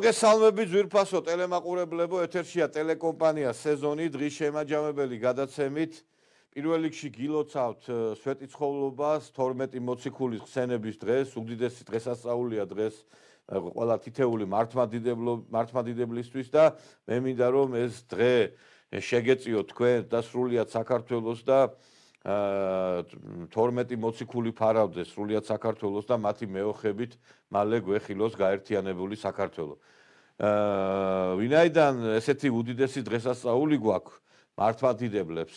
მოგესალმებით ძვირფასო ტელემაყურებლებო, ეთერშია ტელეკომპანია სეზონი დღის შემაჯამებელი გადაცემით. პირველ რიგში გილოცავთ სვეტიცხოვლობას 12 მოციქულის ხსენების დღეს, უდიდესი დღესასწაულია დღეს ყველა თითეული მართლმადიდებლისთვის და მე მინდა რომ ეს დღე შეგეწიოთ თქვენ და სრულიად საქართველოს და 12 მოციქული ფარავდეს სრულიად საქართველოს და მათი მეოხებით მალე გვეხილოს გაერთიანებული საქართველო. ვინაიდან ესეთი უდიდესი დღესასწაული გვაქვს მართლმადიდებლებს,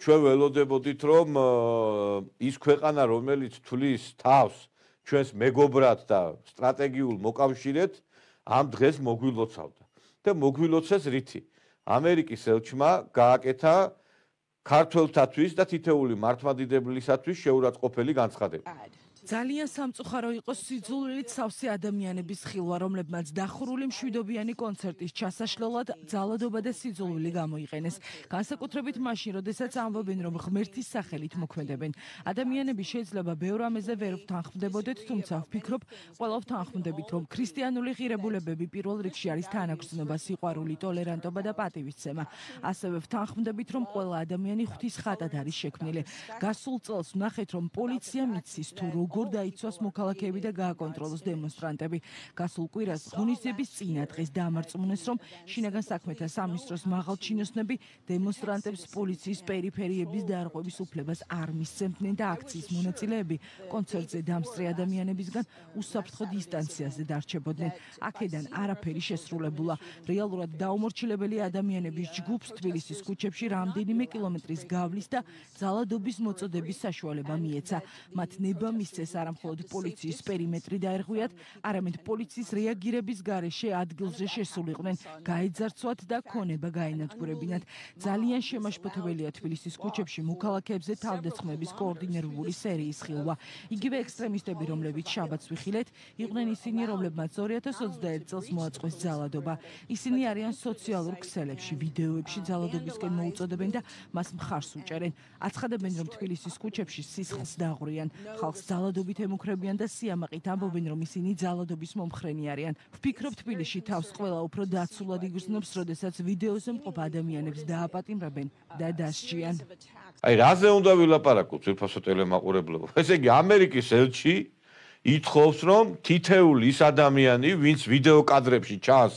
ჩვენ ველოდებოდით რომ ის ქვეყანა რომელიც თვლის თავს ჩვენს მეგობრად და სტრატეგიულ მოკავშირედ ამ დღეს მოგვილოცავდა და მოგვილოცეს რითი? ამერიკის ელჩმა გააკეთა ქართველთათვის და თითეული მართლმადიდებლისათვის შეურაცხყოფელი განცხადება. ძალიან სამწუხარო იყო სიძულვილით სავსე ადამიანების ხილვა, რომლებმაც დახურული მშვიდობიანი კონცერტის ჩასაშლელად ძალადობა და სიძულვილი გამოიყენეს. განსაკუთრებით მაშინ, როდესაც ამბობენ, რომ ღმერთის სახელით მოქმედებენ. ადამიანები შეიძლება ბევრ ამეზე ვერ ვთანხმდებოდეთ, თუმცა ვფიქრობ, ყველა ვთანხმდებით, რომ ქრისტიანული ღირებულებები პირველ რიგში არის თანაგრძნობა, სიყვარული, ტოლერანტობა და პატივისცემა. ასევე ვთანხმდებით, რომ ყველა ადამიანი ღვთის ხატად არის შექმნილი. გასულ წელს ვნახეთ, რომ პოლიცია მიცის თუ როგორ დაიცვას მოქალაქეები და გააკონტროლოს დემონსტრანტები. გასულ კვირას ღონისძიების წინა დღეს დამარწმუნეს, რომ შინაგან საქმეთა სამინისტროს მაღალჩინოსნები დემონსტრანტებს პოლიციის პერიფერიების დარღვევის უფლებას არ მისცემდნენ და აქციის მონაწილეები კონცერტზე დამსწრე ადამიანებისგან უსაფრთხო დისტანციაზე დარჩებოდნენ. აქედან არაფერი შესრულებულა. რეალურად დაუმორჩილებელი ადამიანების ჯგუფს თბილისის ქუჩებში რამდენიმე კილომეტრის გავლის და ძალადობის მოწოდების საშუალება მიეცა. მათ ნება მისცეს არა მხოლოდ პოლიციის პერიმეტრი დაერღვიათ, არამედ პოლიციის რეაგირების გარეშე ადგილზე შესულიყვნენ, გაეძარცვათ და ქონება გაენადგურებინათ. ძალიან შემაშფოთებელია თბილისის ქუჩებში მოქალაქეებზე თავდასხმების კოორდინირებული სერიის ხილვა. იგივე ექსტრემისტები, რომლებიც შაბათს ვიხილეთ, იყვნენ ისინი, რომლებმაც 2021 წელს მოაწყვეს ძალადობა. ისინი არიან სოციალურ ქსელებში, ვიდეოებში ძალადობისკენ მოუწოდებენ და მას მხარს უჭერენ. აცხადებენ, რომ თბილისის ქუჩებში სისხლს დაღვრიან, ხალხს ძალადობით ემუქრებიან და სიამაყით ამბობენ, რომ ისინი ძალადობის მომხრენი არიან. ვფიქრობ, თბილისში თავს ყველა უფრო დაცულად იგრძნობს, როდესაც ვიდეოზე მყოფ ადამიანებს დააპატიმრებენ და დასჯიან. აი, რაზე უნდა ვილაპარაკოთ, ძვირფასო ტელემაყურებლებო? ესე იგი, ამერიკის ელჩი ითხოვს, რომ თითეული ის ადამიანი, ვინც ვიდეო კადრებში ჩანს,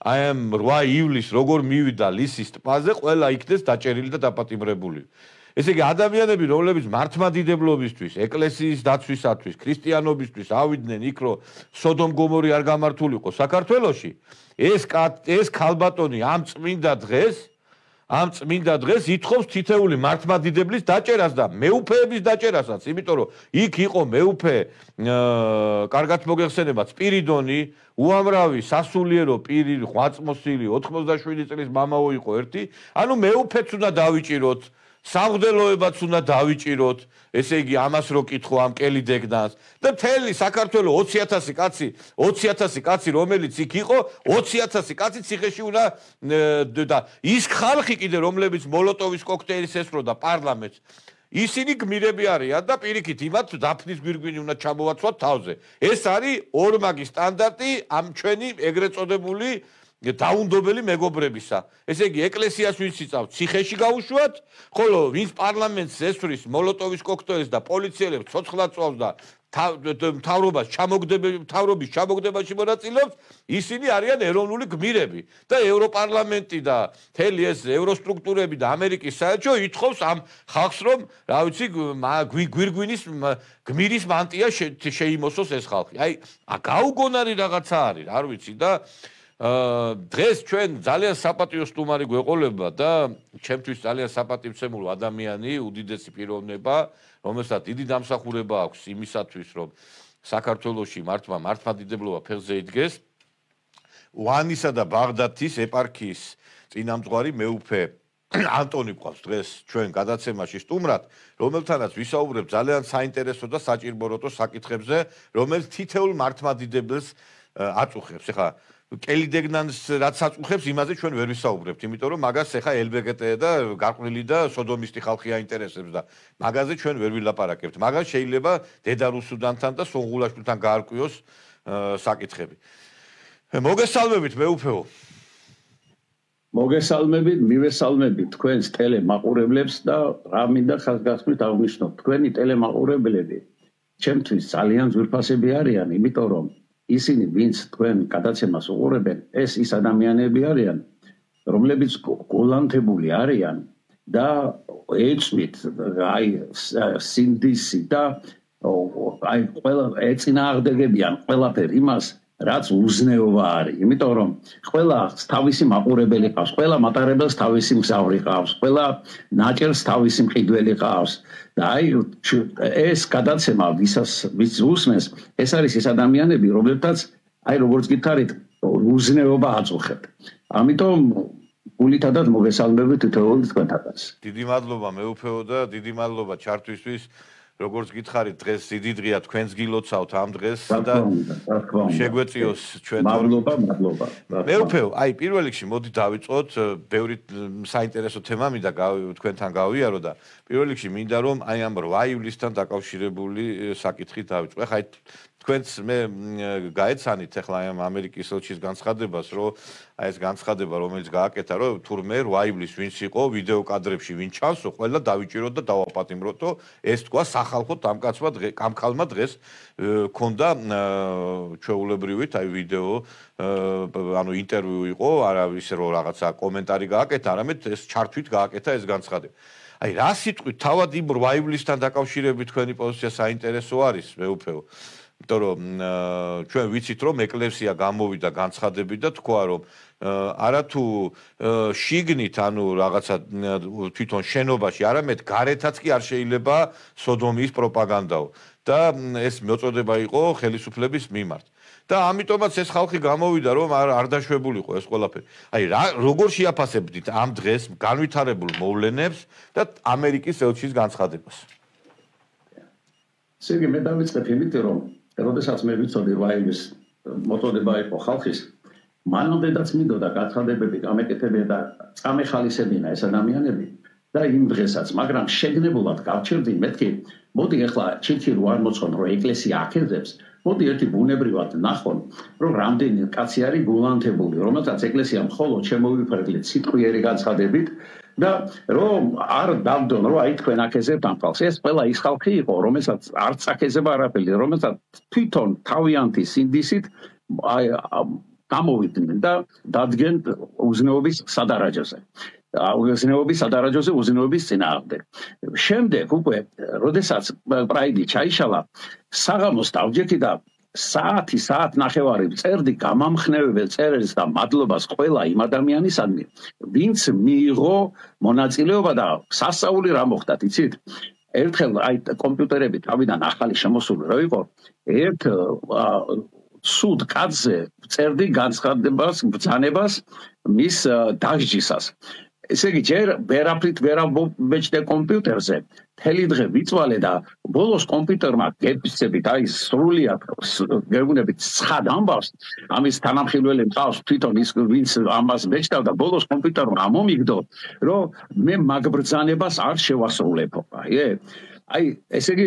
აი ამ 8 ივლისს როგორ მივიდა ლისის ტბაზე, ყველა იქნეს დაჭერილი და დაპატიმრებული. ესე იგი, ადამიანები, რომლებიც მართლმადიდებლობისთვის, ეკლესიის დაცვისათვის, ქრისტიანობისთვის ავიდნენ იქ, რომ სოდომ გომორი არ გამართულიყო საქართველოში, ეს ქალბატონი ამ წმინდა დღეს ითხოვს თითეული მართლმადიდებლის დაჭერას და მეუფეების დაჭერასაც, იმიტომ რომ იქ იყო მეუფე, კარგად მოგეხსენებათ, სპირიდონი, უამრავი სასულიერო პირი, ღვაწმოსილი, 87 წლის მამაო იყო ერთი, ანუ მეუფეც უნდა დავიჭიროთ. სამღვდელოებაც უნდა დავიჭიროთ, ესე იგი ამას რო კითხო ამ კელი დეგნას და მთელი საქართველოს 20,000 კაცი რომელიც იქ იყო, 20,000 კაცი ციხეში უნდა და ის ხალხი კიდე რომლებიც მოლოტოვის კოქტეილის ესწროდა პარლამენტს, ისინი გმირები არიან და პირიქით იმათ დაფნის გვირგვინი უნდა ჩამოვაცვათ თავზე. ეს არის ორმაგი სტანდარტი ამ ჩვენი ეგრეთ წოდებული დაუნდობელი მეგობრებისა. ესე იგი, ეკლესიას ვინც იწავთ, ციხეში გაუშვათ, ხოლო ვინც პარლამენტს ესვრის მოლოტოვის კოქტეილს და პოლიციელებს ცოცხლად წვავს და მთავრობის ჩამოგდებაში მონაწილეობს, ისინი არიან ეროვნული გმირები და ევროპარლამენტი და მთელი ეს ევროსტრუქტურები და ამერიკის საელჩო ითხოვს ამ ხალხს, რომ რა ვიცი, გვირგვინის გმირის მანტია შეიმოსოს ეს ხალხი. აი, გაუგონარი რაღაცა არის, არ ვიცი და დღეს ჩვენ ძალიან საპატიო სტუმარი გვეყოლება და ჩემთვის ძალიან საპატივცემულო ადამიანი, უდიდესი პიროვნება, რომელსაც დიდი დამსახურება აქვს იმისათვის, რომ საქართველოში მართლმადიდებლობა ფეხზე იდგეს. ვანისა და ბაღდათის ეპარქიის წინამძღვარი მეუფე ანტონი ყავს დღეს ჩვენ გადაცემაში სტუმრად, რომელთანაც ვისაუბრებ ძალიან საინტერესო და საჭიროებო საკითხებზე, რომელიც თითოეულ მართლმადიდებელს აწუხებს. ეხლა კელი დეგნანს რაც აწუხებს, იმაზე ჩვენ ვერ ვისაუბრებთ, იმიტომ რომ მაგას ეხა LBGT და გარყვნილი და სოდომისტი ხალხი აინტერესებს და მაგაზე ჩვენ ვერ ვილაპარაკებთ. მაგას შეიძლება დედა რუსუდანთან და სონღულაშვილთან გაარკვიოს საკითხები. მოგესალმებით მეუფეო. მოგესალმებით, მივესალმებით თქვენს ტელემაყურებლებს და რა მინდა ხაზგასმით აღვნიშნოთ. თქვენი ტელემაყურებლები ჩემთვის ძალიან ძვირფასები არიან, იმიტომ რომ ისინი ვინც თქვენ გადაცემას უყურებენ, ეს ის ადამიანები არიან, რომლებიც გულანთებული არიან და ეწვით აი სინდისი და აი ყველა ეწინააღმდეგებიან ყველაფერ იმას რაც უზნეობა არის, იმიტომ რომ ყველა თავისი მაყურებელი ყავს, ყველა მატარებელს თავისი მგზავრი ყავს, ყველა ნაჭერს თავისი მყიდველი ყავს და აი ეს გადაცემა ვის უსმენს, ეს არის ეს ადამიანები, რომლებთაც აი როგორც გითხარით, უზნეობა აწუხებთ. ამიტომ გულითადად მოგესალმებით თითოეული თქვენთანაც. დიდი მადლობა მეუფეო და დიდი მადლობა ჩართვისთვის. როგორც გითხარით, დღეს დიდი დღეა, თქვენს გილოცავთ ამ დღეს და შეგვეწიოს ჩვენ მადლობა. მეუფეო, აი პირველ რიგში მოდი დავიწყოთ, ბევრი საინტერესო თემა მინდა თქვენთან გავიარო და პირველ რიგში მინდა რომ აი ამ 8 ივლისთან დაკავშირებული საკითხით დავიწყო. ეხლა თქვენც მე გაეცანით ეხლა ამ ამერიკის ელჩის განცხადებას, რომ აი ეს განცხადება, რომელიც გააკეთა, რომ თურმე 8 ივლისს ვინც იყო ვიდეო კადრებში ვინ ჩანსო, ყველა დავიჭიროთ და დავაპატიმროთო, ეს თქვა სახალხო კამქალმა დღეს ქონდა ჩვეულებრივით აი ვიდეო ანუ ინტერვიუ იყო, არა ისე რომ რაღაცა კომენტარი გააკეთა, არამედ ეს ჩართვით გააკეთა ეს განცხადება. აი რა სიტყვით თავად იმ 8 ივლისთან დაკავშირებით თქვენი პოზიცია საინტერესო არის, მეუფეო. იმიტომ რომ ჩვენ ვიცით რომ ეკლერსია გამოვიდა განცხადებით და თქვა რომ არათუ შიგნით ანუ რაღაცა თვითონ შენობაში არამედ გარეთაც კი არ შეიძლება სოდომიის პროპაგანდაო და ეს მოწოდება იყო ხელისუფლების მიმართ და ამიტომაც ეს ხალხი გამოვიდა რომ არ დაშვებულიყო ეს ყველაფერი. აი როგორ შეაფასებდით ამ დღეს განვითარებულ მოვლენებს და ამერიკის ელჩის განცხადებას? სერგი მე დავიწყებ იმით რომ როდესაც მე ვიცოდი 8 ივლისს მოწოდება იყო ხალხის, მანამდეაც მინდოდა განცხადებები გამეკეთებინა და წამეხალისებინა ეს ადამიანები და იმ დღესაც, მაგრამ შეგნებულად გავჩერდი მეთქი, მოდი ახლა ჩირჩირო არ მოცხონ რომ ეკლესია აქეზებს, მოდი ერთი ბუნებრივად ნახონ, რომ რამდენი კაცი არის გულანთებული, რომელსაც ეკლესია მხოლოდ შემოვიფერდით სიტყვიერი განცხადებით და რომ არ დავდონ რომ აი თქვენ აქეზებთ ამ ხალხს. ეს ყველა ის ხალხი იყო, რომელსაც არც აქეზება არაფერი, რომელსაც თვითონ თავიანთი სინდისით გამოვიდნენ და დადგენ უზნეობის სადარაჯოზე. უზნეობის სადარაჯოზე უზნეობის წინააღმდეგ. შემდეგ უკვე, როდესაც პრაიდი ჩაიშალა, საღამოს დავჯექი და საათნახევარი წერდი გამამხნევებელ წერილს და მადლობას ყველა იმ ადამიანისადმი, ვინც მიიღო მონაწილეობა და სასწაული რა მოხდათ, იცით? ერთხელ აი კომპიუტერები თავიდან ახალი შემოსული რო იყო, ერთ სუდ კაცზე წერდი განცხადებას, ბრძანებას მის დასჯისას. ესე იგი, ჯერ ვერაფრით ვერ ამბობეჭდე კომპიუტერზე, მთელი დღე ვიწვალე და ბოლოს კომპიუტერმა გეფიცებით, აი სრულიად გეუბნებით ცხად ამბავს, ამის თანამხილველი მყავს თვითონ ის ვინც ამას ბეჭდავდა, ბოლოს კომპიუტერმა ამომიგდო, რომ მე მაგ ბრძანებას არ შევასრულებო. აი ესე იგი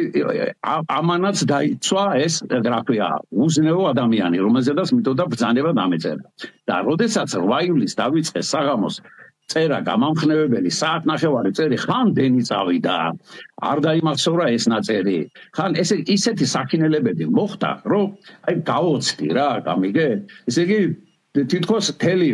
ამანაც დაიცვა ეს რა ქვია უზნეო ადამიანი, რომელზედაც მითოდა ბრძანება დამეწერა. და როდესაც 8 ივლისს დავიწყე საღამოს წერა გამამხნევებელი საათნახევარი წერი ხან დენი წავიდა, არ დაიმახსოვრა ეს ნაწერი. ხან ისეთი საქინელებები მოხდა, რომ აი გავოცდი რა, გამიგე? ესე იგი თითქოს მთელი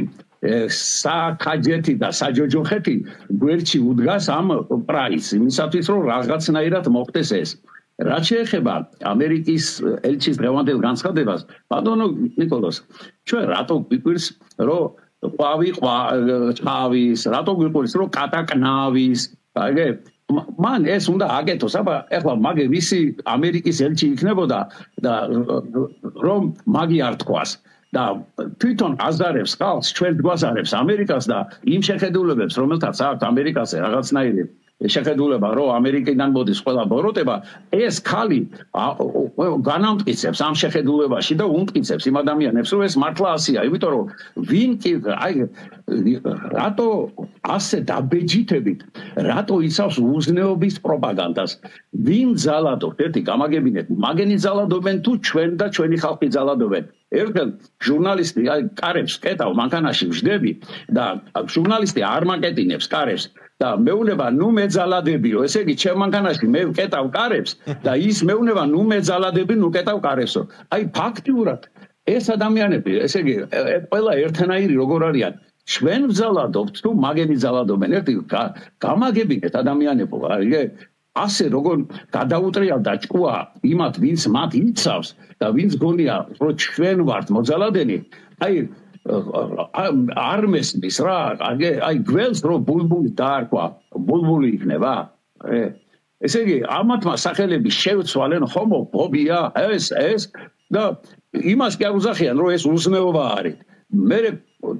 საქაჯეთი და საჯოჯოხეთი გვერდში უდგას ამ პრაისს, იმისათვის რომ რაღაცნაირად მოხდეს ეს. რაც შეეხება ამერიკის ელჩის დღევანდელ განცხადებას, ბატონო ნიკოლოზ, ჩვენ რატო გვიკვირს, რომ ყვავი ყვავის, რატო გვიყვირს, რომ კატაკნავის, აიგე? მან ეს უნდა აკეთოს, აბა ეხლა მაგე ვისი ამერიკის ელჩი იქნებოდა და რომ მაგი არ თქვას. და თვითონ აზარებს ხალხს, ჩვენ გვაზარებს ამერიკას და იმ შეხედულებებს, რომელთაც აქვს ამერიკაზე რაღაცნაირი შეხედულება რომ ამერიკიდან მოდის ყველა ბოროტება ეს ხალი განამტკიცებს ამ შეხედულებაში და უმტკიცებს იმ ადამიანებს რომ ეს მართლა ასია იმიტომ რომ ვინ კი აი რატო ასე დაბეჯითებით რატო იცავს უზნეობის პროპაგანდას ვინ ძალადობ ერთი გამაგებინეთ მაგენი ძალადობენ თუ ჩვენ და ჩვენი ხალხი ძალადობენ ერთხელ ჟურნალისტი აი კარებს კეტავ მანქანაში ვждები და ჟურნალისტი არ მაკეტინებს კარებს და მეუნება ნუ მეძალადებიო ესე იგი ჩემ მანქანაში მე ვკეტავ კარებს და ის მეუნება ნუ მეძალადები ნუ კეტავ კარებსო აი ფაქტიურად ეს ადამიანები ესე იგი ყველა ერთნაირი როგორ არიან ჩვენ ვძალადობთ თუ მაგენი ძალადობენ ერთი გამაგებინეთ ადამიანებო აი ასე როგორ გადაუტრიალდა ჭკუა იმათ ვინც მათ იცავს და ვინც გონია რომ ჩვენ ვართ მოძალადენი აი არ მესმის რა აი გველს რომ ბულბული დაარქვა ბულბული იქნება ესე იგი ამათმა სახელები შევცვალენ ჰომოფობია ეს და იმას კი არ უზახიან რომ ეს უზნეობა არის მე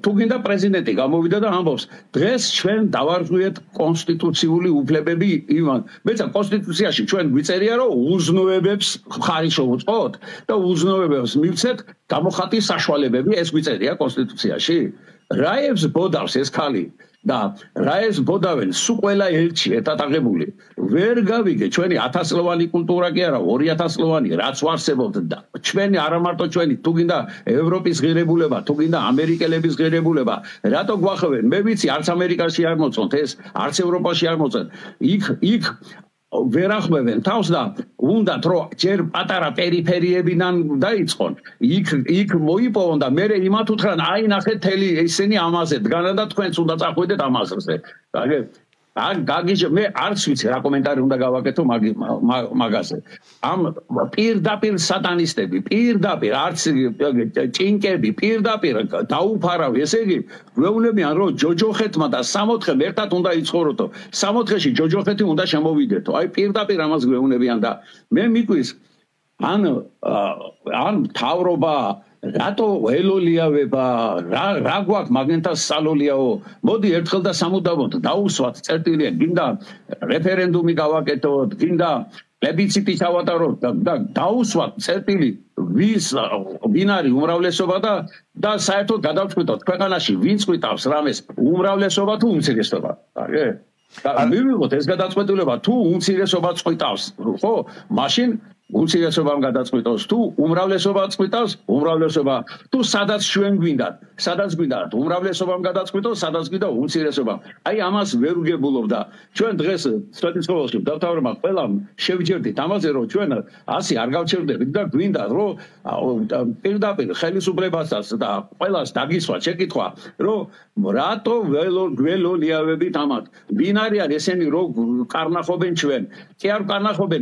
თუ გინდა პრეზიდენტი გამოვიდა და ამბობს დღეს ჩვენ დავარღვიეთ კონსტიტუციური უფლებები იმან მეცა კონსტიტუციაში ჩვენ გვიწერია რომ უზნეობებს ხარი შევუწყოთ და უზნეობებს მივცეთ გამოხატვის საშუალებები ეს გვიწერია კონსტიტუციაში რაებს ბოდავს ეს ხალი და რაებს ბოდავენ სულ ყველა ელჩი ეტატაღებული ვერ გავიგე ჩვენი 1000 წლოვანი კულტურა კი არა 2000 წლოვანი რაც ვარსებობთ და ჩვენი არა მარტო ჩვენი თუ გინდა ევროპის ღირებულება თუ გინდა ამერიკელების ღირებულება რატო გვახევენ მე ვიცი არც ამერიკაში არ მოწონთ ეს არც ევროპაში არ მოწონთ იქ ვერ ახმევენ თავს და უნდათ რომ ჯერ პატარა პერიფერიებიდან დაიწყონ იქ მოიპოვონ და მე იმათ უთხრან აი ნახეთ თელი ისინი ამაზე დგანა და თქვენც უნდა წახვიდეთ ამაზე გაგიჟე მე არც ვიცი რა კომენტარი უნდა გავაკეთო მაგაზე ამ პირდაპირ სატანისტები პირდაპირ არც ჭინკები პირდაპირ დაუფარავი ესე იგი გვეუბნებიან რომ ჯოჯოხეთმა და სამოთხემ ერთად უნდა იცხოვროთო სამოთხეში ჯოჯოხეთი უნდა შემოვიდეთო აი პირდაპირ ამას გვეუბნებიან და მე მიკვის ან თავრობა რატო ელოლიავება რა გვაქვს მაგენთან სალოლიაო მოდი ერთხელ და სამუდამოდ დაუსვათ წერტილია გინდა რეფერენდუმი გავაკეთოთ გინდა პლებიციტი ჩავატაროთ და დაუსვათ წერტილი ვინ არის უმრავლესობა და საერთოდ გადავწყვიტოთ ქვეყანაში ვინ წყვიტავს რამეს უმრავლესობა თუ უმცირესობა აი მივიღოთ ეს გადაწყვეტილება თუ უმცირესობა წყვიტავს ხო მაშინ უმცირესობამ გადაწყვიტოს თუ უმრავლესობა წყვიტავს უმრავლესობა თუ სადაც ჩვენ გვინდათ უმრავლესობამ გადაწყვიტოს სადაც გვინდა უმცირესობამ აი ამას ვერ ვგებულობ და ჩვენ დღეს სტატისტიკაში დავთავრებმა ყველამ შევჯერდით ამაზე რომ ჩვენ ასე არ გავჩერდებით და გვინდა რომ პირდაპირ ხელისუფლებასაც და ყველას დაგისვათ შეკითხვა რომ რატო გველოლიავებით ამათ ვინ არიან ესენი რომ კარნახობენ ჩვენ კი არ კარნახობენ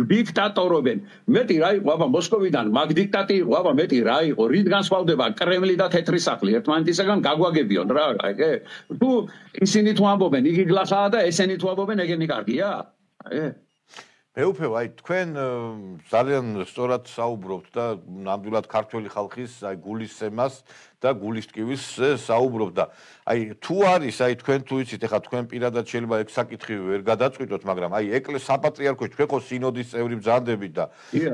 დიქტატორობენ მეტი რა იყო აბა მოსკოვიდან მაგ დიქტატი იყო აბა მეტი რა იყო რით განსხვავდება კრემლი და თეთრი სახლი ერთმანეთისაგან გაგვაგებიონ რა აი თუ ისინი თუ ამბობენ იგი გლახაა და ესენი თუ ამბობენ ეგენი კარგია მეუფე აი თქვენ ძალიან სწორად საუბრობთ და ნამდვილად ქართველი ხალხის აი გულისცემას და გულისტკივის საუბრობთ და აი თუ არის აი თქვენ თუ იცით ეხლა თქვენ პირადად შეიძლება ეგ საკითხი ვერ გადაწყვიტოთ მაგრამ აი ეკლესია საპატრიარქოში თქვენ ხო სინოდის წევრი ბრძანდებით და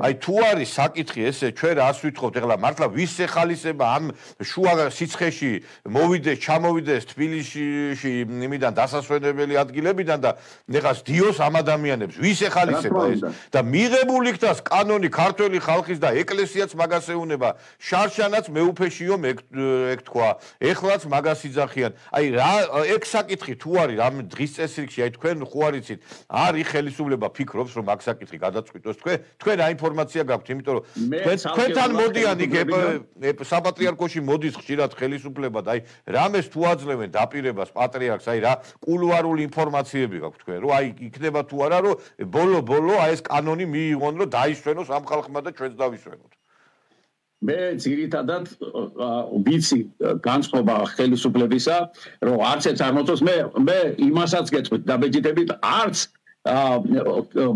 აი თუ არის საკითხი ესე ჩვენ რას ვითხოვთ ეხლა მართლა ვის ეხალისება ამ შუა სიცხეში მოვიდეს ჩამოვიდეს თბილისში იმიდან დასასვენებელი ადგილებიდან და ეხლა დიოს ამ ადამიანებს ვის ეხალისება ეს და მიღებული იქნას კანონი ქართველი ხალხის და ეკლესიაც მაგას ეუნება შარშანაც მეუფეშიო ეგ თქვა ეხლაც მაგას იძახიან აი რა ეგ საკითხი თუ არის ამ დღის წესრიგში აი თქვენ ხო არიცით არის ხელისუფლება ფიქრობს რომ მაგ საკითხი გადაწყვიტოს თქვენ რა ინფორმაცია გაქვთ იმიტომ რომ თქვენთან მოდიან იქ საპატრიარქოში მოდის ხშირად ხელისუფლება და აი რამეს თუ აძლევენ დაპირებას პატრიარქს აი რა კულუარული ინფორმაციები გაქვთ თქვენ რომ აი იქნება თუ არა რომ ბოლო აი ეს კანონი მიიღონ რომ დაისვენოს ამ ხალხმა და ჩვენც დავისვენოთ მე ძირითადად ვიცი განწყობა ხელისუფლებისა რომ არც ერთ არ მოწონს მე იმასაც გეტყვით დაბეჭდებით არც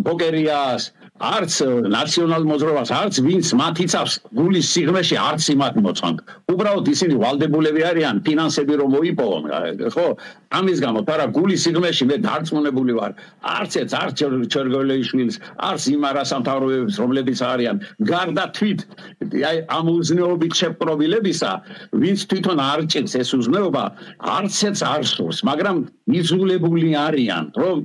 ბოკერიას არც ნაციონალ მოძრაობას, არც ვინც მათ იცავს გულის სიღრმეში არც იმათ მოწონთ. უბრალოდ ისინი ვალდებულები არიან ფინანსები რომ მოიპოვონ, ხო? ამის გამო თარა გულის სიღრმეში მე დარწმუნებული ვარ. არც ჩერგოლეიშვილის, არც იმ არასამთავრობოებს, რომლებიც არიან გარდა თვით აი ამ უზნეობით შეპყრობილებისა, ვინც თვითონ არ ჭირს ეს უზნეობა, არცეც არ სურს, მაგრამ იზოლებული არიან, რომ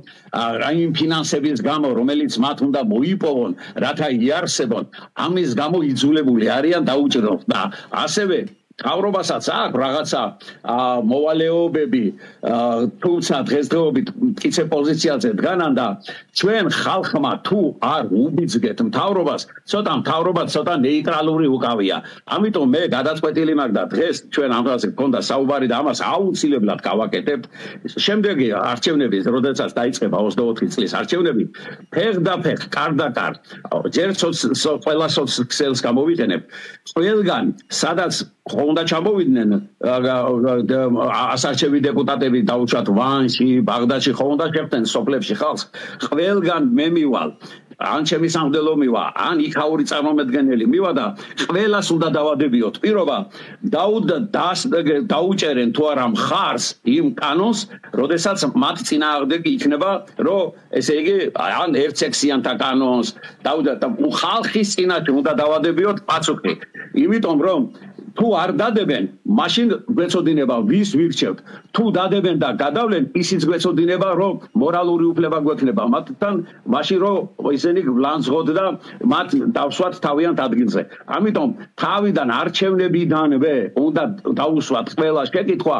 აი ფინანსების გამო, რომელიც მათ უნდა მოიპოვონ, რათა იარსებონ, ამის გამო იზოლებული არიან დაუჭიროთ და ასევე თავრობასაც აქვს რაღაცა მოვალეობები, თუმცა დღესდღეობით მტკიცე პოზიციაზე დგანან და ჩვენ ხალხმა თუ არ უბიძგეთ მთავრობას, ცოტა მთავრობა ცოტა ნეიტრალური უკავია. ამიტომ მე გადაწყვეტილი მაქვს და დღეს ჩვენ ამ დღეზე გქონდა საუბარი და ამას აუცილებლად გავაკეთებთ. შემდეგი არჩევნების, როდესაც დაიწყება 24 წლის არჩევნები, ფეხ-და-ფეხ, კარ-და-კარ, ჯერ ყველა სოციალს გამოვიყენებ, ყველგან სადაც უნდა ჩამოვიდნენ ასარჩევი დეპუტატები დაუშვათ ვანში, ბაღდადში უნდა შეხვდნენ სოფლებში ხალხს, ყველგან მე მივალ ან ჩემი სამღვდელო მივა, ან იქაური წარმომადგენელი მივა და ყველას უნდა დავადებიოთ პირობა დაუჭერენ თუ არა მხარს იმ კანონს, როდესაც მათ წინააღმდეგი იქნება, რომ ესე იგი ან ერთსექსიანთა კანონს და ხალხის წინაშე უნდა დავადებიოთ პასუხი. იმიტომ რომ თუ არ დადებენ, მაშინ გვეცოდინება ვის ვირჩევთ. თუ დადებენ და გადავლენ, ისიც გვეცოდინება, რომ მორალური უფლება გვექნება მათთან, მაშინ რომ ისინი ვლანძღოთ და მათ დავსვათ თავიანთ ადგილზე. ამიტომ თავიდან არჩევნებიდანვე უნდა დაუსვათ ყველა შეკითხვა,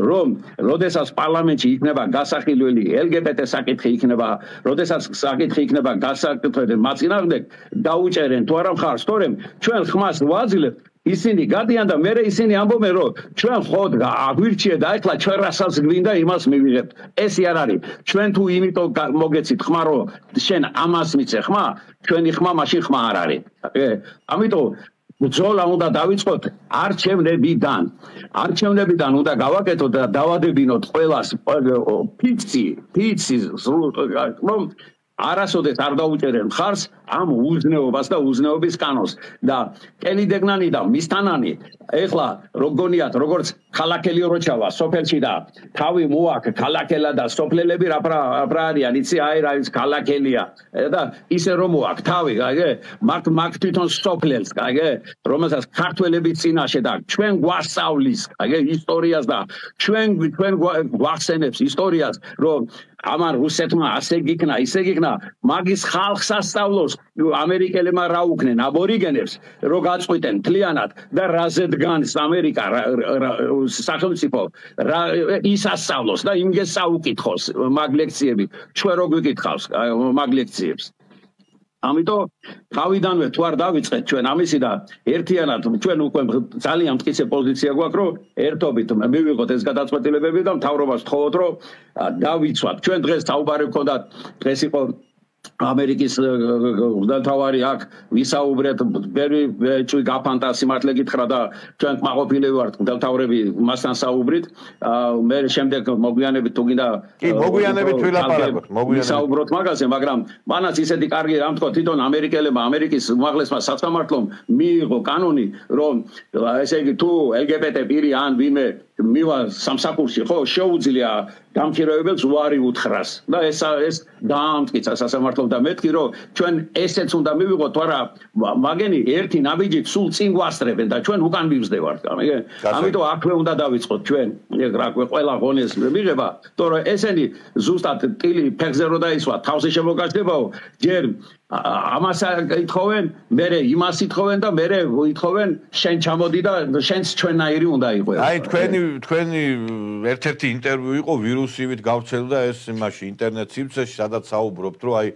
რომ როდესაც პარლამენტში იქნება გასახილველი LGBT საკითხი იქნება, როდესაც საკითხი იქნება გასაკეთებელი მათ წინააღმდეგ, დაუჭერენ თუ არა მხარს, თორემ ჩვენ ხმას ვაძლევთ. ისინი გადიან და მე ისინი ამბობენ რომ ჩვენ ხოდ აგვირჩიე და ეხლა ჩვენ რასაც გვინდა იმას მივიღებთ. ესე არ არის. ჩვენ თუ იმიტომ მოგეცით ხმა რომ შენ ამას მიცე ხმა, ჩვენი ხმა მაშინ ხმა არ არის. ამიტომ ბრძოლა უნდა დავიწყოთ არჩევნებიდან. არჩევნებიდან უნდა გავაკეთოთ და დავადებინოთ ყველას ფიცი რომ არასოდეს არ დაუჭერენ მხარს ამ უზნეობას და უზნეობის კანონს და კენიდეგნანი და მისთანანი ეხლა როგგონიათ როგორც ქალაქელი როჩავა სოფელში და თავი მოაქ ქალაქელა და სოფლელები რა არიან იცი აი რა ის ქალაქელია და ისე რომ მოაქ თავი მაგ თვითონ სოფლელს რომელსაც ქართველები წინაშე და ჩვენ გვასწავლის ისტორიას და ჩვენ გვახსენებს ისტორიას რომ ამან რუსეთმა ასე გიქნა ისე გიქნა მაგის ხალხს ასწავლოს ამერიკელებმა რა უქნენ აბორიგენებს რო გაწყვიტენ მთლიანად და რაზე დგანს ამერიკა სახელმწიფო ის ასწავლოს და იმგეს საუკითხოს მაგ ლექციები ჩვენ რო გვიკითხავს მაგ ლექციებს ამიტომ თავიდანვე თუ არ დავიწყეთ ჩვენ ამისი და ერთიანად ჩვენ უკვე ძალიან მტკიცე პოზიცია გვაქვს რომ ერთობით მივიღოთ ეს გადაწყვეტილებები და მთავრობას ვთხოვოთ რომ დავიცვათ ჩვენ დღეს საუბარი გქონდა დღეს იყო ამერიკის მთავარი აქ ვისაუბრეთ ბევრი გაფანტა სიმართლე გითხრა და ჩვენ კმაყოფილები ვართ მთავრები მასთან საუბრით მე შემდეგ მოგვიანებით თუ გინდა კი მოგვიანებით ვილაპარაკოთ ვისაუბროთ მაგაზე მაგრამ მანაც ისეთი კარგი რამ თქო თვითონ ამერიკელებმა ამერიკის უმაღლესმა სასამართლომ მიიღო კანონი რომ ესე იგი თუ LGBT პირი ან ვინმე მივა სამსახურში ხო შეუძლია გამქირავებელს უარი უთხრას და ეს დაამტკიცა სასამართლომ და მეთქი რომ ჩვენ ესეც უნდა მივიღოთ არა მაგენი ერთი ნაბიჯით სულ წინ გვასწრებენ და ჩვენ უკან მივსდევართ ამიტომ აქვე უნდა დავიწყოთ ჩვენ რა ყველა ღონეს მიღება თორე ესენი ზუსტად ტილი ფეხზე რო დაისვა თავზე შემოგაჩდებაო ჯერ ამას ითხოვენ მერე იმას ითხოვენ და მერე ითხოვენ შენ ჩამოდი და შენც ჩვენნაირი უნდა იყო აი თქვენი ერთ-ერთი ინტერვიუ იყო ვირუსივით გავრცელდა ეს იმაში ინტერნეტ სივრცეში სადაც საუბრობთ რომ აი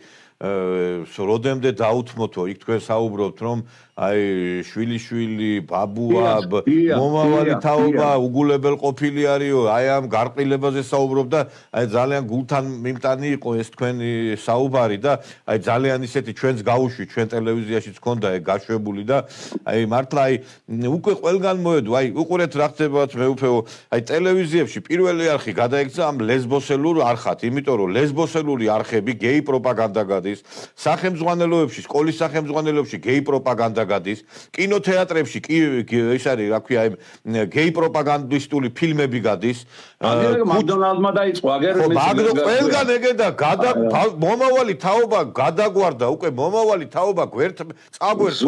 როდემდე დაუთმოთო იქ თქვენ საუბრობთ რომ აი შვილი ბაბუა მომავალი თაობა უგულებელ ყოფილი არისო აი ამ გარყილებაზე საუბრობ და აი ძალიან გულთან მიმტანი იყო ეს თქვენი საუბარი და აი ძალიან ისეთი ჩვენს გაუშვი ჩვენ ტელევიზიაშიც ქონდა ეგ გაშვებული და აი მართლა აი უკვე ყველგან მოედო აი უყურეთ რა ხდებათ მეუფეო აი ტელევიზიებში პირველი არხი გადაიქცა ამ ლესბოსელურ არხად იმიტომ რომ ლესბოსელური არხები გეი პროპაგანდა გადის გადის, სახელმძღვანელოებში, სკოლის სახელმძღვანელოებში გეი პროპაგანდა გადის, კინოთეატრებში ეს არის, რა ქვია, გეი პროპაგანდისტული ფილმები გადის. მაკდონალდმა დაიწყო აგერ ყველგან ეგედა, მომავალი თაობა გადაგვარდა, უკვე მომავალი თაობა წაგვერტყვა.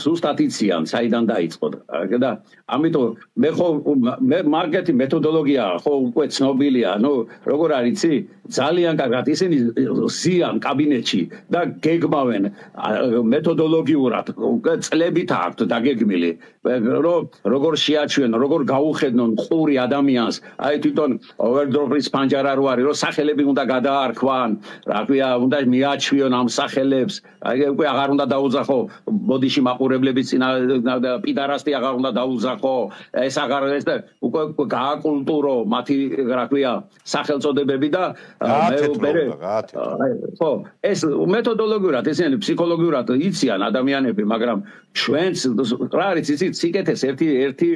სუსტატიციან საიდან დაიწყო და ამიტომ მე მარკეტინგ მეთოდოლოგია ხო უკვე ცნობილია, როგორ არის იცი, ძალიან კარგად ისინი ზიან კაბინეტში და გეგმავენ მეთოდოლოგიურად, წლებით აქვთ დაგეგმილი, როგორ შეაჩვენონ, როგორ გაუხედნონ ყური ადამიანს, აი თვითონ ოვერდროპის პანჯარა რო არის, რომ სახელები უნდა გადაარქვან, რა ქვია, უნდა მიაჩვიონ ამ სახელებს, აი უკვე აღარ უნდა დაუძახო ბოდიში მაყურებლების წინა პიდარასტი აღარ უნდა დაუძახო, ეს აღარ ეს და უკვე გააკულტურო მათი, რა ქვია, სახელწოდებები და ხო, ეს მეთოდოლოგიურად, ესენი ფსიქოლოგიურად იციან ადამიანები, მაგრამ ჩვენც რა არის იცით, სიკეთეს ერთი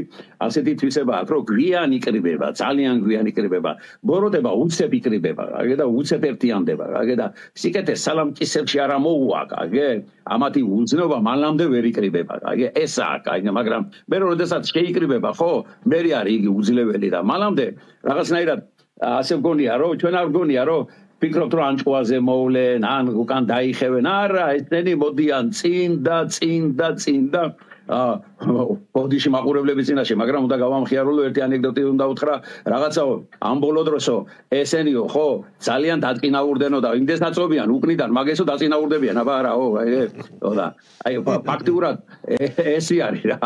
ასეთი თვისება აქვს, რომ გვიან იკრიბება, ძალიან გვიან იკრიბება, ბოროტება უცებ იკრიბება, და უცებ ერთიანდება, და სიკეთეს სალამკისებში არ მოუვა, ამათი უძნობა მანამდე ვერ იკრიბება, ესაა, მაგრამ მე როდესაც შეიკრიბება, ხო, მე არის იგი უძლეველი და მანამდე რაღაცნაირად ასე მგონია, რომ ჩვენ არ მგონია, რომ ფიქრობთ, რომ ანჭუაზე მოვლენ, ან უკან დაიხევენ, არა, ესენი მოდიან წინ და ბოდიში მაყურებლების წინაშე, მაგრამ უნდა გავამხიარო, ერთი ანეკდოტი უნდა უთხრა, რაღაცაო, ამ ბოლო დროსო, ესენიო, ხო, ძალიან დაწინაურდენო და იმდეს დაწობიან, უკნიდან, მაგესო დაწინაურდებიან, აბა არაო, და აი ფაქტიურად ესი არის რა,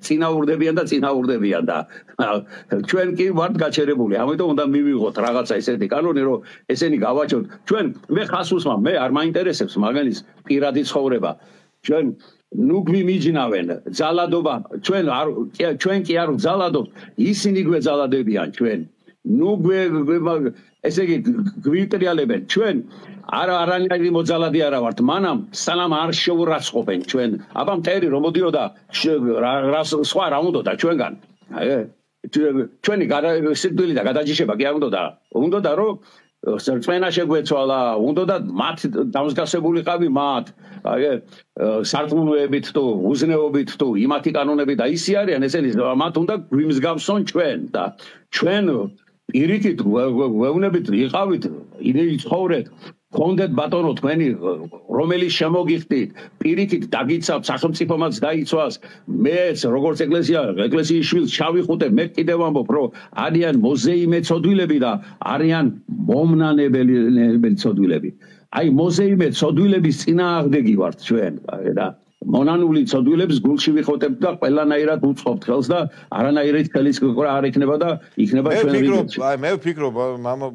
წინაურდებიან და ჩვენ კი ვართ გაჩერებული, ამიტომ უნდა მივიღოთ რაღაცა ესეთი კანონი, რომ ესენი გავაჩოთ. ჩვენ მე ხას უსმამ, მე არ მაინტერესებს მაგალის პირადი ცხოვრება. ჩვენ გვიმიჯნავენ ძალადობა, ჩვენ კი არ ვძალადობთ, ისინი გვეძალადებიან ჩვენ. ესე იგი გვიტრიალებენ ჩვენ არანაირი მოძალადი არა ვართ, მანამ სანამ არ შეურაცხყოფენ ჩვენ. აბა მტერი რომ მოდიოდა სხვა რა უნდოდა ჩვენგან. ჩვენი სიკვდილი და გადაჯიშება კი არ უნდოდა რომ წვენა შეგვეცვალა, უნდოდა მათ დამსგავსებულიყავი მათ, სარწმუნოებით თუ უზნეობით თუ იმათი კანონები და ისი არიან ესენი, მათ უნდა გვიმსგავსონ ჩვენ და ჩვენ პირიქით ვეუბნებით იყავით, იცხოვრეთ, გქონდეთ ბატონო თქვენი რომელიც შემოგიხდით, პირიქით დაგიცავთ, სახელმწიფომაც დაიცვას, მეც როგორც ეკლესიის შვილს ჩავიხუტებ, მე კიდევ ვამბობ, რომ არიან მოზეიმე ცოდვილები და არიან მომნანებელი ცოდვილები. აი მოზეიმე ცოდვილების წინააღმდეგი ვართ ჩვენ და მონანული ცოდვილებს გულში ვიხոտებთ და ყველანაირად უწყობთ ხელს და არანაირად ხელის ყრა არ იქნება და იქნება ჩვენ რიგებში. მე ვფიქრობ,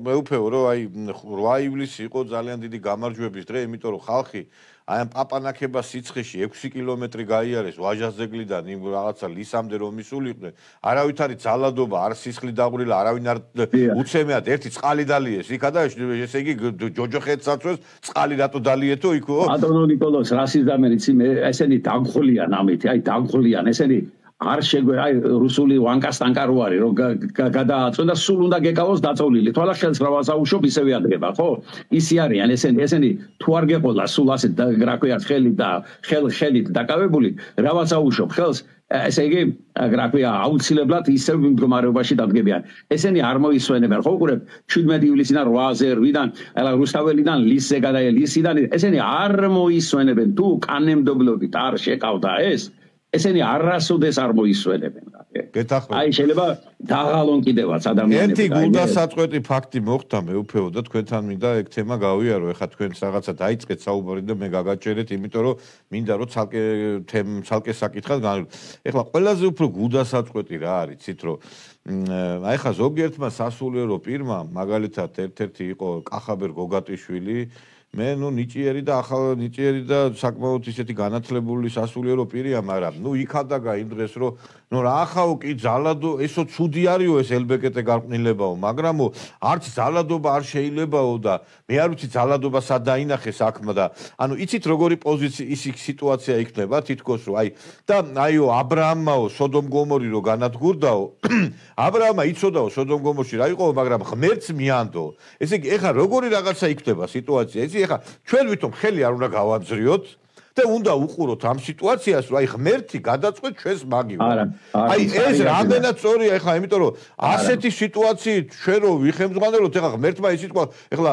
მეუფეო, რომ აი 8 ივლისი იყო ძალიან დიდი გამარჯვების დღე, იმიტომ რომ ხალხი აი ამ პაპანაკება სიცხეში 6 კილომეტრი გაიარეს ვაჟას ძეგლიდან იმ რაღაცა ლისამდე რომ მისულიყვნენ, არავით არის ძალადობა, არ სისხლი დაღვრილა, არავინ არ უცემეად ერთი წყალი დალიეს იქა და ესე იგი ჯოჯოხეთს აწვევს წყალი რატო დალიეთო იქო? ბატონო ნიკოლოზ, რასიზმერიც ესენი დაგხოლიან ამით, აი დაგხოლიან ესენი არ შეგვე აი რუსული ვანკასტანკა რო არის რომ გადააწვენ და სულ უნდა გეკავოს დაწოლილი თვალა ხელს რა ვასაუშვებ ისევე ადგება ხო ისი არიან ესენი თუ არ გეყოლა სულ ასე რა ქვია ხელით დაკავებული რა ვასაუშვებ ხელს ესე იგი რა ქვია აუცილებლად ისევ მდგომარეობაში დადგებიან ესენი არ მოისვენებენ ხო უყურებ 17 ივლისიდან 8-ზე 8-დან ალა რუსთაველიდან ლისზე ლისიდან ესენი არ მოისვენებენ თუ კანემდებლობით არ შეკავდა ესენი არასოდეს არ მოისვენებენ. აი შეიძლება დაღალონ კიდევაც ადამიანები. ერთი გულდასაწყვეტი ფაქტი მოხდა მეუფეო და თქვენთან მინდა ეგ თემა გავიარო. ეხლა თქვენს რაღაცა დაიწყეთ საუბარი და მე გაგაჭერეთ, იმიტომ რომ მინდა რომ ცალკე საკითხად განვიხილოთ. ეხლა ყველაზე უფრო გულდასაწყვეტი რა არის, იცით რომ აი ხა ზოგიერთმა სასულიერო პირმა მაგალითად ერთ-ერთი იყო კახაბერ გოგატიშვილი მე ნიჭიერი და ახალ ნიჭიერი და საკმაოდ ისეთი განათლებული სასულიერო პირია, მაგრამ იქადაგა იმ დღეს რომ რა ახაო კი ძალადო ესო ცუდი არისო ეს LBGT გარყვნილებაო, მაგრამ არც ძალადობა არ შეიძლებაო და მე არ ვიცი ძალადობა სად დაინახე საქმე და ანუ იცით როგორი პოზიცია ის სიტუაცია იქნება თითქოს რომ და აიო აბრაამაო სოდომ გომორი რო განადგურდაო აბრაამა იცოდაო სოდომ გომორში რა იყო, მაგრამ ღმერთს მიანდო. ესე იგი ეხა როგორი რაღაცა იქნება სიტუაცია, იცი ეხა ჩვენ ვითომ ხელი არ უნდა გავამძრიოთ და უნდა უყუროთ ამ სიტუაციას, რომ ღმერთი გადაწყვეტ ჩვენს მაგივრად. ეს რამდენად სწორია ეხლა, იმიტომ რომ ასეთი სიტუაციით ჩვენ რო ვიხემძღვანელოთ, ეხლა ღმერთმა ის თქვა, ეხლა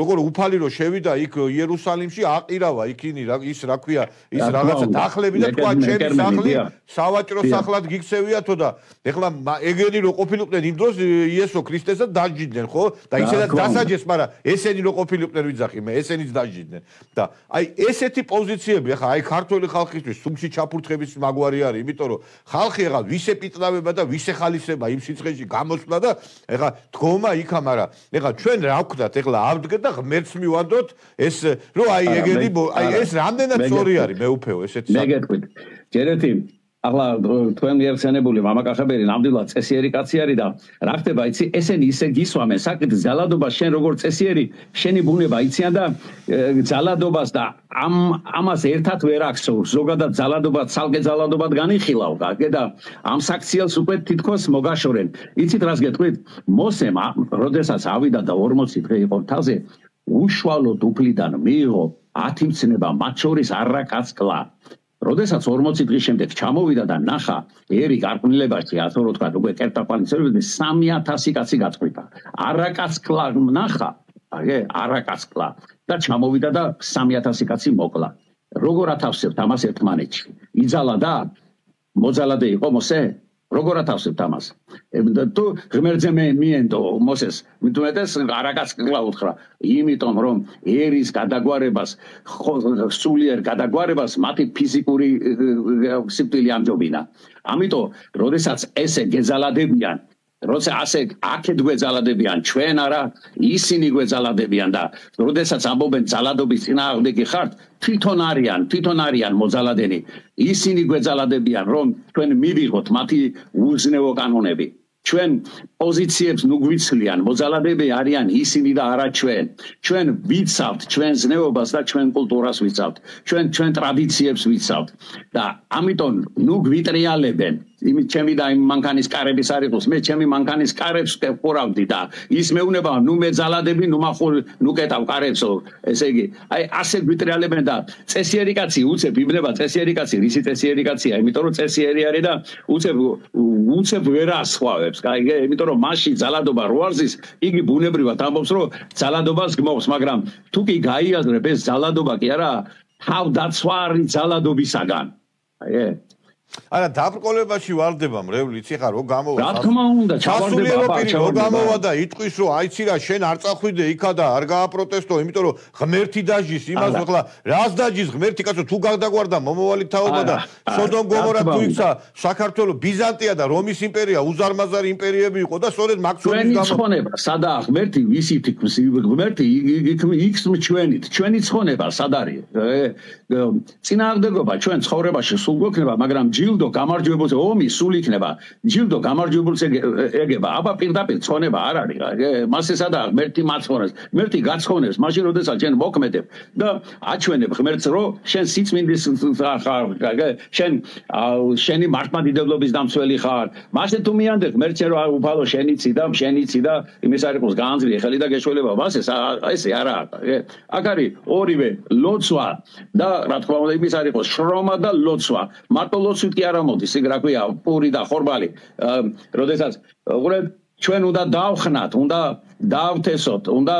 როგორ უფალი რო შევიდა იქ იერუსალიმში, აყირავა იქინი ის რა ქვია, ის რაღაცა დახლები და თქვა ჩემი სახლი სავაჭრო სახლად გიქცევიათო და ეხლა ეგენი რო ყოფილიყვნენ იმ დროს იესო ქრისტესად დაჯიდნენ, ხო? და ისედაც დასაჯეს, მაგრამ ესენი რო ყოფილიყვნენ ვიძახი მე, ესენიც დაჯიდნენ. და ესეთი პოზიციები ახლა ქართველი ხალხისთვის სულში ჩაფურთხების მაგვარი არის, იმიტომ რომ ხალხი ახლა ვისე პიტნავება და ვისე ხალისება იმ სიცხეში გამოსვლა და ახლა დგომა იქა, მაგრამ ახლა ჩვენ რა ვქნათ, ახლა ავდგეთ და ღმერთს მივანდოთ ეს რომ ეგენი ეს რამდენად სწორი არის მეუფეო ესეთი მე გეტყვით ჯერეთი ახლა თქვენ მიერთიანებული მამაკახებელი ნამდვილად წესიერი კაცი არის და რა ხდება იცი ესენი ისე გისვამენ საკით ძალადობა შენ როგორ წესიერი შენი ბუნება იციან და ძალადობას და ამას ერთად ვერ აქცევ ზოგადად ძალადობა ცალკე ძალადობად განიხილავ და ამ საქციელს უკვე თითქოს მოგაშორენ იცით რას გეტყვით მოსემ როდესაც ავიდა და 40 დღე იყო თავზე უშუალოდ უფლიდან მიიღო 10 მცნება მათ შორის არაკაცკლა როდესაც 40 დღის შემდეგ ჩამოვიდა და ნახა ერი გარყვნილებაში ასე რომ თქვა უკვე კერტაპანიცერები 3000 კაცი გაწყვიტა არაკაცკლა ნახა არაკაცკლა და ჩამოვიდა და 3000 კაცი მოკლა როგორ ათავსებთ ამას ერთმანეთში იძალა და მოძალადე იყო მოსე როგორ ათავსებთ ამას თუ ღმერთზე მიენდო მოსეს მithumetes არაკაცკლა უთხრა იმიტომ რომ ერის გადაგვარებას სულიერ გადაგვარებას მათი ფიზიკური სიკვდილი ამჯობინა ამიტომ როდესაც ესე გეძალადებიან როცა ასე აქეთ გვეძალადებიან ჩვენ არა ისინი გვეძალადებიან და როდესაც ამბობენ ძალადობის წინააღმდეგი ხართ თვითონ არიან მოძალადენი ისინი გვეძალადებიან რომ ჩვენ მივიღოთ მათი უზნეო კანონები ჩვენ პოზიციებს ნუ გვიცლიან მოძალადები არიან ისინი და არა ჩვენ ვიცავთ ჩვენ ზნეობას და ჩვენ კულტურას ვიცავთ ჩვენ ტრადიციებს ვიცავთ და ამიტომ ნუ გვიტრიალებენ იმით ჩემი და იმ მანქანის კარების არ იყოს მე ჩემი მანქანის კარებს ვყურავდი და ის მეუნება ნუ მე ძალადები ნუ კეტავ კარებსო ესე იგი ასე გვიტრიალებენ და წესიერი კაცი უცებ იბნება წესიერი კაცი რისი წესიერი კაცია იმიტომ რომ წესიერი არის და უცებ ვერ ასხვავებს კაი იმიტომ რომ მასში ძალადობა რო არზის იგი ბუნებრივად ამბობს რომ ძალადობას გმობს მაგრამ თუ კი გაიაზრებ ეს ძალადობა კი არა თავდაცვა არის ძალადობისაგან არა დაბრკოლებაში ვარდება მრევლი იცი ხარ რო გამოვა რა თქმა უნდა ჩავარდება რო გამოვა და იტყვის რომ აიცი რა შენ არ წახვიდე იქა და არ გააპროტესტო იმიტომ რომ ღმერთი დაჟის იმას ახლა რას დაჟის ღმერთი კაცო თუ გადაგვარდა მომავალი თაობა და სოდომ გომორა თუ იქცა საქართველოს ბიზანტია და რომის იმპერია უზარმაზარი იმპერიები იყო და სწორედ მაქსიმუმის გამო ცხონება სადა ღმერთი ვისით ღმერთი იქს ჩვენი ცხონება სად არის წინააღმდეგობა ჩვენ ცხოვრებაში სულ გვექნება მაგრამ ჯილდო გამარჯვებულზე ომი სულ იქნება ჯილდო გამარჯვებულზე ეგება აბა პირდაპირ ცხონება არ არის მასე სადა ღმერთი მაცხონებს ღმერთი გაცხონებს მაშინ როდესაც ჩვენ მოქმედებ და აჩვენებ ღმერთს რომ შენ სიწმინდის ხარ შენი მართლმადიდებლობის დამცველი ხარ მასე თუ მიანდე ღმერთს რომ უფალო შენიცი და იმის არ იყოს განძრი ხელი და გეშველება მასე ესე არა აქ არის ორივე ლოცვა და რა თქმა უნდა იმის არ იყოს შრომა და ლოცვა მარტო ლოცვით კი არ ამოდის ეგ რა ქვია პური და ხორბალი როდესაც უყურებ ჩვენ უნდა დავხნათ უნდა დავთესოთ უნდა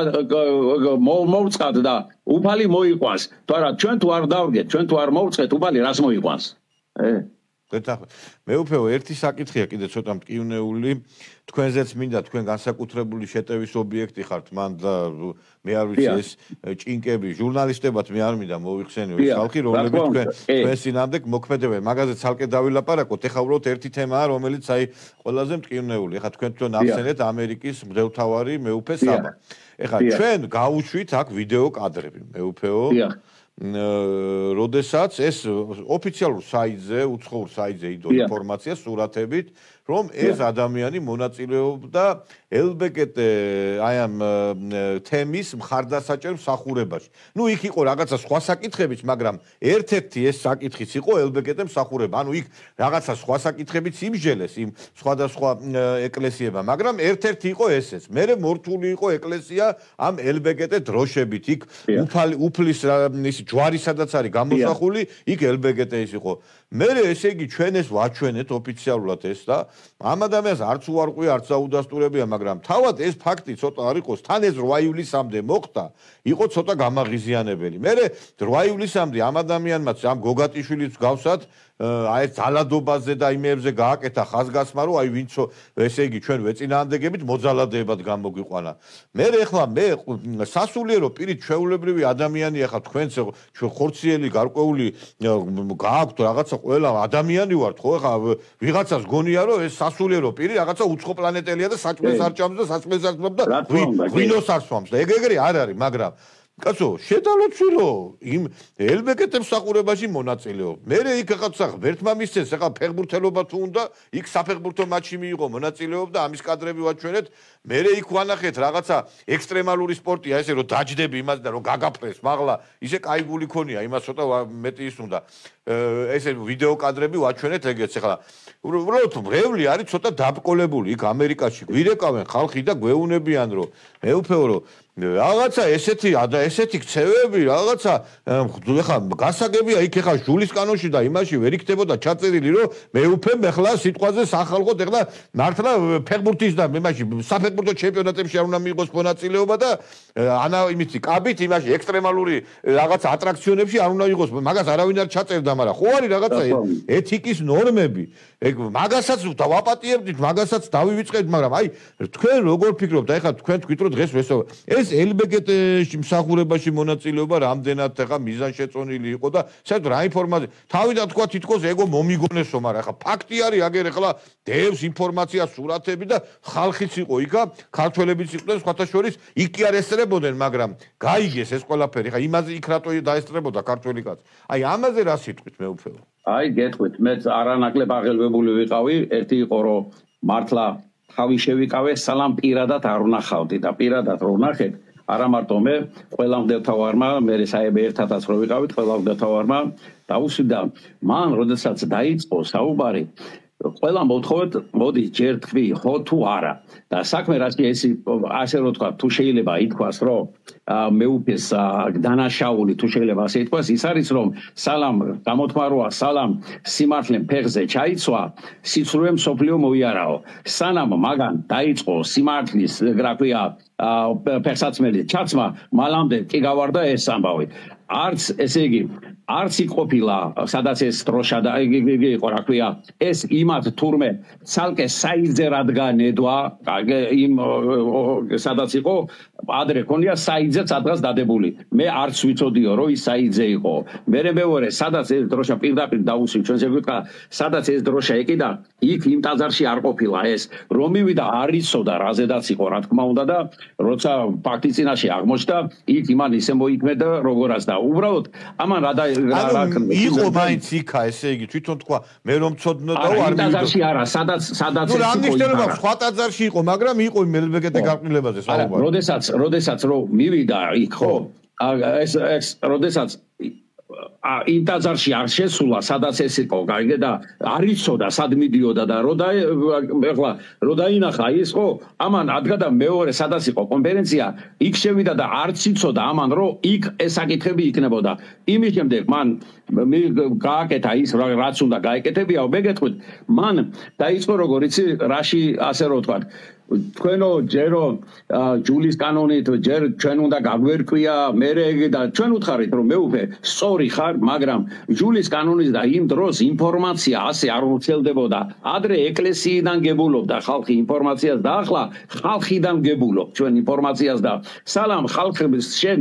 მოვწყათ და უფალი მოიყვანს თუ არა ჩვენ თუ არ დავდგეთ ჩვენ თუ არ მოვწყეთ უფალი რას მოიყვანს გეთახმებით. მეუფეო, ერთი საკითხია კიდე ცოტა მტკივნეული, თქვენზეც მინდა თქვენ განსაკუთრებული შეტევის ობიექტი ხართ, მან და მე არ ვიცი ეს ჭინკები, ჟურნალისტებად მე არ მინდა მოვიხსენიო ეს ხალხი, რომლებიც თქვენ წინამდე მოქმედებენ. მაგაზე ცალკე დავილაპარაკოთ. ეხლა უბრალოდ ერთი თემაა, რომელიც აი ყველაზე მტკივნეული. ეხლა თქვენ თვითონ ახსენეთ ამერიკის მდელთავარი მეუფე საბა. ეხლა ჩვენ გავუშვით აქ ვიდეო კადრები, მეუფეო. როდესაც ეს ოფიციალურ საიტზე, უცხოურ საიტზე იდო ინფორმაცია სურათებით, რომ ეს ადამიანი მონაწილეობდა LBGT აი ამ თემის მხარდასაჭერ მსახურებაში. ნუ იქ იყო რაღაცა სხვა საკითხებიც, მაგრამ ერთ-ერთი ეს საკითხიც იყო LBGT მსახურება. ანუ იქ რაღაცა სხვა საკითხებიც იმჟელეს იმ სხვადასხვა ეკლესიებმა, მაგრამ ერთ-ერთი იყო ესეც. მერე მორთული იყო ეკლესია ამ LBGT დროშებით. იქ უფლის ის ჯვარი სადაც არის გამოსახული, იქ LBGT-ის იყო. მერე ესე იგი ჩვენ ეს ვაჩვენეთ ოფიციალურად ეს და ამ ადამიანს არც უარყვია, არც აუდასტურებია, მაგრამ თავად ეს ფაქტი ცოტა არ იყოს, თან ეს 8 ივლისამდე მოხდა, იყო ცოტა გამაღიზიანებელი. მერე 8 ივლისამდე ამ ადამიანმაც ამ გოგატიშვილიც გავსად აი ეს ძალადობაზე და იმებზე გააკეთა ხაზგასმა, რომ აი ვინცო ესე იგი ჩვენ ვეწინააღმდეგებით მოძალადეებად გამოგვიყვანა. მერე ეხლა მე სასულიერო პირით ჩვეულებრივი ადამიანია ხა თქვენც ჩვენ ხორციელი გარკვეული გააქვთ რაღაცა ყველა ადამიანი ვართ ხო ეხლა ვიღაცას გონია რომ ეს სასულიერო პირი რაღაცა უცხო პლანეტელია და საჭმელს არ ჭამს და საჭმელს არ ჭამს და ღვინოს არ სვამს და ეგრე არ არის მაგრამ კაცო, შედალოცვილო იმ LBGT მსახურებაში მონაწილეობ. მერე იქ ხაცა ღმერთმა მისცეს, ახლა ფეხბურთელობა თუ უნდა, იქ საფეხბურთო მატჩი მიიღო, მონაწილეობდა, ამის კადრები ვაჩვენეთ. მერე იქ ვანახეთ რაღაცა ექსტრემალური სპორტია, ესე რომ დაჯდები იმას და რომ გაგაფრეს, მაღლა, ისე кайგული ქონია, იმას ცოტა მეტი ის უნდა. ესე ვიდეო კადრები ვაჩვენეთ ეგეც ახლა. უბრალოდ მრევლი არის ცოტა დაბკოლებული იქ ამერიკაში. გვირეკავენ ხალხი და გვეუნებიან რომ მეუფეო რომ რაღაცა ესეთი ქცევები რაღაცა ეხა გასაგებია იქ ეხა ჟულის კანონში და იმაში ვერ იქნებოდა ჩაწერილი რომ მეუფემ ეხლა სიტყვაზე სახალხოდ ეხლა მართლა ფეხბურთის და იმაში საფეხბურთო ჩემპიონატებში არ უნდა მიიღოს მონაწილეობა და ანა იმითი კაბით იმაში ექსტრემალური რაღაცა ატრაქციონებში არ უნდა იყოს მაგას არავინ არ ჩაწერდა მაგრამ ხო არის რაღაცა ეთიკის ნორმები ეგ მაგასაც დავაპატიებდით მაგასაც დავივიწყებთ მაგრამ აი თქვენ როგორ ფიქრობთ აი ხა თქვენ თქვით რომ დღეს ვესო ეს LBGT-ში მსახურებაში მონაწილეობა რამდენად ახლა მიზანშეწონილი იყო და საერთოდ რა ინფორმაცია თავიდან თქვა თითქოს ეგო მომიგონესო მაგრამ ახლა ფაქტი არის აგერ ახლა დევს ინფორმაცია სურათები და ხალხიც იყო იქა ქართველებიც იყვნენ სხვათა შორის იქ კი არ ესწრებოდნენ მაგრამ გაიგეს ეს ყველაფერი ხა იმაზე იქ რატო დაესწრებოდა ქართველი კაცი აი ამაზე რა სიტყვით მეუფეო აი გეტყვით მე არანაკლებ აღელვებული ვიყავი ერთი იყო რომ მართლა თავი შევიკავე სალამ პირადად არ ვნახავდი და პირადად რო ვნახეთ არა მარტო მე ყველა მდელთავარმა მე საერთოდ ერთადაც რო ვიყავით ყველა მდელთავარმა დაუსვიდა მან როდესაც დაიწყო საუბარი ყველა მოთხოვეთ მოდი ჯერ თქვი ხო თუ არა და საქმე რაც ასე რო თქვა თუ შეიძლება ითქვას რომ მეუფეს დანაშაული თუ შეიძლება ასე ითქვას ის არის რომ სალამ გამოთმაროა სალამ სიმართლე ფეხზე ჩაიცვა სიცრუე მსოფლიო მოიარაო სანამ მაგან დაიწყო სიმართლის რა ქვია ფეხსაცმელი ჩაცმა მალამდე კი გავარდა ეს ამბავი არც ესე იგი არც იყოფილა სადაც ეს დროშა და იგი იყო რა ქვია ეს იმათ თურმე ცალკე საიტზე რადგა ნედვა იმ სადაც იყო ადრე ქონია საიტზე სადღაც დადებული მე არც ვიცოდიო რომ ის საიტზე იყო მე მეორე სადაც ეს დროშა პირდაპირ დაუსვი ჩვენს ეგვიტყვა სადაც ეს დროშა ეკიდა იქ იმ ტაძარში არ ყოფილა ეს რომ მივიდა არ იცოდა რაზედაც იყო რა თქმა უნდა და როცა ფაქტი წინაშე აღმოჩნდა იქ იმან ისე მოიქმედა როგორაც და უბრალოდ ამან რა იყო მაინც იქა ესე იგი თვითონ თქვა მე რომ ცოდნოდა არ მივიდა ტაძარში არა სადაც ეს იყო სხვა ტაძარში იყო მაგრამ იყო იმ LBGT გარყვნილებაზე საუბარი როდესაც რო მივიდა იქ ხო ეს როდესაც იმ ტაძარში არ შესულა სადაც ეს იყო გაიგე და არ იცოდა სად მიდიოდა და ეხლა რო დაინახა ის ხო ამან ადგა და მეორე სადაც იყო კონფერენცია იქ შევიდა და არც იცოდა ამან რომ იქ ეს საკითხები იქნებოდა იმის შემდეგ მან გააკეთა ის რაც უნდა გაეკეთებიაო მე გეტყვით მან დაიწყო როგორ იცი რაში ასე რო ვთქვათ თქვენო ჯერო ჯულის კანონით ჯერ ჩვენ უნდა გაგვერკვია მე და ჩვენ უთხარით რომ მეუფე სწორი ხარ მაგრამ ჯულის კანონის და იმ დროს ინფორმაცია ასე არ ვრცელდებოდა ადრე ეკლესიიდან გებულობდა ხალხი ინფორმაციას და ახლა ხალხიდან გებულობ ჩვენ ინფორმაციას და სალამ ხალხებს შენ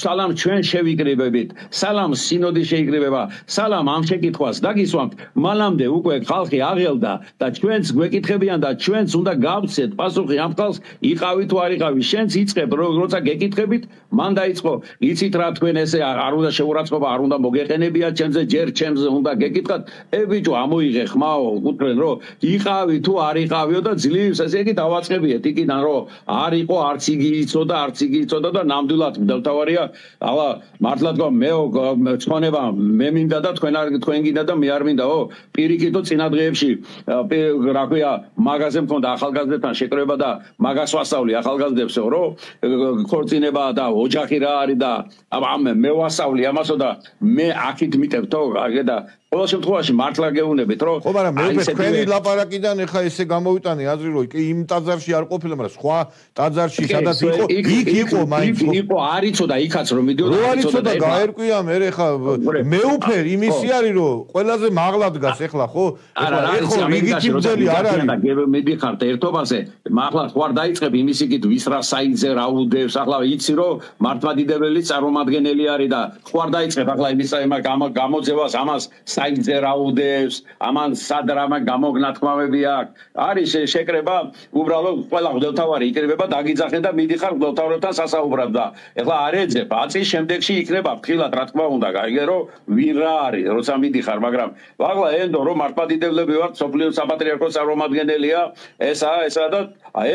სალამ ჩვენ შევიკრიბებით სალამ სინოდი შეიკრიბება სალამ ამ შეკითხვას დაგისვამთ მალამდე უკვე ხალხი აღელდა და ჩვენც გვეკითხებიან და ჩვენც უნდა გავცეთ პასუხი ამ ხალხს იყავი თუ არ იყავი შენც იწყებ როცა გეკითხებით მან დაიწყო იცით რა თქვენ ესე არ უნდა შეურაცხყოფა არ უნდა მოგეყენებიათ ჩემზე ჯერ ჩემზე უნდა გეკითხათ ბიჭო ამოიღე ხმაო უთხრენ რომ იყავი თუ არ იყავიო და ძლივს ესე იგი დავაწყებიეთ იქიდან რომ არ იყო არც იგი იცოდა და ნამდვილად მდელთავარია ალა მართლა თქვა მე ცხონება მე მინდა და თქვენ გინდა და მე არ მინდაო პირიქითო წინა დღეებში რა ქვია მაგაზე მქონდა ახალგაზრდებთან შეკრება და მაგას ვასწავლი ახალგაზრდებსო რომ ქორწინება და ოჯახი რა არის და მე ვასწავლი ამასო და მე აქით მიტევთო და ყოველ შემთხვევაში მართლა გეუბნებით რომ ხო მაგრამ მე თქვენი ლაპარაკიდან ეხა ესე გამოვიტანე აზრი რომ იმ ტაძარში არ ყოფილა მაგრამ სხვა ტაძარში სადაც იყო იქ იყო მაინც იყო არ იცოდა იქაც რომ მიდიოდა არ იცოდა გაერკვია მე ეხა მეუფე იმისი არის რომ ყველაზე მაღლა დგას ეხლა ხო ეხლა რიგითი მძელი არ არის მიდიხართ ერთობაზე მაღლა ხوار დაიწყებ იმისიკით ვის რა საინზე რა უდევს ახლა იცი რომ მართლმადიდებელი წარმომადგენელი არის და ხوار დაიწყებ ახლა იმის გამოძევას ამას საინზე რაუდებს ამან სად რამა გამოგნათქმავები აქვს არის შეკრება უბრალოდ ყველა მღვდელთავარი იკრიბება დაგიძახენ და მიდიხარ მღვდელთავრებთან სასაუბრად და ეხლა არ ეძებ აწის შემდეგში იქნება ფრთხილად რა თქმა უნდა გაიგე რომ ვინ რა არის როცა მიდიხარ მაგრამ ახლა ენდო რომ მართლმადიდებლები ვართ სოფლიო საპატრიარქოს წარმომადგენელია ესა და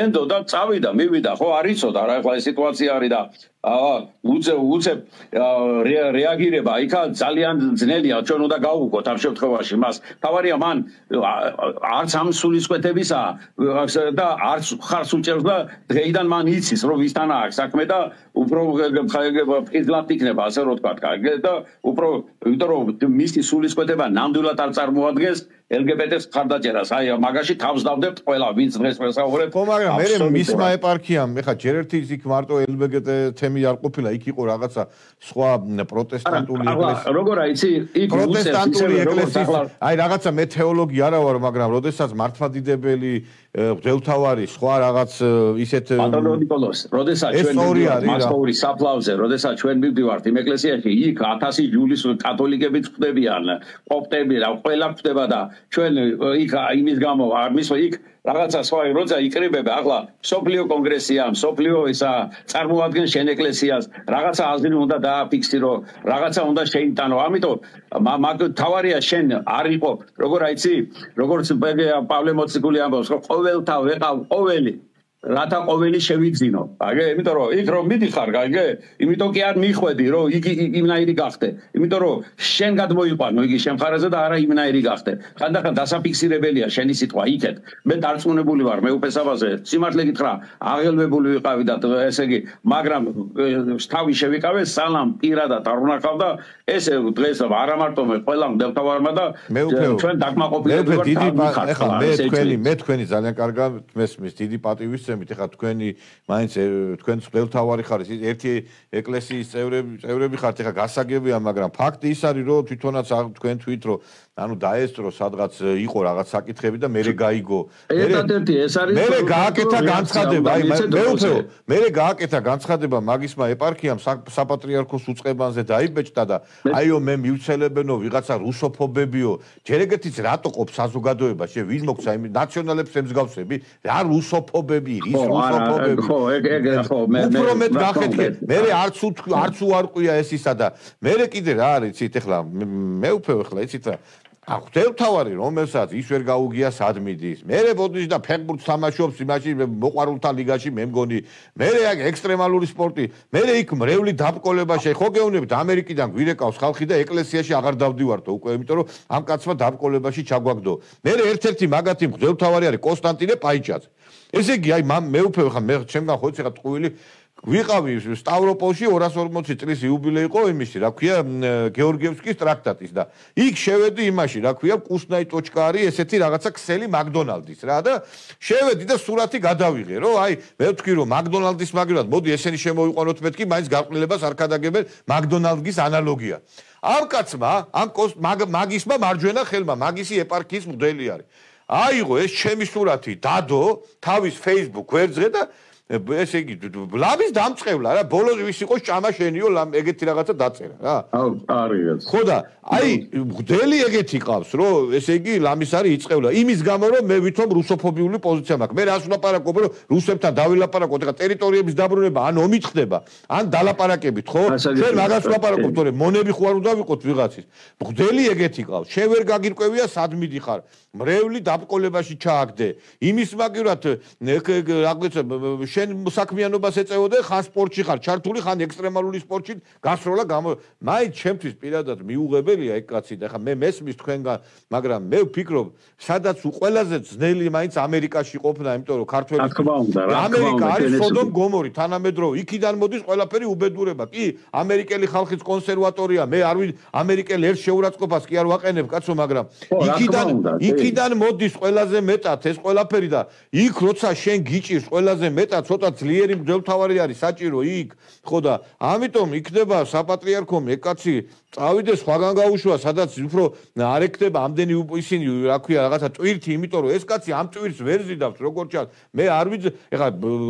ენდო და წავიდა მივიდა ხო არ იცოდა რა ეხლა ეს სიტუაცია არის და უცებ რეაგირება იქა ძალიან ძნელია ჩვენ უნდა გავუგოთ ამ შემთხვევაში მას თავარია მან არც ამ სულისკვეთებისა და არც ხარს უჭერს და დღეიდან მან იცის რომ ვისთან აქვს საქმე და უფრო ფიზლად იქნება ასე რომ თქვა და უფრო იმიტომ რომ მისი სულისკვეთება ნამდვილად არ წარმოადგენს LGBT-ს ხარდაჭერას აი მაგაში თავს დავდებთ ყველა ვინც დღეს ვესაუბრებ ხო მაგრამ მე მისმა ეპარქიამ ეხა ჯერ ერთი იქ მარტო LGBT თემი არ ყოფილა იქ იყო რაღაცა სხვა პროტესტანტული ეკლესია როგორ აიცი იქ პროტესტანტული ეკლესიის აი რაღაცა მე თეოლოგი არა ვარ მაგრამ როდესაც მართლმადიდებელი მღვდელთავარი სხვა რაღაც ისეთ ბატონო ნიკოლოს როდესაც ჩვენ მასკოვის საფლავზე როდესაც ჩვენ მივდივართ იმ ეკლესიაში იქ 1000 ჯულის კათოლიკები ხდებიან ოპტები რა ყველა ხდება და ჩვენ იქ იმის გამო არ მისვა იქ რაღაცა სხვა როცა იკრიბება ახლა სოფლიო კონგრესია სოფლიო ისა წარმოადგენს შენ ეკლესიას რაღაცა აზრი უნდა დააფიქსირო რაღაცა უნდა შეიტანო ამიტომ მაგ თავარია შენ არ იყო როგორ აიცი როგორც პავლე მოციქული ამბობს რომ ყოველთა ვეყავ ყოველი რათა ყოველი შევიძინო აგე იმიტომ რომ იქ რომ მიდიხარ გაიგე იმიტომ კი არ მიხვედი რომ იგი იმნაირი გახდე იმიტომ რომ შენ გადმოიყვანო იგი შემხარაზე და არა იმნაირი გახდე ხანდახან დასაფიქსირებელია შენი სიტყვა იქეთ მე დარწმუნებული ვარ მე უფესაბაზე სიმართლე გითხრა აღელვებული ვიყავი და ესე იგი მაგრამ თავი შევიკავე სალამ პირადად არ უნახავ და ესე დღეს არა მარტო მე ყველა მდელთავარმა და ჩვენ დაკმაყოფილები ვართ ახლა მე თქვენი ძალიან კარგად მესმის დიდი პატივის ეხლა თქვენი მაინც თქვენს მღვდელთავარი ხართ ერთი ეკლესიის წევრები ხართ ეხლა გასაგებია მაგრამ ფაქტი ის არის რომ თვითონაც თქვენ თვით რომ ანუ დაესწრო სადღაც იყო რაღაც საკითხები და მერე გაიგო ერთადერთი ეს არის მერე გააკეთა განცხადება აი მერე გააკეთა განცხადება მაგისმა ეპარქიამ საპატრიარქოს უწყებანზე დაიბეჭდა და აიო მე მივცელებენო ვიღაცა რუსოფობებიო ჯერ ეგეთიც რატო ყოფ საზოგადოებაში ვინ მოგცა იმ ნაციონალებს ემსგავსები რა რუსოფობები ის რუსოფობები ხო ეგ ხო მე უბრალოდ გახეთქე მერე არც უარყვია ეს ისა და მერე კიდე რა არის იცით ეხლა მე უფევ ეხლა იცით რა მღვდელთავარი რომელსაც ის ვერ გაუგია სად მიდის მერე ბოდიშ და ფეხბურთს თამაშობს იმაში მოყვარულთა ლიგაში მე მგონი მერე აქ ექსტრემალური სპორტი მერე იქ მრევლი დაბკოლებაში ხო გეუბნებით ამერიკიდან გვირეკავს ხალხი და ეკლესიაში აღარ დავდივართო უკვე იმიტომ რომ ამ კაცმა დაბკოლებაში ჩაგვაგდო მერე ერთ-ერთი მაგათი მღვდელთავარი არის კონსტანტინე პაიჭაძე ესე იგი აი მე უფევ ხა მე ჩემგან ხო იცი ხა ტყუილი ვიყავი სტავროპოლში 240 წლის იუბილე იყო იმისი, რა ქვია, გეორგიევსკის ტრაქტატის და იქ შევედი იმაში, რა ქვია, კუსნაი.კ არის ესეთი რაღაცა ქსელი მაკდონალდის რა და შევედი და სურათი გადავიღე, რომ აი მე ვთქვი რომ მაკდონალდის მაგალითად მოდი ესენი შემოვიყვანოთ მეთქი, მაინც გარყვნილებას არ ქადაგებენ მაკდონალდის ანალოგია. ამ კაცმა, ამ მაგისმა მარჯვენა ხელმა, მაგისი ეპარქიის მღვდელი არის. აიღო ეს ჩემი სურათი, დადო თავის Facebook გვერდზე და ესე იგი ლამის დამწყევლა რა ბოლოს ვის იყო ჭამა შენიო ეგეთი რაღაცა დაწერა რა არის ხო და აი მღვდელი ეგეთი ყავს რომ ესე იგი ლამის არის იწევლა იმის გამო რომ მე ვითომ რუსოფობიული პოზიცია მაქვს მე რას ვლაპარაკობ რომ რუსებთან დავილაპარაკოთ ეხა ტერიტორიების დაბრუნება ან ომით ხდება ან დალაპარაკებით ხო ჩვენ მაგას ვლაპარაკობთ თორე მონები ხო არ უნდა ვიყოთ ვიღაცის მღვდელი ეგეთი ყავს შენ ვერ გაგირკვევია სად მიდიხარ მრევლი დაბკოლებაში ჩააგდე იმის მაგივრად რაღაცა შენ საქმიანობას ეწევოდე ხან სპორტში ხარ ჩართული ხან ექსტრემალური სპორტში გასროლა მაინც ჩემთვის პირადად მიუღებელია ეგ კაცი და ხა მე მესმის თქვენგან მაგრამ მე ვფიქრობ სადაც ყველაზე ძნელი მაინც ამერიკაში ყოფნა იმიტომ რომ ქართველი ამერიკა არის სოდომ გომორი თანამედროვე იქიდან მოდის ყველაფერი უბედურება კი ამერიკელი ხალხის კონსერვატორია მე არ ამერიკელი ერთ შეურაცხყოფას კი არ ვაყენებ კაცო მაგრამ იქიდან მოდის ყველაზე მეტად ეს ყველაფერი და იქ როცა შენ გიჭირს ყველაზე მეტად ცოტა ძლიერი მღვდელმთავარი არის საჭირო იქ ხო და ამიტომ იქნება საპატრიარქომი ეგ კაცი წავიდეს სხვაგან გაუშვა სადაც უფრო არ ეკდება ამდენი ისინი რა ქვია რაღაცა ტვირთი იმიტომ რომ ეს კაცი ამ ტვირთს ვერ ზიდავს როგორც ჩანს მე არ ვიცი ეხლა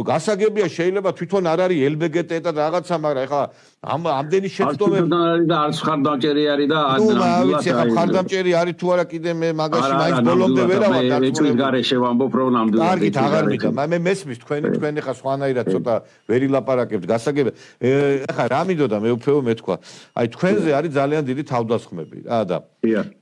გასაგებია შეიძლება თვითონ არ არის LGBT და რაღაცა მაგრამ ეხლა ამდენი შეცდომები და არც ხარდამჭერი არის და ანუ ვიცი ეხლა ხარდამჭერი არის თუ არა კიდე მე მაგაში მაინც ბოლომდე ვერავარ ეჭვის გარეშე ვამბობ რომ ნამდვილად კარგით აღარ მიდა მე მესმის თქვენ ეხლა სხვანაირად ცოტა ვერი ლაპარაკებთ გასაგებია ეხლა რა მინდოდა მე უფეო მეთქვა აი თქვენზე არის ძალიან დიდი თავდასხმები რა და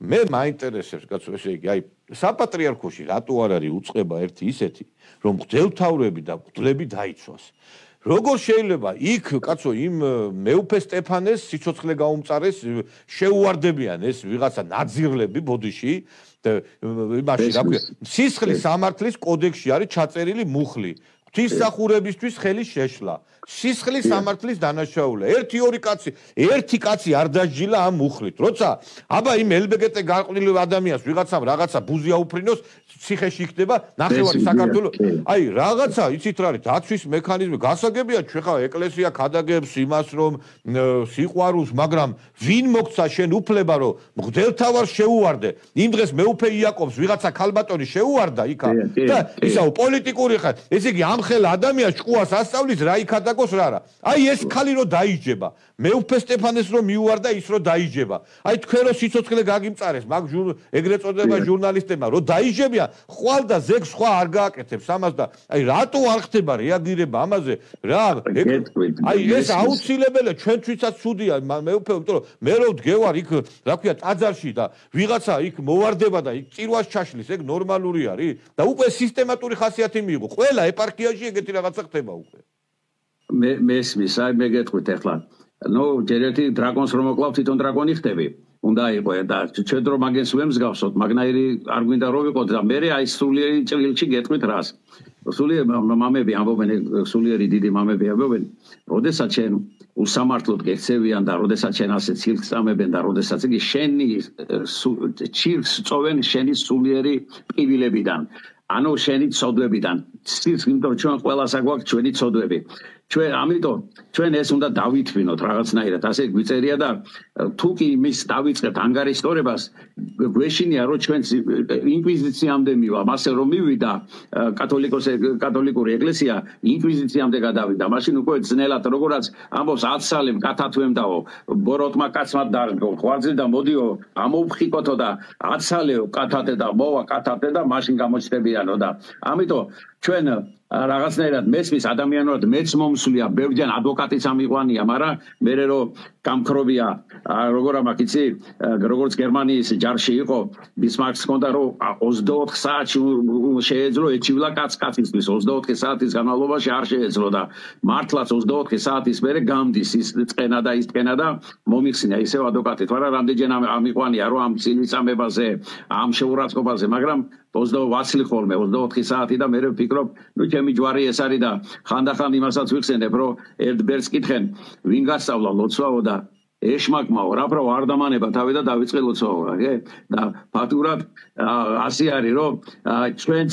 მე მაინტერესებს კაცო ესე იგი აი საპატრიარქოში რატო არ არის უწყება ერთი ისეთი რომ მღვდელმთავრები და მღვდლები დაიცვას როგორ შეიძლება იქ კაცო იმ მეუფე სტეფანეს სიცოცხლე გაუმწარეს შეუვარდებიან ეს ვიღაცა ნაძირლები ბოდიში იმაში რა ქვია სისხლის სამართლის კოდექსში არის ჩაწერილი მუხლი ღვთისმსახურებისთვის ხელის შეშლა სისხლის სამართლის დანაშაულა ერთი კაცი არ დასჯილა ამ მუხლით როცა აბა იმ LGBT გარყვნილ ადამიანს ვიღაცამ რაღაცა ბუზი აუფრინოს ციხეში იქნება ნახევარი საქართველოს აი რაღაცა იცით რა არის დაცვის მექანიზმი გასაგებია ჩვენ ხა ეკლესია ქადაგებს იმას რომ სიყვარულს მაგრამ ვინ მოგცა შენ უფლება რომ მღვდელმთავარს შეუვარდე იმ დღეს მეუფე იაკობს ვიღაცა ქალბატონი შეუვარდა იქა და ისაო პოლიტიკური ხარ ესე იგი ამ ხელ ადამიანს ჭკუას ასწავლის რა იქადაგოს რა რა აი ეს ქალი რო დაიჯება მეუფე სტეფანეს რო მიუვარდა ის რო დაიჯება აი თქვენ რო სიცოცხლე გაგიმწარეს მაგ ეგრეთ წოდება ჟურნალისტებმა რო დაიჯებია ხვალ და ზეგს სხვა არ გააკეთებს ამას და აი რატო არ ხდება რეაგირება ამაზე რა აი ეს აუცილებელია ჩვენთვისაც ცუდია მეუფე იმიტომ რომ მე რო ვდგევარ იქ რა ქვია ტაძარში და ვიღაცა იქ მოვარდება და იქ წირვას ჩაშლის ეგ ნორმალური არის და უკვე სისტემატური ხასიათი მიიღო ყველა ეპარქიაში ეგეთი რაღაცა ხდება უკვე მესმის აი მე გეტყვით ახლა ნუ ჯერეთი დრაკონს რომ მოკლავ თვითონ დრაკონი ხდები უნდა იყო და ჩვენ დრო მაგენს ვემსგავსოთ მაგნაირი არ გვინდა რომ ვიყოთ და მე აი სულიერი ჭრილში გეტყვით რას სულიერი მამები ამბობენ სულიერი დიდი მამები ამბობენ როდესაც ჩვენ უსამართლოდ გექცევიან და როდესაც ჩვენ ასე ცილს წამებენ და როდესაც იგი შენი ცილს წოვენ შენი სულიერი პრივილეგიიდან ანუ შენი ცოდვებიდან ცილს იმიტომ ჩვენ ყველას აგვაქვს ჩვენი ცოდვები ჩვენ ამიტომ ჩვენ ეს უნდა დავითვინოთ რაღაცნაირად ასე გვიწერია და თუ კი მის დავიწყებთ ანგარიშტორებას გვეშინია რომ ჩვენ ინკვიზიციამდე მივა მასე რომ მივიდა კათოლიკური ეკლესია ინკვიზიციამდე გადავიდა მაშინ უკვე ძნელად როგორაც ამბობს აცალემ კათათვემდაო ბოროტმა კაცმა დარგო ხვაძილ და მოდიო ამოვხიკოთო და აცალეო კათათე და მოვა კათათე და მაშინ გამოჩნდებიანო და ამიტომ ჩვენ რაღაცნაირად მესმის ადამიანურად მეც მომსვლია ბევრჯერ ადვოკატიც ამიყვანია მაგრამ მე რომ გამქრობია როგორ ამაკ იცი როგორც გერმანიის ჯარში იყო ბისმარკს ჰქონდა რომ 24 საათში შეეძლო ეჩივლა კაცისთვის 24 საათის განმავლობაში არ შეეძლო და მართლაც 24 საათის მერე გამდის ის წენა და ის წენა და მომიხსნა ისევ ადვოკატით მაგრამ რამდენჯერ ამიყვანია რომ ამ წინვისამებაზე ამ შეურაცხყოფაზე მაგრამ 28 ხოლმე 24 საათი და მე ვფიქრობ, ნუ ჩემი ჯვარი ეს არის და ხანდახან იმასაც ვიხსენებ, რომ ერთ ბერს კითხენ, ვინ გასწავლა ლოცვაო და ეშმაკმაო, რა არ დამანება თავი და დავიწყე ლოცვაო, და ფაქტურად ასე არის, რომ ჩვენც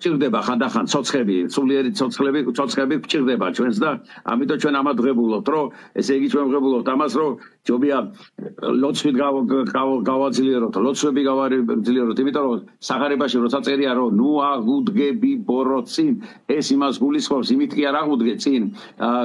ჭირდება ხანდახან ცოცხები, სულიერი ცოცხები ჭირდება ჩვენს და ამიტომ ჩვენ ამად ღებულობთ, რომ ესე იგი ჩვენ ღებულობთ ამას, რომ ჯობია ლოცვით გავაძლიეროთ, ლოცვები გავაძლიეროთ, იმიტომ რომ სახარებაში როცა წერია, რომ ნუ აღუდგები ბოროტსინ, ეს იმას გულისხმობს, იმით კი არ აღუდგე წინ,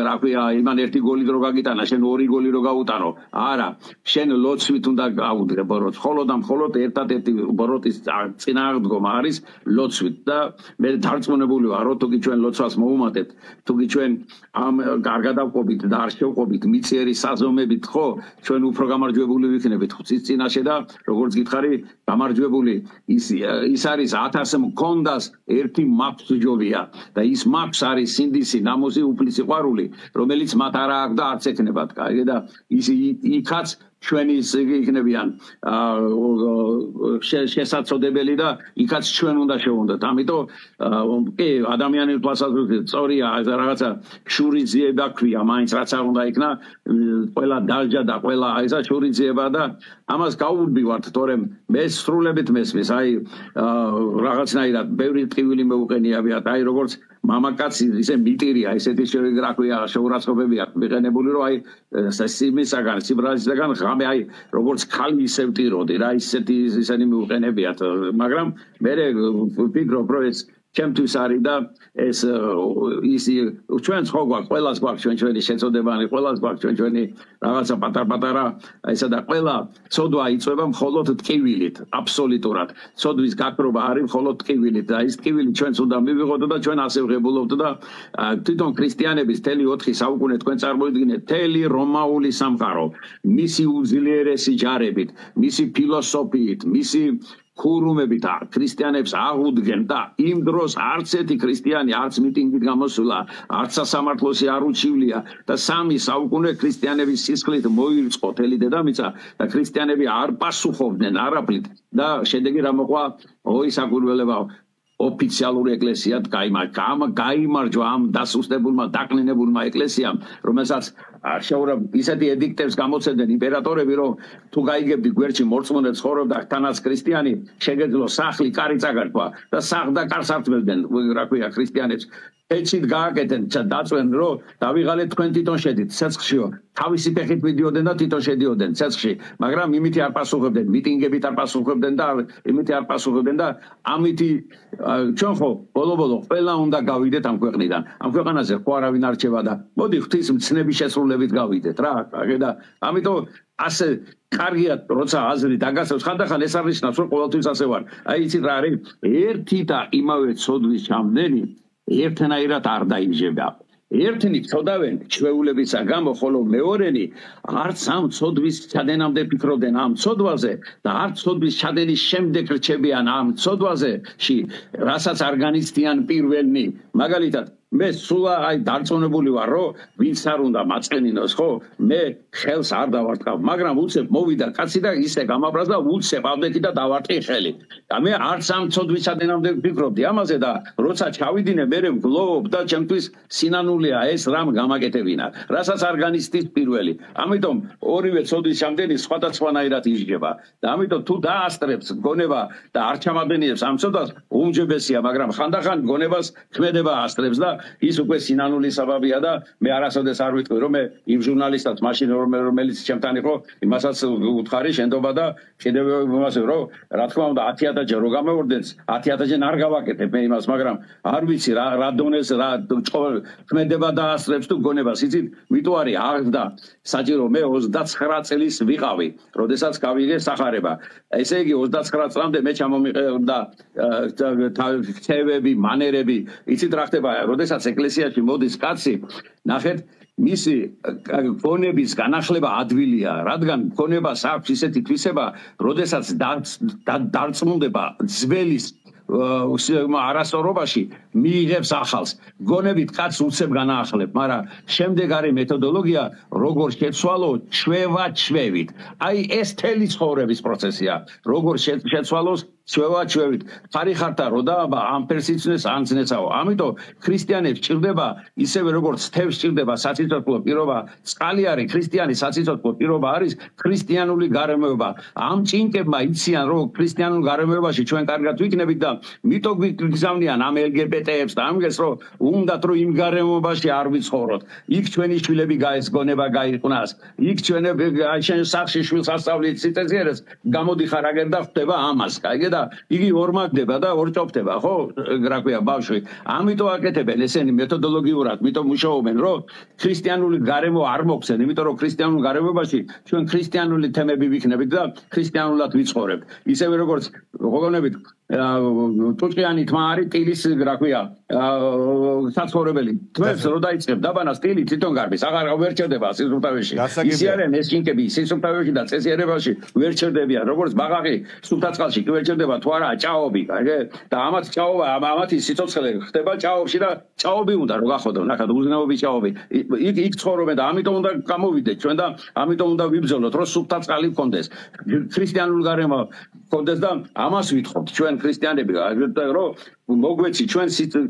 რა ქვია, იმან ერთი გოლი დრო გაგიტანა, შენ ორი გოლი რო გაუტანო. არა, შენ ლოცვით უნდა გაუდგე ბოროტს. მხოლოდ და მხოლოდ ერთადერთი ბოროტის წინააღმდეგობა არის ლოცვით და მე დარწმუნებული ვარ, რომ თუკი ჩვენ ლოცვას მოუმატებთ, თუკი ჩვენ ამ გარგადავყოფით და არ შევყოფით მიწიერი საზომებით, ხო, ჩვენ უფრო გამარჯვებული ვიქნებით ღვთის წინაშე და როგორც გითხარი, გამარჯვებული ის არის 1000 მქონდას ერთი მაქვს ჯობია და ის მაქვს არის სინდისი, ნამოზი, უფლის სიყვარული, რომელიც მათ არ აქვს და არც ექნებათ, კაი და ის იქაც ჩვენი იქნებიან შესაძლებელი და იქაც ჩვენ უნდა შევუნდეთ. ამიტომ კი ადამიანის თვალსაზრისით სწორია რაღაცა შურიძიება ქვია, მაინც რაც არ უნდა იქნა ყველა დალჯა და ყველა ესა შურიძიება და ამას გაუვდივართ, თორემ მე სრულებით მესმის, აი რაღაცნაირად ბევრი ტკივილი მეუყენიებიათ, აი როგორც მამაკაცი ისე მიტირია, ესეთი რა ქვია შეურაცხყოფები აქვს მიყენებული, რომ აი სიმისაგან, სიბრალისაგან ღამე აი როგორც ხალი ისე ვტიროდი რა, ისენი მიუყენებიათ, მაგრამ მე ვფიქრობ, რომ ეს ჩემთვის არის და ეს ჩვენც ხო გვაქვს, ყველას გვაქვს ჩვენი შეწოდებანი, ყველას გვაქვს ჩვენი რაღაცა პატარ-პატარა ესა და ყველა ცოდვა იწვება მხოლოდ ტკივილით, აბსოლუტურად. ცოდვის გაქრობა არის მხოლოდ ტკივილით და ის ტკივილი ჩვენც უნდა მივიღოთ და ჩვენ ასე ვღებულობთ და თვითონ ქრისტიანების მთელი 4 საუკუნე თქვენ წარმოიდგინეთ, მთელი რომაული სამყარო, მისი უძლიერესი ჯარებით, მისი ფილოსოფიით, მისი ქურუმებით ქრისტიანებს აღუდგენ და იმ დროს არც ერთი ქრისტიანი არც მიტინგით გამოსულა, არც სასამართლოში არ უჩივლია და 3 საუკუნე ქრისტიანების სისხლით მოირწყო თელი დედამიწა და ქრისტიანები არ პასუხობდნენ არაფრით და შედეგი რა მოყვა? ოი საკურველებაო, ოფიციალური ეკლესია გაიმარჯვა ამ დასუსტებულმა, დაკნინებულმა ეკლესიამ, რომელსაც ისეთი ედიქტებს გამოცემდნენ იმპერატორები, რომ თუ გაიგებდი გვერდში მორწმუნე ცხოვრობდა თანაც ქრისტიანი, შეგეძლო სახლი, კარი წაგართვა და სახლ და კარს ართმევდნენ, რა ქვია, ქრისტიანებს. ეცით გააკეთენ, დაწვენ, რომ დავიღალეთ თქვენ თვითონ შედით ცეცხლშიო. თავისი ფეხით მიდიოდნენ და თვითონ შედიოდნენ ცეცხლში, მაგრამ იმითი არ პასუხებდნენ, მიტინგებით არ პასუხებდნენ და იმითი არ პასუხებდნენ და ამითი ჩვენ ხო ბოლო-ბოლო ყველა უნდა გავიდეთ ამ ქვეყნიდან. ამ ქვეყანაზე ხო არავინ არ რჩება და მოდი ღვთის მცნების შესრულებით გავიდეთ რა, და ამიტომ ასე კარგია, როცა აზრი დაგასევს, ხანდახან ეს არნიშნავს, რომ ყოველთვის ასე ვარ. აი იცით რა არის? ერთი და იმავე ცოდვის ჩამდენი ერთნაირად არ დაიჯება. ერთნი ცოდავენ ჩვეულებისა გამო, ხოლო მეორენი არც ამ ცოდვის ჩადენამდე ფიქრობდნენ ამ ცოდვაზე და არც ცოდვის ჩადენის შემდეგ რჩებიან ამ ცოდვაზეში, რასაც არ განიცდიან პირველნი. მაგალითად მე სულ აი დარწმუნებული ვარ, რომ ვინც არ უნდა მაწყენინოს, ხო? მე ხელს არ დავარტყავ, მაგრამ უცებ მოვიდა კაცი და ისე გამაბრაზ და უცებ ავდექი და დავარტყი ხელი. და მე არც ამ ცოდვის ჩადენამდე ვფიქრობდი ამაზე და როცა ჩავიდინე, მე ვგლოვობ და ჩემთვის სინანულია ეს რამ გამაკეთებინა, რასაც არ განიცდის პირველი. ამიტომ ორივე ცოდვის ჩამდენი სხვადასხვანაირად იჯდება და ამიტომ თუ დაასწრებს გონება და არ ჩამადენიებს ამ ცოდვას, უმჯობესია, მაგრამ ხანდახან გონებას ქმედება ასწრებს და ის უკვე სინანულის საბაბია და მე არასოდეს არ ვიტყვი, რომ მე იმ ჟურნალისტად მაშინ რომელიც ჩემთან იყო, იმასაც უთხარი შენდობა და კიდევ იმას რომ რა თქმა უნდა 10000-ჯერ რო გამოვორდეთ, 10000-ჯერ არ გავაკეთებ მე იმას, მაგრამ არ ვიცი რა დონეს რა ქმედება და ასწრებს თუ გონებას, იცით, მიტყვარი აღდა საჭირო მე 29 წლის ვიყავი, როდესაც გავიგე სახარება. ესე იგი 29 წლამდე მე ჩამომიყევდა ქცევები, მანერები, იცით რა ხდება, როდესაც ეკლესიაში მოდის კაცი, ნახეთ, მისი გონების განახლება ადვილია, რადგან გონებას აქვს ისეთი თვისება, როდესაც დარწმუნდება ძველის არასწორობაში მიიღებს ახალს. გონებით კაცს უცებ განაახლებ, მაგრამ შემდეგ არის მეთოდოლოგია, როგორ შეცვალო ჩვევა ჩვევით. აი ეს თელი ცხოვრების პროცესია. როგორ შეცვალოს ჩვევით ხარი ხართა რო და ამ ფერსიცნეს ანცნესაო ამიტომ ქრისტიანებს ჭირდება ისევე როგორც თევს ჭირდება საციცოცხლო პირობა წყალი არის ქრისტიანი საციცოცხლო პირობა არის ქრისტიანული გარემოება ამ ჭინკებმა იციან რომ ქრისტიანულ გარემოებაში ჩვენ კარგად ვიქნებით და მითო გვიგზავნიან ამ LGBT-ებს და ამგეს რომ უნდათ რომ იმ გარემოებაში არ ვიცხოვროთ იქ ჩვენი შვილები გაესგონება გაიყვნას იქ ჩვენები შენ სახში შვილს ასწავლით სიტეზიერეს გამოდიხარ აგერ და ხვდება ამას კაიგე და იგი ორმაგდება და ორჭოფდება ხო რა ქვია ბავშვი ამიტომ აკეთებენ ესენი მეთოდოლოგიურად მითო მუშაობენ რომ ქრისტიანული გარემო არ მოხსენ იმიტომ რომ ქრისტიანულ გარემოებაში ჩვენ ქრისტიანული თემები ვიქნებით და ქრისტიანულად ვიცხოვრებთ ისევე როგორც გოგონებით ტუჭიანი თმა არის ტილის რა ქვია საცხოვრებელი თმებს რო დაიწყებ დაბანას ტილი თვითონ გარბის აღარ ვერ ჩერდება სისუფთავეში ისე არიან ეს ჩინკები სისუფთავეში და წესიერებაში ვერ ჩერდებიან როგორც ბაღაღი სუფთაწყალში კი ვერ ჩერდება თუ არა ჭაობი კაიგე და ამათ ჭაობა ამათი სიცოცხლე ხდება ჭაობში და ჭაობი უნდა რო გახოდო ნახეთ უზნეობის ჭაობი იქ ცხოვრობენ და ამიტომ უნდა გამოვიდეთ ჩვენ და ამიტომ უნდა ვიბრძოლოთ რომ სუფთაწყალი გქონდეს ქრისტიანულ გარემო გქონდეს და ამას ვითხოვთ ჩვენ ქრისტიანები რომ მოგვეცი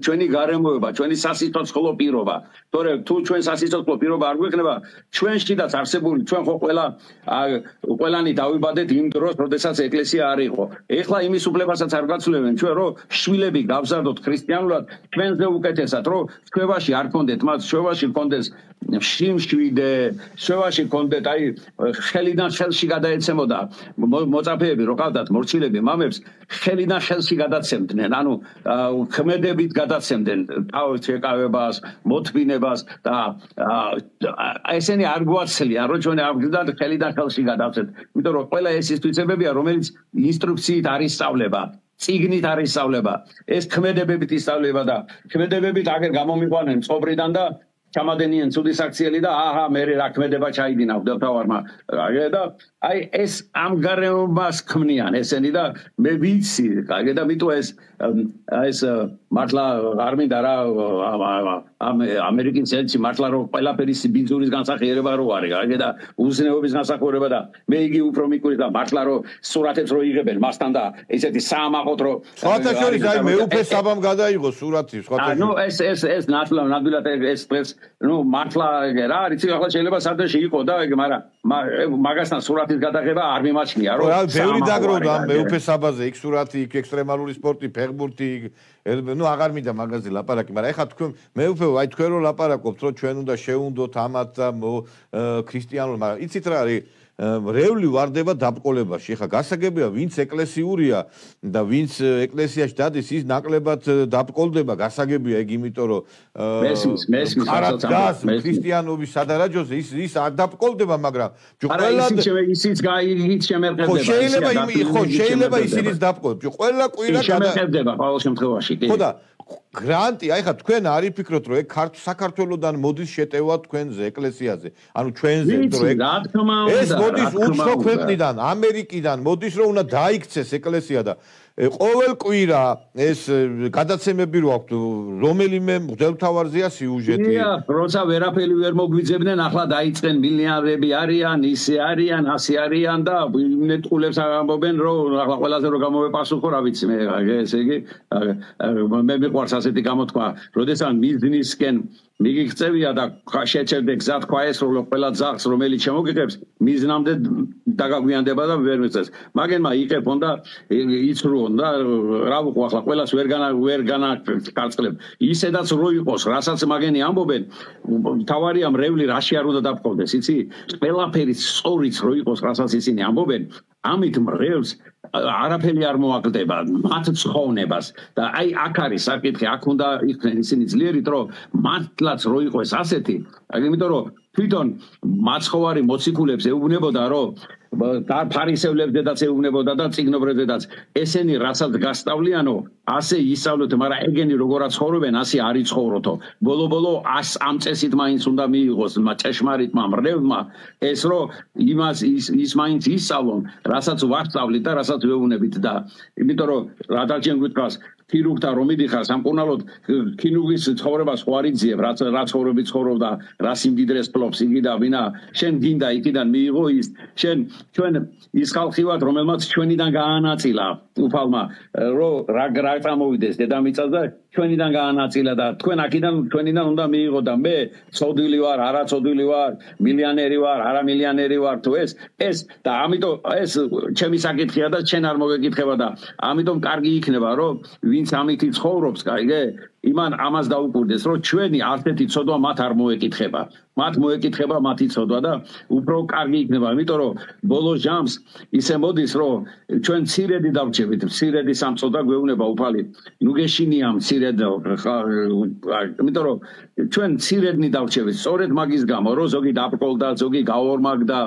ჩვენი გარემოება ჩვენი სასიცოცხლო პირობა თორემ თუ ჩვენ სასიცოცხლო პირობა არ გვექნება ჩვენშიდაც არსებული ჩვენ ხო ყველანი დავიბადეთ იმ დროს როდესაც ეკლესია არ იყო ეხლა იმის უფლებასაც არ გაცვლებენ ჩვენ რომ შვილები გავზარდოთ ქრისტიანულად ჩვენზე უკეთესად რომ ჩვევაში არ გქონდეთ მათ ჩვევაში გქონდეს შიმშვიდე ჩვევაში გქონდეთ აი ხელიდან ხელში გადაეცემოდა მოწაფეები რო ყავდათ მორჩილები მამებს ხელიდან ხელში გადაცემდნენ ანუ ქმედებით გადაცემდნენ თავის შეკავებას მოთმინებას და ესენი არ გვაცლიან რომ ჩვენ ამგზად ხელიდან ხელში გადავცეთ იმიტომ რომ ყველა ეს ის თვისებებია რომელიც ინსტრუქციით არის სწავლება წიგნით არის სწავლება ეს ქმედებებით ისწავლება და ქმედებებით აგერ გამომიყვანენ მწყობრიდან და ჩამადენიან ცუდი საქციელი და აჰა მე რა ქმედება ჩაიდინა უდევთავარმა და აი ეს ამ გარემობას ქმნიან ესენი და მე ვიცი კაიგე და მითო ეს მართლა არ მინდა რა ამერიკის ელჩი მართლა რომ ყველაფერი ბინძურის განსახიერება რო არის კაიგე და უზნეობის განსახიერება და მე იგი უფრო მიკურე და მართლა რომ სურათებს რო იღებენ მასთან და ესეთი საამაყოთ რო სხვათა შორის აი მეუფე საბამ გადაიღო სურათი სხვათა ნუ ეს ნამდვილად ეს ნუ მართლა რა არის ახლა შეიძლება სადაში იყო და მაგრამ მაგასთან სურათის გადაღება არ მიმაჩნია რომ რა ბევრი დაგროვდა ამ მეუფე საბაზე იქ სურათი იქ ექსტრემალური სპორტი ფეხბურთი ნუ აღარ მინდა მაგაზე ლაპარაკი მაგრამ ეხლა თქვენ მეუფე აი თქვენ რო ლაპარაკობთ რომ ჩვენ უნდა შევუნდოთ ამათ და ქრისტიანულ მაგრამ იცით რა არის რეული ვარდება დაბყოლებაში. ეხლა გასაგებია, ვინც ეკლესიურია და ვინც ეკლესიაში დადის, ის ნაკლებად დაბყოლდება, გასაგებია იქ, იმიტომ რომ მესმის ქრისტიანობის სადარაჯოზე ის არ დაბყოლდება, მაგრამ ყველა შეიძლება ისინიც დაბყოლდეს. ყველა კვირა შემეხედება ყოველ შემთხვევაში. ხო და გრანტი, აი ხა თქვენ არ იფიქროთ რომ ეგ საქართველოსდან მოდის შეტევა თქვენზე ეკლესიაზე. ანუ ჩვენზე რომ ეს მოდის უცხო ქვეყნიდან, ამერიკიდან მოდის რომ უნდა დაიქცეს ეკლესია და ყოველ კვირა ეს გადაცემები რო აქვს რომელიმე მღვდელმთავარზეა სიუჟეტი. როცა ვერაფერი ვერ მოგვიძებდნენ, ახლა დაიწყენ მილიონერები არიან, ისე არიან, ასე არიან და ნეტყულებს ამბობენ რომ ახლა ყველაზე რო გამოვეპასუხო, რა ვიცი მე ესე იგი მე მიყვარს ასეთი გამოთქვა, როდესაც მიზნისკენ მიგიღწევია და შეჩერდე გზად ქვაესრულო ყველა ძაღლს რომელიც შემოგიღებს მიზნამდე დაგაგვიანდება და ვერ მიწეს მაგენმა იყებონ და იცრუონ და რა ვუყო ახლა ყველას ვერ განაკარწყლებ ისედაც რო იყოს რასაც მაგენი ამბობენ თავარია მრევლი რაში არ უნდა დაბყოლდეს იცი ყველაფერი სწორიც რო იყოს რასაც ისინი ამბობენ ამით მრევლს არაფერი არ მოაკლდება მათ ცხოვნებას და აი აქ არის საკითხი აქ უნდა იქნեն ისინი ძლიერით რომ მართლაც რო იყოს ასეთი იმიტომ რომ თვითონ მაცხოვარი მოციქულებს ეუბნებოდა რომ და ფარისევლებს ეუბნებოდა და წიგნობრებსაც ესენი რასაც გასწავლიანო ასე ისწავლოთ მაგრამ ეგენი როგორაც ცხოვრობენ ასე არ იცხოვროთო ბოლო-ბოლო ამ წესით მაინც უნდა მიიღოს ჭეშმარიტმა მრევლმა ეს რომ იმას ის მაინც ისწავლონ რასაც ვასწავლით და რასაც ვეუბნებით და იმიტომ რომ რა დაჩენ გითხრას ქირურგთან რომ მიდიხარ სამკურნალოდ ქირურგის ცხოვრებას ხო არ იძიებ რა ცხოვრები ცხოვრობდა რა სიმდიდრეს ფლობს იგი და ვინა შენ გინდა იქიდან მიიღო ის ჩვენ ის ხალხი ვართ რომელმაც ჩვენიდან გაანაწილა უფალმა რა წამოვიდეს დედამიწას და ჩვენიდან გაანაწილა და თქვენ აქედან ჩვენიდან უნდა მიიღო და მე ცოდვილი ვარ არაცოდვილი ვარ მილიონერი ვარ არა მილიონერი ვარ თუ ეს და ამიტომ ეს ჩემი საკითხია და შენ არ მოგეკითხება და ამიტომ კარგი იქნება რომ ვინც ამითი ცხოვრობს კაიგე იმან ამას დაუკვირდეს რომ ჩვენი ასეთი ცოდვა მათ არ მოეკითხება მათ მოეკითხება მათი ცოდვა და უფრო კარგი იქნება იმიტომ რომ ბოლო ჟამს ისე მოდის რომ ჩვენ ცირედი დავრჩებით ცირედი სამწოდა გვეუბნება უფალი ნუ გეშინია ცირედი იმიტომ რომ ჩვენ ცირედნი დავრჩებით სწორედ მაგის გამო რომ ზოგი დაბრკოლდა ზოგი გაორმაგდა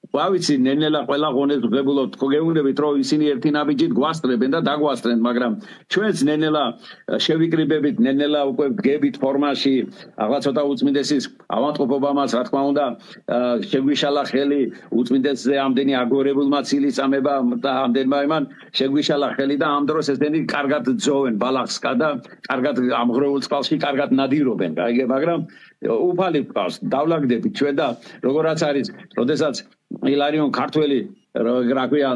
ვავიცი ნენელა ყველა ღონეს ღებულობთ გეუბნებით რომ ისინი ერთი ნაბიჯით გვასწრებენ და დაგვასწრენ მაგრამ ჩვენც ნენელა შევიკრიბებით ნენელა უკვე გებით ფორმაში აღარ ცოტა უწმინდესის ავადმყოფობამაც რა თქმა უნდა შეგვიშალა ხელი უწმინდესზე ამდენი აგორებულმა ცილისამება და ამდენმა იმან შეგვიშალა ხელი და ამ დროს ესენი კარგად ძოვენ ბალახსკა და კარგად ამღრეულ წყალში კარგად ნადირობენ გაიგე მაგრამ უფალი გყავს დავლაგდებით ჩვენ და როგორაც არის როდესაც ილარიონ ქართველი რა ქვია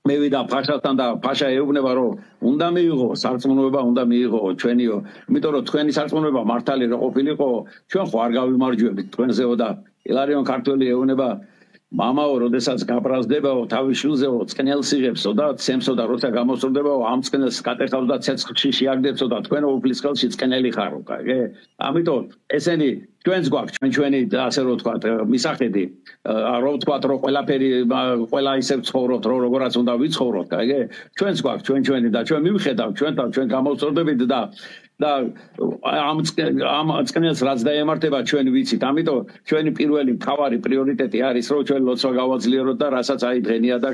მე ვიდა ფაშასთან და ფაშა ეუბნება რომ უნდა მიიღო სარწმუნოება უნდა მიიღო ჩვენიო იმიტომ რომ თქვენი სარწმუნოება მართალი რო ყოფილიყო ჩვენ ხო არ გავიმარჯვებით თქვენზეო და ილარიონ ქართველი ეუბნება მამაო როდესაც გაბრაზდებაო თავის შვილზეო წყნელს იღებსო და ცემსო და როცა გამოსწორდებაო ამ წყნელს კატეხავს და ცეცხლში შეაგდებსო და თქვენო უფლის ხელში წყნელი ხარო კაიგე ამიტომ ესენი ჩვენს გვაქვს ჩვენი ასე რომ ვთქვა მისახედი რომ ვთქვა რომ ყველა ისე ცხოვრობთ რომ როგორაც უნდა ვიცხოვროთ კაიგე ჩვენს გვაქვს ჩვენი და ჩვენ მივხედავთ ჩვენ გამოსწორდებით და ამ წყნელს რაც დაემართება ჩვენ ვიცით ამიტომ ჩვენი პირველი მთავარი პრიორიტეტი არის რომ ჩვენ ლოცვა გავაძლიეროთ და რასაც აი დღენია და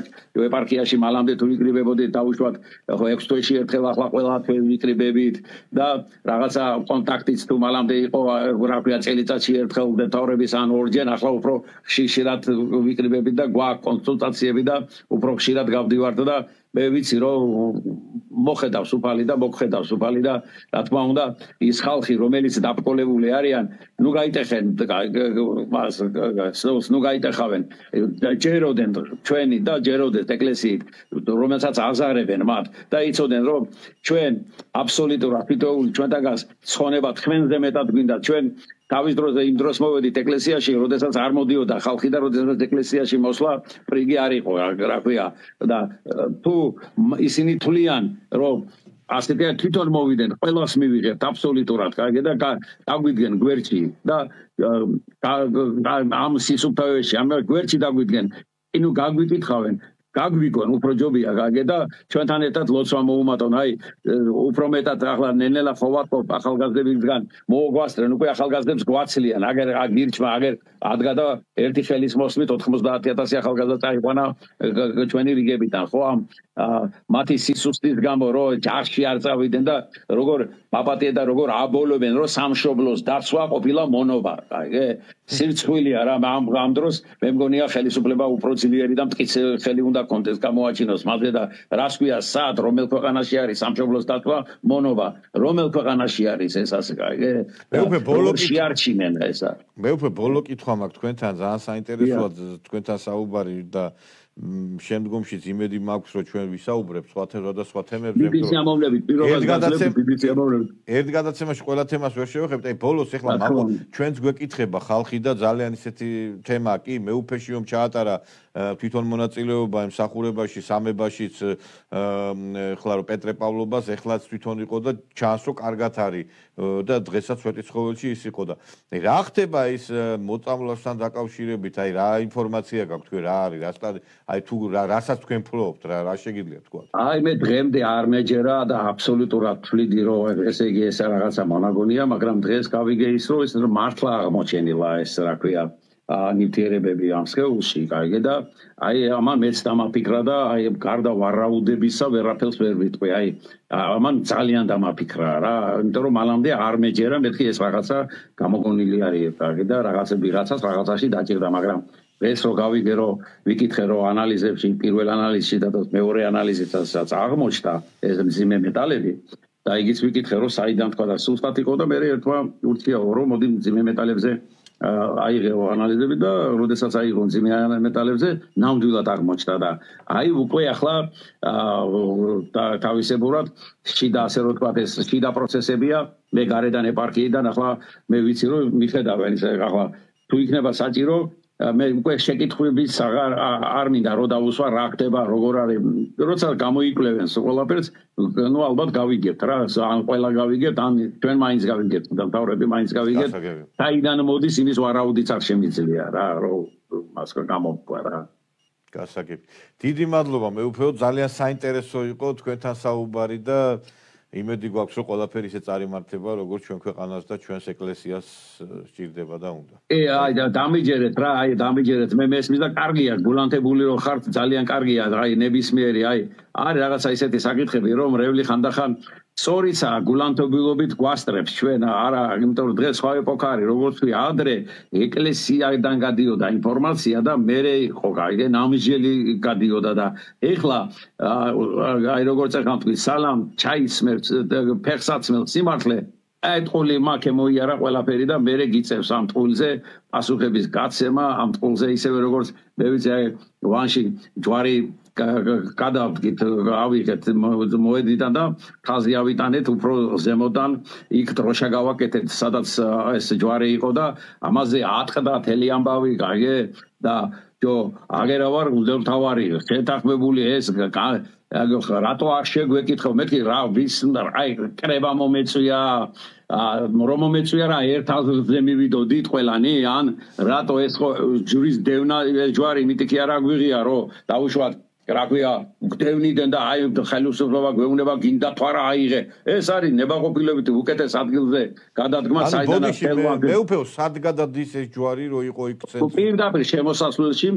ეპარქიაში მალამდე თუ ვიკრიბებოდით დაუშვათ 6 თვეში ერთხელ ახლა ყველა თვე ვიკრიბებით და რაღაცა კონტაქტიც თუ მალამდე იყო რა ქვია წელიწადში ერთხელ დეტავრების ან ორჯერ ახლა უფრო ხშირად ვიკრიბებით და გვაქვს კონსულტაციები და უფრო ხშირად გავდივართ და მე ვიცი რომ მოხედავს უფალი და მოგხედავს უფალი და რა თქმა უნდა ის ხალხი რომელიც დაბრკოლებული არიან ნუ გაიტეხენ ნუ გაიტეხავენ ჯეროდენ ჩვენი და ჯეროდეს ეკლესიით რომელსაც აზარებენ მათ და იცოდნენ რომ ჩვენ აბსოლუტურად თითოეული ჩვენთაგანს ცხონება თქვენზე მეტად გვინდა ჩვენ თავის დროზე იმ დროს მოვედით ეკლესიაში, როდესაც არ მოდიოდა ხალხი და როდესაც ეკლესიაში მოსვლა პრიგი არ იყო, რა ქვია. და თუ ისინი თვლიან, რომ ასეთი თვითონ მოვიდნენ, ყველას მივიღებთ აბსოლუტურად, კარგი და დაგვიდგენ გვერდში და ამ სისუფთავეში, ამ გვერდში დაგვიდგენ, ინუ გაგვიკითხავენ გაგვიგონ უფრო ჯობია გაგე და ჩვენთან ერთად ლოცვა მოუმატონ აი უფრო მეტად ახლა ნენელა ხო ვატყობ ახალგაზრდებისგან მოგვასწრენ უკვე ახალგაზრდებს გვაცლიან აგერ გირჩმა აგერ ადგა და ერთი ხელის მოსმით 90000 ახალგაზრდა წაიყვანა ჩვენი რიგებიდან ხო ამ მათი სისუსტის გამო რომ ჯარში არ წავიდნენ და როგორ პაპატია და როგორ აბოლობენ რომ სამშობლოს დაცვა ყოფილა მონობა კაიგე სირცხვილია რა ამ დროს მე მგონია ხელისუფლება უფრო ძლიერი და მტკიცე ხელი უნდა კონტექსტ გამოაჩინოს მაგე და რას ქვია სად რომელ ქვეყანაში არის სამშობლოს დაცვა მონობა რომელ ქვეყანაში არის ეს ასე კაიგე მე უკვე ბოლო შეარჩინენ ესა მე უკვე ბოლო კითხვა მაქვს თქვენთან ძალიან საინტერესოა თქვენთან საუბარი და შემდგომშიც იმედი მაქვს რომ ჩვენ ვისაუბრებთ სხვა თემებზე ერთ გადაცემაში ყველა თემას ვერ შევეხებთ აი ბოლოს ეხლა ჩვენც გვეკითხება ხალხი და ძალიან ისეთი თემა კი მეუფეში რომ ჩაატარა თვითონ მონაწილეობა მსახურებაში სამებაშიც ეხლა რომ პეტრე პავლობას ეხლაც თვითონ იყო და ჩანს რომ კარგად არის და დღესაც სვეტიცხოველში ის იყო და რა ხდება ის მოწამვლასთან დაკავშირებით აი რა ინფორმაცია გაქვთ თქვენ რა არის რა აი თუ რასაც თქვენ ფლობთ რა შეგიძლიათ თქვა აი მე დღემდე არ მეჯერა და აბსოლუტურად თვლიდი რომ ესე იგი ეს რაღაცა მონაგონია მაგრამ დღეს გავიგე ის რომ მართლა აღმოჩენილა ეს რა ქვია ნივთიერებები ამ სხეულში კაიგე და აი ამან მეც დამაფიქრა და აი გარდა ვარაუდებისა ვერაფერს ვერ ვიტყვი აი ამან ძალიან დამაფიქრა რა იმიტომ რომ მალამდე არ მეჯერა მეთქი ეს რაღაცა გამოგონილი არის კაიგე და ვიღაცას რაღაცაში დაჭირდა მაგრამ ეს რო გავიგე რომ ვიკითხე რომ ანალიზებში პირველ ანალიზში და მეორე ანალიზითაც აღმოჩნდა ეს მძიმე მეტალები და იგიც ვიკითხე რომ საიდან თქვა და სუსტად იყო და მე ერთმა ურჩია რომ მოდი მძიმე მეტალებზე აიღო ანალიზები და როდესაც აიღო მძიმე მეტალებზე ნამდვილად აღმოჩნდა და აი უკვე ახლა თავისებურად შიდა ასე რომ თქვა ეს შიდა პროცესებია მე გარედან ეპარქიიდან ახლა მე ვიცი რომ მიხედავენ ეს ახლა თუ იქნება საჭირო მე უკვე შეკითხვების არ მინდა რომ დავუსვა რა ხდება როგორ არის როცა გამოიკვლევენ ყველაფერს ნუ ალბათ გავიგებთ რა ან ყველა გავიგებთ ან ჩვენ მაინც გავიგებთ და თავრები მაინც გავიგებთ საიდან მოდის იმის ვარაუდიც არ შემიძლია რა რომ მას გამოვყვა რა გასაგები დიდი მადლობა მეუფეო ძალიან საინტერესო იყო თქვენთან საუბარი და იმედი გვაქვს რომ ყველაფერი ისე წარიმართება როგორც ჩვენ ქვეყანას და ჩვენს ეკლესიას სჭირდება და უნდა. აი და დამიჯერეთ რა, აი დამიჯერეთ მე მესმის და კარგია გულანთებული რომ ხართ ძალიან კარგია აი ნებისმიერი აი არის რაღაცა ისეთი საკითხები რომ რევლი ხანდახან სწორიცა გულანთობილობით გვასწრებს ჩვენ არა იმიტომ რომ დღეს სხვა ეპოქა არის როგორც ვი ადრე ეკლესიიდან გადიოდა ინფორმაცია და მერე იყო გაიგე ნამიჯელი გადიოდა და ეხლა აი როგორც ახლა თქვი სალამ ჩაისმევს ფეხსაცმელს სიმართლე ეთყული მაქე მოიარა ყველაფერი და მერე გიწევს ამ ტყულზე პასუხების გაცემა ამ ტყულზე ისევე როგორც მე ვიცი აი ვანში ჯვარი გადავდგით ავიღეთ მოედიდან და ხაზი ავიტანეთ უფრო ზემოდან იქ დროშა გავაკეთეთ სადაც ეს ჯვარი იყო და ამაზე ატყდა თელი ამბავი გაიგე და ჯო აგერა ვარ მდელთავარი შეთანხმებული ეს რატო არ შეგვეკითხო მეთქი რა ვის აი კრება მომეწვია რომ მომეწვია რა ერთ აზრზე მივიდოდით ყველანი ან რატო ეს ჯვრის დევნა ჯვარი მიტიკი არ აგვიღია რომ დაუშვათ რა ქვია გდევნიდან და აი ხელისუფლება გვეუბნება გინდა თუ არა აიღე ეს არის ნებაყოფილებით უკეთეს ადგილზე გადადგმა საიდანაც თელვა მეუფეო სად გადადის ეს ჯვარი რო იყო იქ ცენტრში პირდაპირ შემოსასვლელში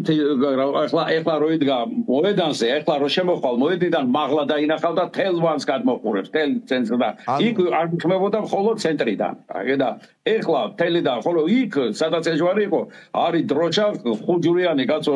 ეხლა რო იდგა მოედანზე ეხლა რო შემოხვალ მოედნიდან მაღლა დაინახავ და თელვანს გადმოყურებს თელ ცენტრს და იქ არ გიხმებოდა მხოლოდ ცენტრიდან აგედა ეხლა თელიდან ხოლო იქ სადაც ეს ჯვარი იყო არის დროშა ხუჯურიანი კაცო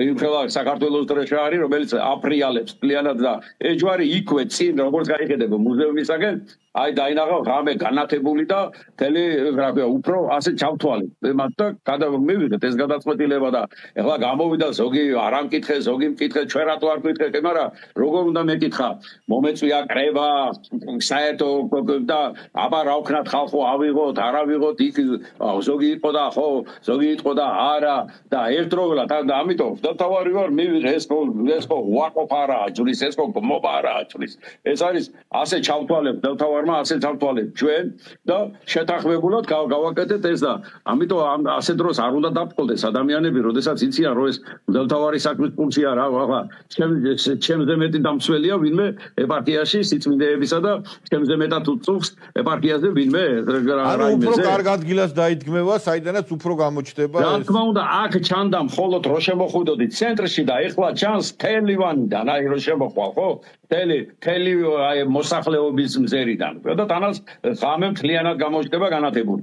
იმხელა საქართველოს დროშა არის რომელიც აფრიალებს კლიანად და ეს ჯვარი იქვე წინ როგორც გაიხედება მუზეუმისაგან აი დაინახავ რამე განათებული და თელი რა ქვია უფრო ასე ჩავთვალე მათ და გადამივიღეთ ეს გადაწყვეტილება და ეხლა გამოვიდა ზოგი არ ამკითხე ზოგი მკითხე ჩვენ რატო არ მკითხეთ მაგრამ როგორ უნდა მეკითხა მომეწვია კრება საერთო და აბა რა ვქნათ ხალხო ავიღოთ არ ავიღოთ იქ ზოგი იყო და ხო ზოგი იყო და არა და ერთდროულად და ამიტომ დავთავარი ვარ მივიღე ეს ხო ვაკოფარა ჯურის ეს ხო მობარა ჯურის ეს არის ასე ჩავთვალებ დავთავარმა ასე ჩავთვალებ ჩვენ და შეთანხმებულად გავაკეთეთ ეს და ამიტომ ასე დროს არ უნდა დაფყოლდეს ადამიანები როდესაც იციან რომ ეს დავთავარი საქმის ფუნქცია რა ახლა ჩემზე მეტი დამცველია ვინმე ეპარქიაში სიწმინდეებისა და ჩემზე მეტად უწუხს ეპარქიაზე ვინმე ანუ უფრო კარგ ადგილას დაიდგმევა საიდანაც უფრო გამოჩნდება ეს რა თქმა უნდა აქ ჩანდა მხოლოდ რო შემოხვიდოდი ცენტრში და ეხლა ჩანს თელივანიდან აი რო შემოხვალ ხო თელი აი მოსახლეობის მზერიდან და თანაც ღამე მთლიანად გამოჩნდება განათებული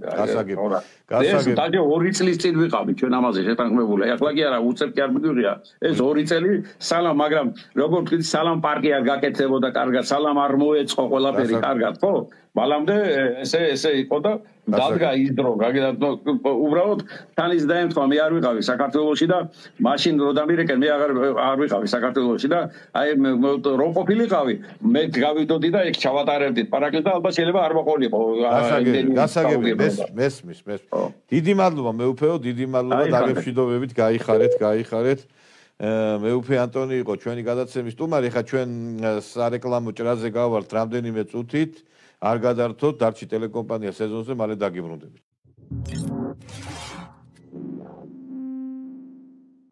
ეს დაჟე 2 წლის წინ ვიყავი ჩვენ ამაზე შეთანხმებული ეხლა კი არა უწევ კი არ მივიღია ეს 2 წელი სალამ მაგრამ როგორ თქვი სალამ პარკი არ გაკეთებოდა კარგად სალამ არ მოეწყო ყველაფერი კარგად ხო მალამდე ესე იყო და დადგა ის დრო უბრალოდ თან ის დაემთხვა მე არ ვიყავი საქართველოში და მაშინ რო დამირეკენ მე არ ვიყავი საქართველოში და აი რო ყოფილიყავი მე გავიდოდი და ეგ ჩავატარებდით პარაკლეს და ალბათ შეიძლება არ მოყოლიყო გასაგები მესმის დიდი მადლობა მეუფეო დიდი მადლობა დაგემშვიდობებით გაიხარეთ მეუფე ანტონი იყო ჩვენი გადაცემის სტუმარი ხა ჩვენ სარეკლამო ჭრაზე გავართ რამდენიმე წუთით არ გადართოთ დარჩი ტელეკომპანია სეზონზე მალე დაგიბრუნდებით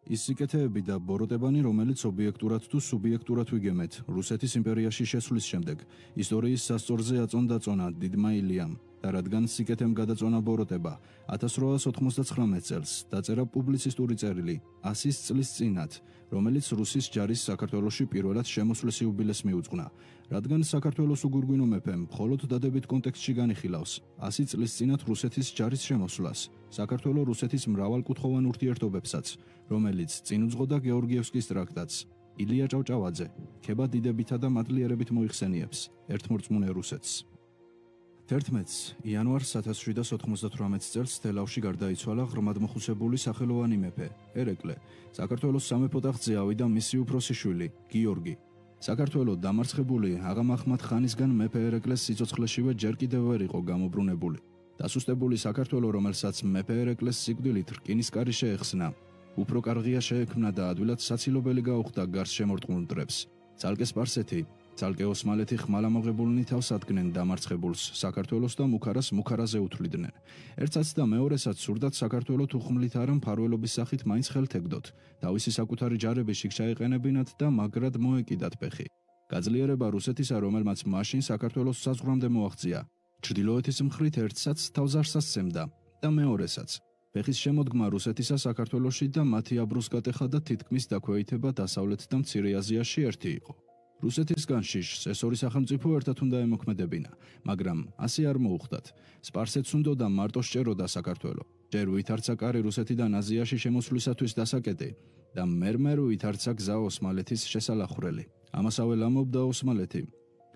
ის სიკეთეები და ბოროტებანი, რომელიც ობიექტურად თუ სუბიექტურად ვიგემეთ, რუსეთის იმპერიაში შესვლის შემდეგ, ისტორიის სასწორზე აწონდაწონა დიდმა ილიამ და რადგან სიკეთემ გადაწონა ბოროტება 1899 წელს დაწერა პუბლიცისტური წერილი 100 წლის წინათ, რომელიც რუსის ჯარის საქართველოში პირველად შემოსვლის იუბილეს მიუძღვნა. რადგან საქართველოს უგურგვინო მეფემ მხოლოდ დადებით კონტექსტში განიხილავს 100 წლის წინათ რუსეთის ჯარის შემოსვლას, საქართველოს რუსეთის მრავალკუთხოვან ურთიერთობებსაც, რომელიც წინ უძღოდა გეორგიევსკის ტრაქტატს. ილია ჭავჭავაძე ქება დიდებითა და მადლიერებით მოიხსენიებს ერთმორწმუნე რუსეთს. 11 იანვარს 1798 წელს თელავში გარდაიცვალა ღრმადმოხუცებული სახელოვანი მეფე ერეკლე. საქართველოს სამეფო ტახტზე ავიდა მისი უფროსი შვილი გიორგი. საქართველოს დამარცხებული აღამ აჰმად ხანისგან მეფე ერეკლეს სიცოცხლეშივე ჯერ კიდევ ვერ იყო გამობრუნებული. დასუსტებული საქართველოს, რომელსაც მეფე ერეკლეს სიკვდილით რკინისკარი შეეხსნა, უფრო კარგია შეექმნა და ადვილად საცილობელი გაუხდა გარს შემორტყმულ მტრებს. ცალკე სპარსეთი, ცალკე ოსმალეთი ხმალამოღებულნი თავს ადგენენ დამარცხებულს საქართველოს და მუქარას მუქარაზე უთვლიდნენ. ერთსაც და მეორესაც სურდათ საქართველოს უხმლით არა მფარველობის სახით მაინც ხელთ ეგდოთ, თავისი საკუთარი ჯარები შიგ ჩაეყენებინათ და მაგრად მოეკიდათ ფეხი. გაძლიერება რუსეთისა, რომელმაც მაშინ საქართველოს საზღვრამდე მოაღწია, ჩრდილოეთის მხრით ერთსაც თავზარს ასცემდა და მეორესაც. ფეხის შემოდგმა რუსეთისა საქართველოში და მათი აბრუსკატეხა და თითქმის დაქვეითება დასავლეთ და მცირე აზიაში ერთი იყო. რუსეთისგან შიშს ეს ორი სახელმწიფო ერთად უნდა ემოქმედებინა, მაგრამ ასე არ მოუხდათ. სპარსეთს უნდოდა მარტო სჭეროდა საქართველო. ჯერ ვითარცა კარი რუსეთიდან აზიაში შემოსვლისათვის დასაკეტი და მერმერ ვითარცა გზა ოსმალეთის შესალახვრელი. ამასავე ლამობდა ოსმალეთი.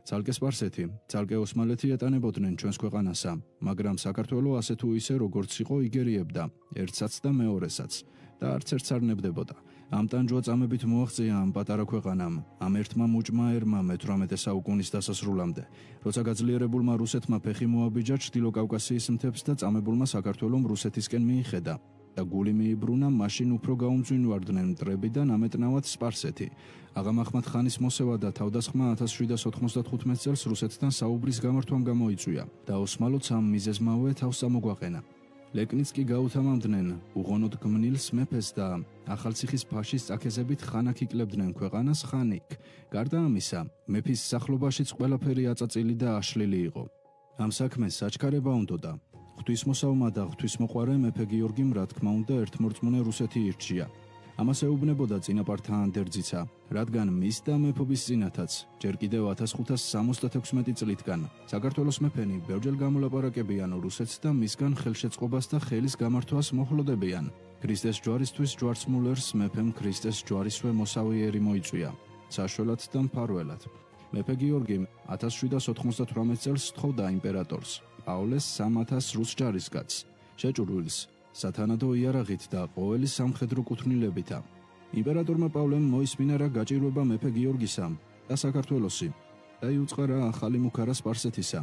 ცალკე სპარსეთი, ცალკე ოსმალეთი ეტანებოდნენ ჩვენს ქვეყანასა, მაგრამ საქართველო ასე თუ ისე როგორც იყო იგერიებდა, ერთსაც და მეორესაც და არც ერთს არ ნებდებოდა. ამ ტანჯვა წამებით მოაღწია ამ პატარა ქვეყანამ, ამ ერთმა მუჭმა ერმა მე-18 საუკუნის დასასრულამდე, როცა გაძლიერებულმა რუსეთმა ფეხი მოაბიჯა ჩრდილო კავკასიის მთებს და წამებულმა საქართველომ რუსეთისკენ მიიხედა და გული მიიბრუნა, მაშინ უფრო გაუმძვინვარდნენ მტრები და ნამეტნავად სპარსეთი. აღამ აჰმად ხანის მოსევა და თავდასხმა 1795 წელს რუსეთთან საუბრის გამართვამ გამოიწვია და ოსმალოც ამ მიზეზმავე თავს ამოგვაყენა. ლეკნიც კი გაუთამამდნენ უღონოდ გმნილს მეფეს და ახალციხის ფაშის წაქეზებით ხანაკ იკლებდნენ ქვეყანას ხანიკ. გარდა ამისა, მეფის სახლობაშიც ყველაფერი აწაწილი და აშლილი იყო. ამ საქმეს საჩქარება უნდოდა. ღვთისმოსავმა და ღვთისმოყვარე მეფე გიორგიმ რა თქმა უნდა ერთმორწმუნე რუსეთი ირჩია. ამას ეუბნებოდა წინაპართა ანდერძიცა, რადგან მის და მეფობის წინათაც, ჯერ კიდევ 1576 წლითგან, საქართველოს მეფენი ბევრჯერ გამოლაპარაკებიან რუსეთს და მისგან ხელშეწყობას და ხელის გამართვას მოჰლოდებიან. ქრისტეს ჯვარისთვის ჯვარცმულერს მეფემ ქრისტეს ჯვარისვე მოსავიერი მოიწვია, საშველად და მფარველად. მეფე გიორგიმ 1798 წელს თხოვდა იმპერატორს, პავლეს 3000 რუს ჯარისკაცს, შეჭურვილს, სათანადო იარაღით და ყოველი სამხედრო კუთვნილებითა. იმპერატორმა პავლემ მოისმინა რა გაჭირვება მეფე გიორგისა და საქართველოსი და იუწყარა ახალი მუქარა სპარსეთისა,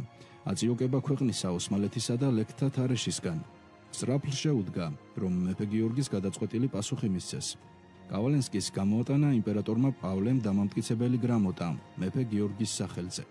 აწიოკება ქვეყნისა ოსმალეთისა და ლეკთა თარეშისგან. სწრაფლ შეუდგა, რომ მეფე გიორგის გადაწყვეტილი პასუხი მისცეს. კავალენსკის გამოატანა იმპერატორმა პავლემ დამამტკიცებელი გრამოტა მეფე გიორგის სახელზე.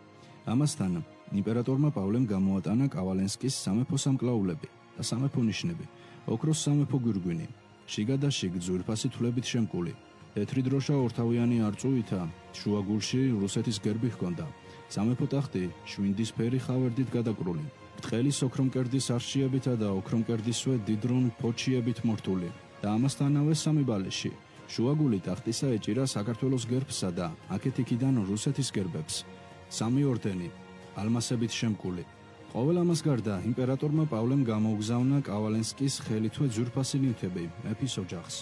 ამასთან იმპერატორმა პავლემ გამოატანა კავალენსკის სამეფო სამკლაულები და სამეფო ნიშნები, ოქროს სამეფო გვირგვინი, შიგა და შიგ ძვირფასი თვლებით შემკული, თეთრი დროშა ორთავიანი არწუვითა, შუაგულში რუსეთის გერბი ჰქონდა, სამეფო ტახტი შვინდისფერი ხავერდით გადაკრული, ბრტყელის ოქრომკერდის არშიებითა და ოქრომკერდისვე დიდრონ ფოჩიებით მორთული და ამასთანავე სამი ბალეში. შუაგული ტახტისა ეჭირა საქართველოს გერბსა და აქეთ-იქიდან რუსეთის გერბებს. სამი ორდენი, ალმასებით შემკული. ყოველ ამას გარდა იმპერატორმა პავლემ გამოუგზავნა კავალენსკის ხელითვე ძვირფასი ნივთები მეფის ოჯახს.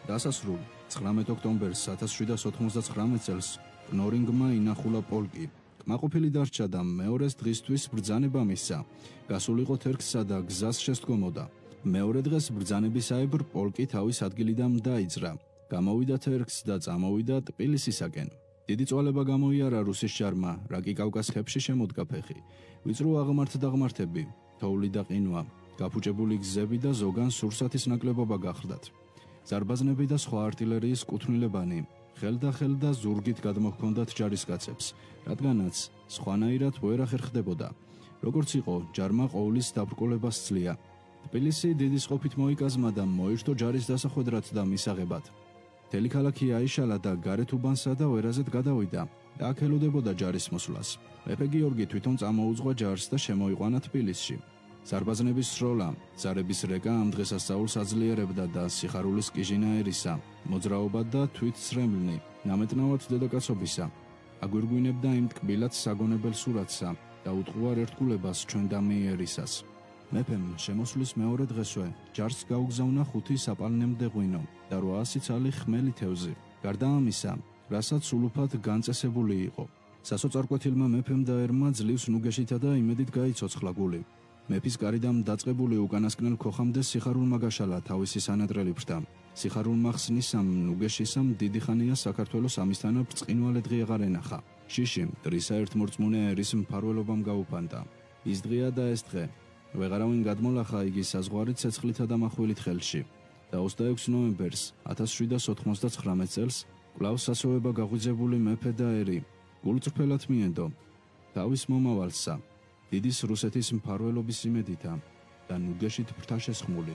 დასასრულ 19 ოქტომბერს 1799 წელს ნორინგმა ინახულა პოლკი. კმაყოფილი დარჩა და მეორეს დღისთვის ბრძანება მისცა. გასულიყო თერგსა და გზას შესდგომოდა. მეორე დღეს ბრძანებისაებრ პოლკი თავის ადგილიდან დაიძრა. გამოვიდა თერგს და წამოვიდა ტბილისისაკენ. დიდი წვალება გამოიარა რუსის ჯარმა, რა კი კავკასიებში შემოდგა ფეხი. ვიწრო აღმართდაღმართები, თოვლი და ყინვა, გაფუჭებული გზები და ზოგან სურსათის ნაკლებობა გახლდათ. ზარბაზნები და სხვა артиლერიის კუთვნილებანი, ხელდა და ზურგით გადმოჰქონდათ ჯარისკაცებს, რადგანაც სხვანაირად ვერ ახერხდებოდა. როგორც იყო, ჯარმა ყოვლის დაბრკოლებას სძლია. თბილისი დიდი სყოფით მოიკაზმა და მოირთო ჯარის დასახვედრად და მისაღებად. მთელი ქალაქი აიშალა და გარეთ უბანსა და ვერაზეთ გადავიდა და აქ ელოდებოდა ჯარის მოსვლას. მეფე გიორგი თვითონ წამოუძღვა ჯარს და შემოიყვანა თბილისში. ზარბაზნების სროლა, ზარების რეკა ამ დღესასწაულს აძლიერებდა და სიხარულის კიჟინა ერისა, მოძრაობა და თვითცრემლნი, ნამეტნავად დედაკაცობისა, აგვირგვინებდა იმ ტკბილად საგონებელ სურათსა და უტყუარ ერთგულებას ჩვენ დამიერისას. მეფემ შემოსვლის მეორე დღესვე ჯარს გაუგზავნა 5 საპალნემდე ღვინო და 800 ცალი ხმელი თევზი. გარდა ამისა, რასაც სულუფად განწესებული იყო. სასოწარკვეთილმა მეფემ და ერმა ძლივს ნუგეშითა და იმედით გაიცოცხლა გული. მეფის კარიდამ დაწყებული უკანასკნელ ქოხამდე სიხარულმა გაშალა თავისი სანატრელი ბრდა. სიხარულმა ხსნისამ ნუგეშისამ დიდი ხანია საქართველოს ამისთანა ბრწყინვალე დღე აღარ ენახა. შიში მტრისა ერთმორწმუნე ერის მფარველობამ გაუფანტა. ის დღეა და ეს დღე. ვეღარავინ გადმოლახა იგი საზღვარი ცეცხლითა და מחვილით ხელში. და 26 ნოემბერს 1799 წელს კვლავ სასოება გაღვიძებული მეფე და ერი გულწრფელად მიენდო თავის მომავალსა დიდის რუსეთის მფარველობის იმედითა და ნუგეშით ბრთა შესხმული.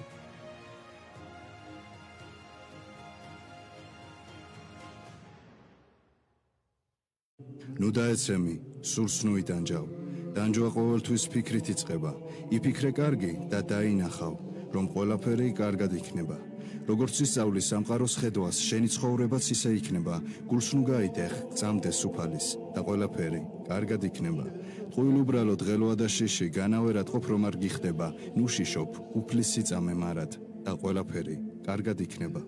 ნუ დაეცემი, სურს ნუ იტანჯავ. დანჯვა ყოველთვის ფიქრით იწყება. იფიქრე კარგი და დაინახავ, რომ ყველაფერი კარგად იქნება. როგორც ისწავლის სამყაროს ხედვას, შენი ცხოვრებაც ისე იქნება. გულს ნუ გაიტეხ, წამდეს უფალის და ყველაფერი კარგად იქნება. ტყუილ უბრალოდ ღელვა და შიში, განავერად ყოფ რომ არ გიხდება. ნუ შიშობ, უფლის სიწამე მარად და ყველაფერი კარგად იქნება.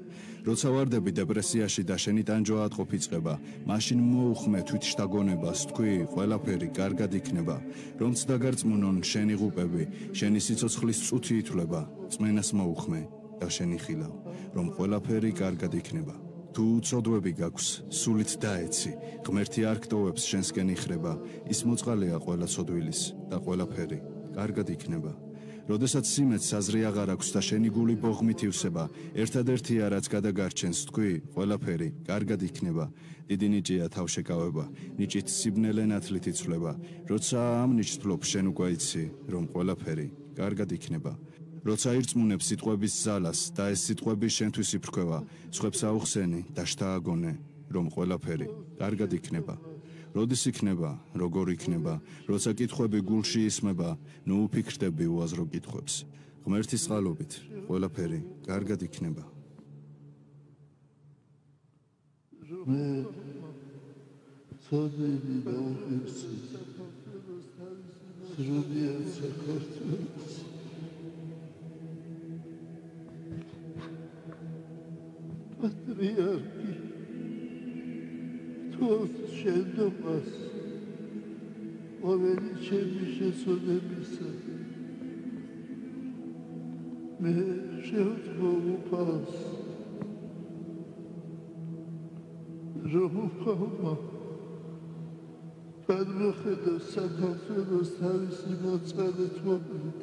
როცა ვარდები დეპრესიაში და შენი ტანჯვა ატყობ იწყება, მაშინ მოუხმე თვითშთაგონებას, თქვი, ყველაფერი კარგად იქნება. რომც დაგარწმუნონ შენი ღუპები, შენი სიცოცხლის წუთი ითვლება, წმენას მოუხმე და შენი ხილავ, რომ ყველაფერი კარგად იქნება. თუ უწოდვები გაქვს, სულით დაეცი, ღმერთი არ გტოვებს შენსკენ იხრება, ის მოწყალეა ყველა ცოდვილის და ყველაფერი კარგად იქნება. როდესაც სიმეც საზრი აღარ აქვს და შენი გული ბოღმით ივსება, ერთადერთია რაც გადაგარჩენს, თქვი, ყველაფერი კარგად იქნება. დიდი ნიჭია თავშეკავება, ნიჭით სიბნელე ნათლით იცვლება. როცა ამ ნიჭს თვლობ, შენ უკვე იცი, რომ ყველაფერი კარგად იქნება. როცა ირწმუნებ სიტყვების ძალას და ეს სიტყვები შენთვის იფრქვევა, სხვებს აუხსენი და შთააგონე, რომ ყველაფერი კარგად იქნება. როდის იქნება, როგორ იქნება, როცა კითხვები გულში ისმება, ნუ უფიქრდები უაზრო კითხვებს. ღმერთის წყალობით ყველაფერი კარგად იქნება. მე ცოდნები და უხერხი სრულიად საქართველოს პატრიარქი თოს შენდობას ყოველი ჩემი შესწოდებისა მე შევთხოვ უფალს რომ უფალმა გადმოხედოს საქართველოს თავისი მოწყალეთობით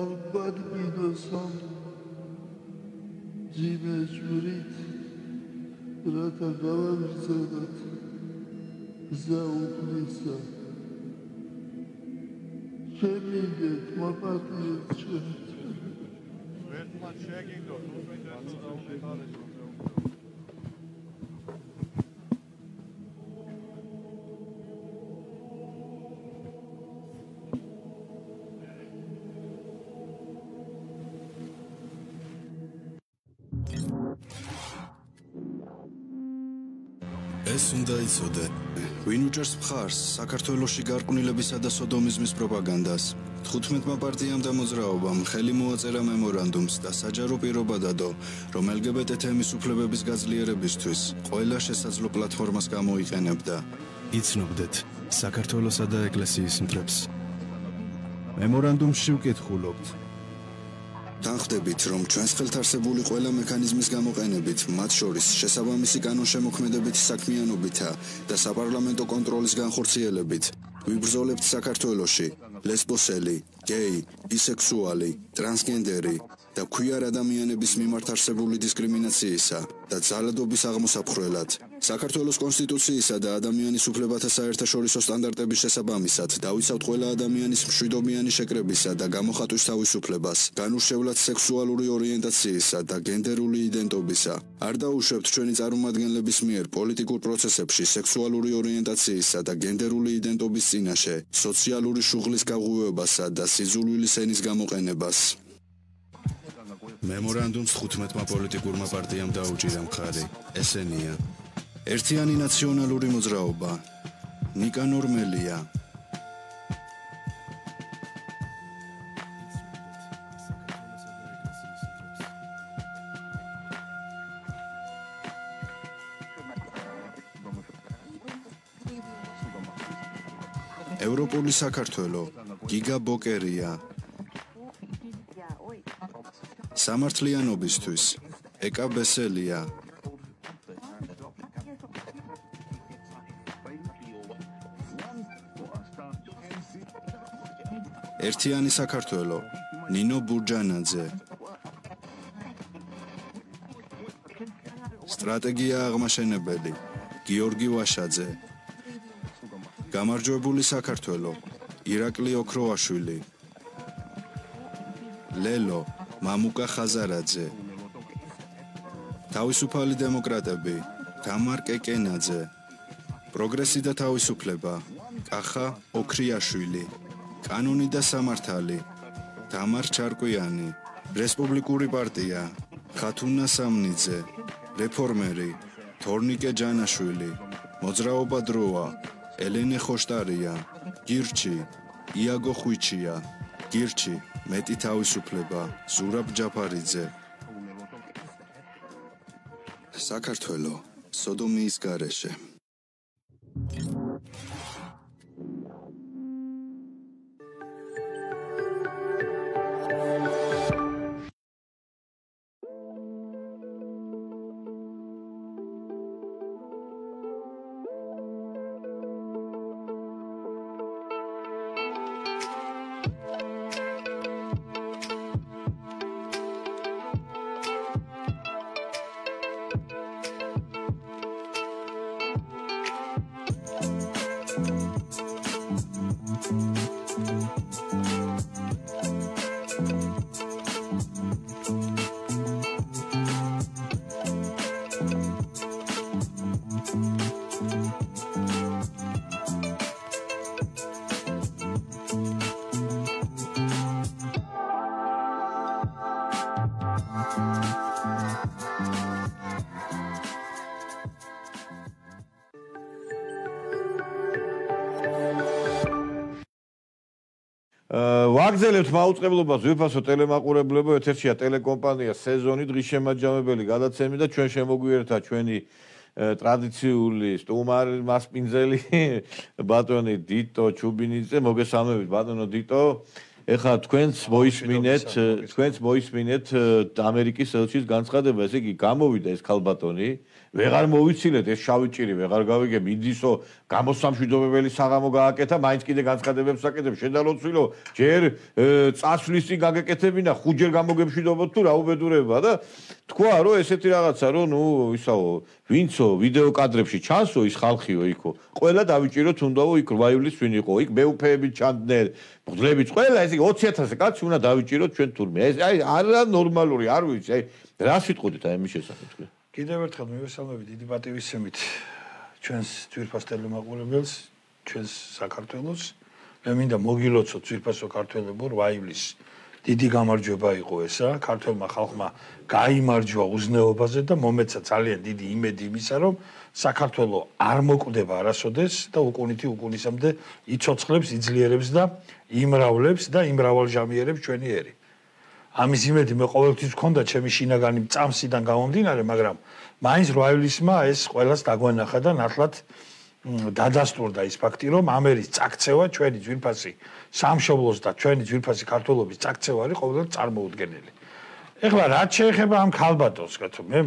აღგვადგინოს ამ ძიმე ჯვრით რათა გავაგრძელოთ გზა უფლისა შემიგეთ მოპატიეთ ჩვენ ერთმან შეგინდოთ უბრალოდ ეს უნდა იცოდე, ვინ უჭერს მხარს საქართველოში გარყვნილებისა და სოდომიზმის პროპაგანდას. 15-მა პარტიამ და მოძრაობამ ხელი მოაწერა მემორანდუმს და საჯარო პირობა დადო, რომ LGBT თემის უფლებების გაძლიერებისთვის ყველა შესაძლო პლატფორმას გამოიყენებდა. იცნობდეთ საქართველოსა და ეკლესიის მტრებს. მემორანდუმში ვკითხულობთ. თანხდებით, რომ ჩვენს ხელთ არსებული ყველა მექანიზმის გამოყენებით, მათ შორის შესაბამისი კანონშემოქმედებითი საქმიანობითა და საპარლამენტო კონტროლის განხორციელებით, ვიბრძოლებთ საქართველოში ლესბოსელი, გეი, ბისექსუალი, ტრანსგენდერი და ქვიარ ადამიანების მიმართ არსებული დისკრიმინაციისა და ძალადობის აღმოსაფხრელად. საქართველოს კონსტიტუციისა და ადამიანის უფლებათა საერთაშორისო სტანდარტების შესაბამისად დავიცავთ ყველა ადამიანის მშვიდობიანი შეკრებისა და გამოხატვის თავისუფლებას, განურჩევლად სექსუალური ორიენტაციისა და გენდერული იდენტობისა. არ დაუშვებთ ჩვენი წარმომადგენლების მიერ პოლიტიკურ პროცესებში სექსუალური ორიენტაციისა და გენდერული იდენტობის წინაშე, სოციალური შუღლის გაღვივებასა და სიძულვილის ენის გამოყენებას. მემორანდუმს 15-მა პოლიტიკურმა პარტიამ დაუჭირა მხარი. ესენია: ერთიანი ნაციონალური მოძრაობა, ნიკანორ მელია, ევროპული საქართველო გიგა ბოკერია. სამართლიანობისთვის ეკა ბესელია. ერთიანი საქართველო ნინო ბურჯანაძე. სტრატეგია აღმაშენებელი გიორგი ვაშაძე. გამარჯვებული საქართველო ირაკლი ოქროაშვილი. ლელო მამუკა ხაზარაძე. თავისუფალი დემოკრატები თამარ კეკენაძე. პროგრესი და თავისუფლება კახა ოქრიაშვილი. კანონი და სამართალი თამარ ჩარკვიანი. რესპუბლიკური პარტია ხათუნა სამნიძე. რეფორმერი თორნიკე ჯანაშვილი. მოძრაობა დროა ელენე ხოშტარია. გირჩი იაგო ხვიჩია. გირჩი მეტი თავისუფლება ზურაბ ჯაფარიძე. საქართველო სოდომიის გარეშე. ვაგზელებთ მაუწყებლობას ვიფასო ტელემაყურებლებო ეთერშია ტელეკომპანია სეზონი დღის შემაჯამებელი გადაცემი და ჩვენ შემოგვიერთდა ჩვენი ტრადიციული სტუმარი მასპინძელი ბატონი დიტო ჩუბინიძე მოგესალმებით ბატონო დიტო ეხლა თქვენს მოისმინეთ ამერიკის ელჩის განცხადება ესე იგი გამოვიდა ეს ქალბატონი ვეღარ მოვიცილეთ ეს შავი ჭირი ვეღარ გავიგებ იდისო გამოსამშვიდობებელი საღამო გააკეთა მაინც კიდე განცხადებებს აკეთებ შედალოცვილო ჯერ წასვლის წინ გაგეკეთებინა ხუჯერ გამოგემშვიდობოთ თუ რა უბედურება და თქვა რომ ესეთი რაღაცა რომ ნუ ისაო ვინცო ვიდეო კადრებში ჩანსო ის ხალხიო იქო ყველა დავიჭიროთ უნდაო იქ რვაივლის ვინ იყო იქ მეუფეები ჩანდნენ მღვდლებიც ყველა ეს 20000 კაცი უნდა დავიჭიროთ ჩვენ თურმე ეს აი არა ნორმალური არ ვიცი აი რა სიტყოდით აი ამის შესახებ თქვენ კიდევ ერთხელ მივესალმებით დიდი პატივისცემით ჩვენს ძვირფას ტელემაყურებელს ჩვენს საქართველოს მე მინდა მოგილოცოთ ძვირფასო ქართველებო 8 ივლისს დიდი გამარჯვება იყო ესა ქართველმა ხალხმა გაიმარჯვა უზნეობაზე და მომეცა ძალიან დიდი იმედი იმისა რომ საქართველო არ მოკვდება არასოდეს და უკუნითი უკუნისამდე იცოცხლებს იძლიერებს და იმრავლებს და იმრავალჟამიერებს ჩვენი ერი ამის იმედი მე ყოველთვის ვქონდა ჩემი შინაგანი წამსიდან გამომდინარე მაგრამ მაინც 8 ივლისმა ეს ყველას დაგვენახა და ნათლად დადასტურდა ის ფაქტი რომ ამერის წაქცევა ჩვენი ძვირფასი სამშობლოს და ჩვენი ძვირფასი ქართველობის წაქცევა არის ყოველდღე წარმოუდგენელი. ეხლა რაც შეეხება ამ ქალბატონს კეთო მე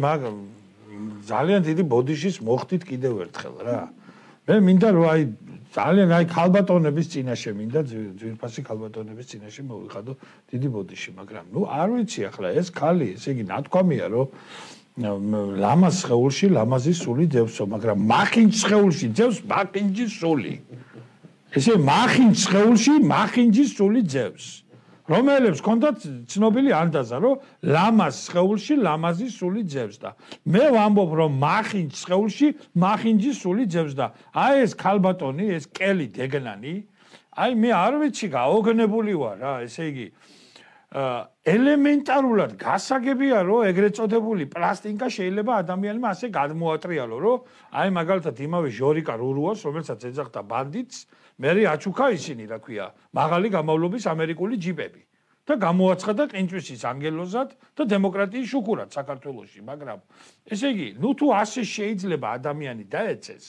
ძალიან დიდი ბოდიშის მოხდით კიდევ ერთხელ რა. მე მინდა რომ აი ძალიან აი ქალბატონების წინაშე მინდა ძვირფასი ქალბატონების წინაშე მოვიხადო დიდი ბოდიში მაგრამ ნუ არ ვიცი ახლა ეს ქალი ესე იგი ნათქვამია რომ ლამაზ სხეულში ლამაზი სული ძევსო მაგრამ მახინჯ სხეულში ძევს მახინჯის სული ესე მახინჯ სხეულში მახინჯის სული ძევს რომელებს ჰქონდათ ცნობილი ანდაზა რომ ლამაზ სხეულში ლამაზი სული ძევს და მე ვამბობ რომ მახინჯ სხეულში მახინჯის სული ძევს და აი ეს ქალბატონი ეს კელი დეგნანი აი მე არ ვიცი გაოგნებული ვარ რა ესე იგი ელემენტარულად გასაგებია რომ ეგრეთ წოდებული პლასტინკა შეიძლება ადამიანმა ასე გადმოატრიალო რომ აი მაგალითად იმავე ჟორიკა რურუას რომელსაც ეძახდა ბანდიტს მერე აჩუქა ისინი რა ქვია მაღალი გამავლობის ამერიკული ჯიპები და გამოაცხადა ყინწვისის ანგელოზად და დემოკრატიის შუქურად საქართველოში მაგრამ ესე იგი ნუ თუ ასე შეიძლება ადამიანი დაეცეს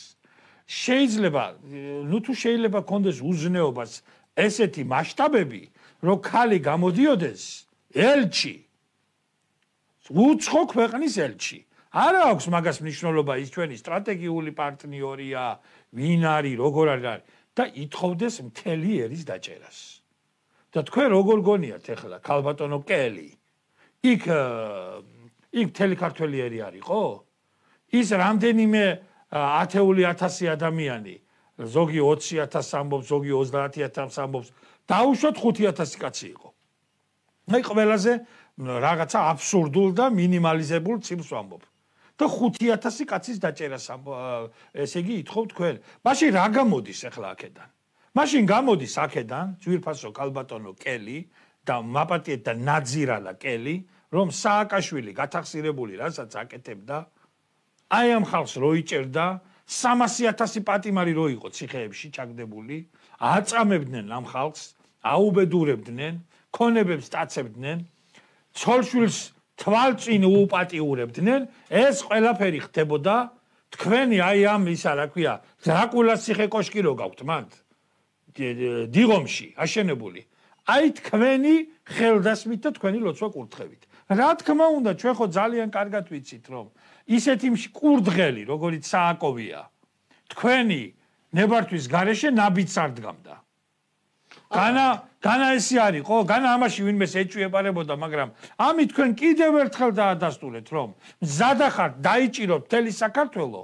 შეიძლება თუ შეიძლება კონდეს უზნეობას ესეთი მასშტაბები რომ ხალი გამოდიოდეს ელჩი უცხო ქვეყნის ელჩი არა აქვს მაგას მნიშვნელობა ის ჩვენი სტრატეგიული პარტნიორია ვინ არის როგორ არის და ითხოვდეს მთელი ერის დაჭერას და თქვენ როგორ გონიათ ახლა ქალბატონო კელი იქ მთელი ქართველი ერი არისო ის რამდენიმე 10,000 ადამიანი ზოგი 20,000 ამბობს ზოგი 30,000 ამბობს დაუშვათ 5,000 კაცი იყო აი ყველაზე რაღაცა აბსურდულ და მინიმალიზებულ ციფრს ვამბობ და 5,000 კაცის დაჭერას ესე იგი ითხოვ თქვენ მაშინ რა გამოდის ახლა აქედან მაშინ გამოდის აქედან ძვირფასო ქალბატონო კელი და მაპატიეთ და ნაძირალა კელი რომ სააკაშვილი გათახსირებული რასაც აკეთებდა აი ამ ხალხს რო იჭერდა 300,000 პატიმარი რო იყო ციხეებში ჩაგდებული აწამებდნენ ამ ხალხს აუბედურებდნენ ქონებებს დაწებდნენ ცოლშვილს თვალწინ უპატიურებდნენ ეს ყველაფერი ხდებოდა თქვენი აი ამ ისა რა ქვია დრაკულას ციხე კოშკი რო გაქვთ მანდ დიღომში აშენებული აი თქვენი ხელდასმით და თქვენი ლოცვა კურთხევით რა თქმა უნდა ჩვენ ხო ძალიან კარგად ვიცით რომ ისეთი კურდღელი როგორიც სააკოვია თქვენი ნებართვის გარეშე ნაბიჯს არ დგამდა განა ესი არისო განა ამაში ვინმეს ეჭვიებარებოდა მაგრამ ამით თქვენ კიდევ ერთხელ დაადასტურეთ რომ მზად ახართ დაიჭიროთ მთელი საქართველო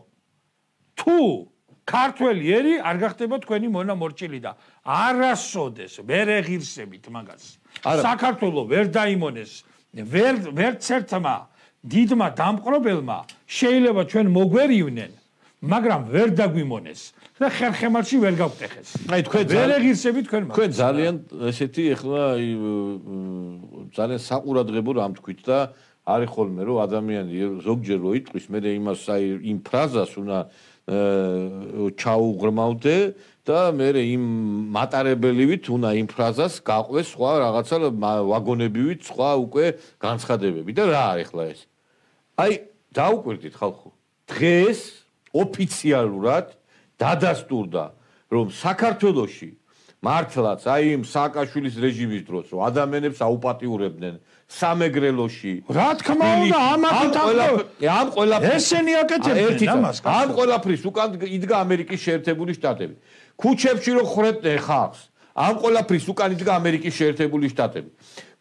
თუ ქართველი ერი არ გახდება თქვენი მონამორჩილი და არასოდეს ვერ ეღირსებით მაგას საქართველო ვერ დაიმონეს ვერც ერთმა დიდმა დამპყრობელმა შეიძლება ჩვენ მოგვერივნენ მაგრამ ვერ დაგვიმონეს და ხერხემალში ვერ გავტეხეს აი თქვენ ვერ ეღირსებით თქვენ ძალიან ესეთი ახლა ძალიან საყურადღებო რამ თქვით და არის ხოლმე რომ ადამიანი ზოგჯერ რო იტყვის მე იმას აი იმ ფრაზას უნდა ჩაუღრმავდე და მე იმ მატარებელივით უნდა იმ ფრაზას გაყვეს სხვა რაღაცა ვაგონებივით სხვა უკვე განცხადებები და რა არის ახლა ეს აი დაუკვირდით ხალხო დღეს ოფიციალურად დადასტურდა რომ საქართველოში მართლაც აი იმ სააკაშვილის რეჟიმის დროს რომ ადამიანებს აუპატიურებდნენ სამეგრელოში რა თქმა უნდა ამ ყველაფრის ესენი აკეთებდნენ ამას ამ ყველაფრის უკან იდგა ამერიკის შეერთებული შტატები ქუჩებში რო ხრებდნენ ხალხს ამ ყველაფრის უკან იდგა ამერიკის შეერთებული შტატები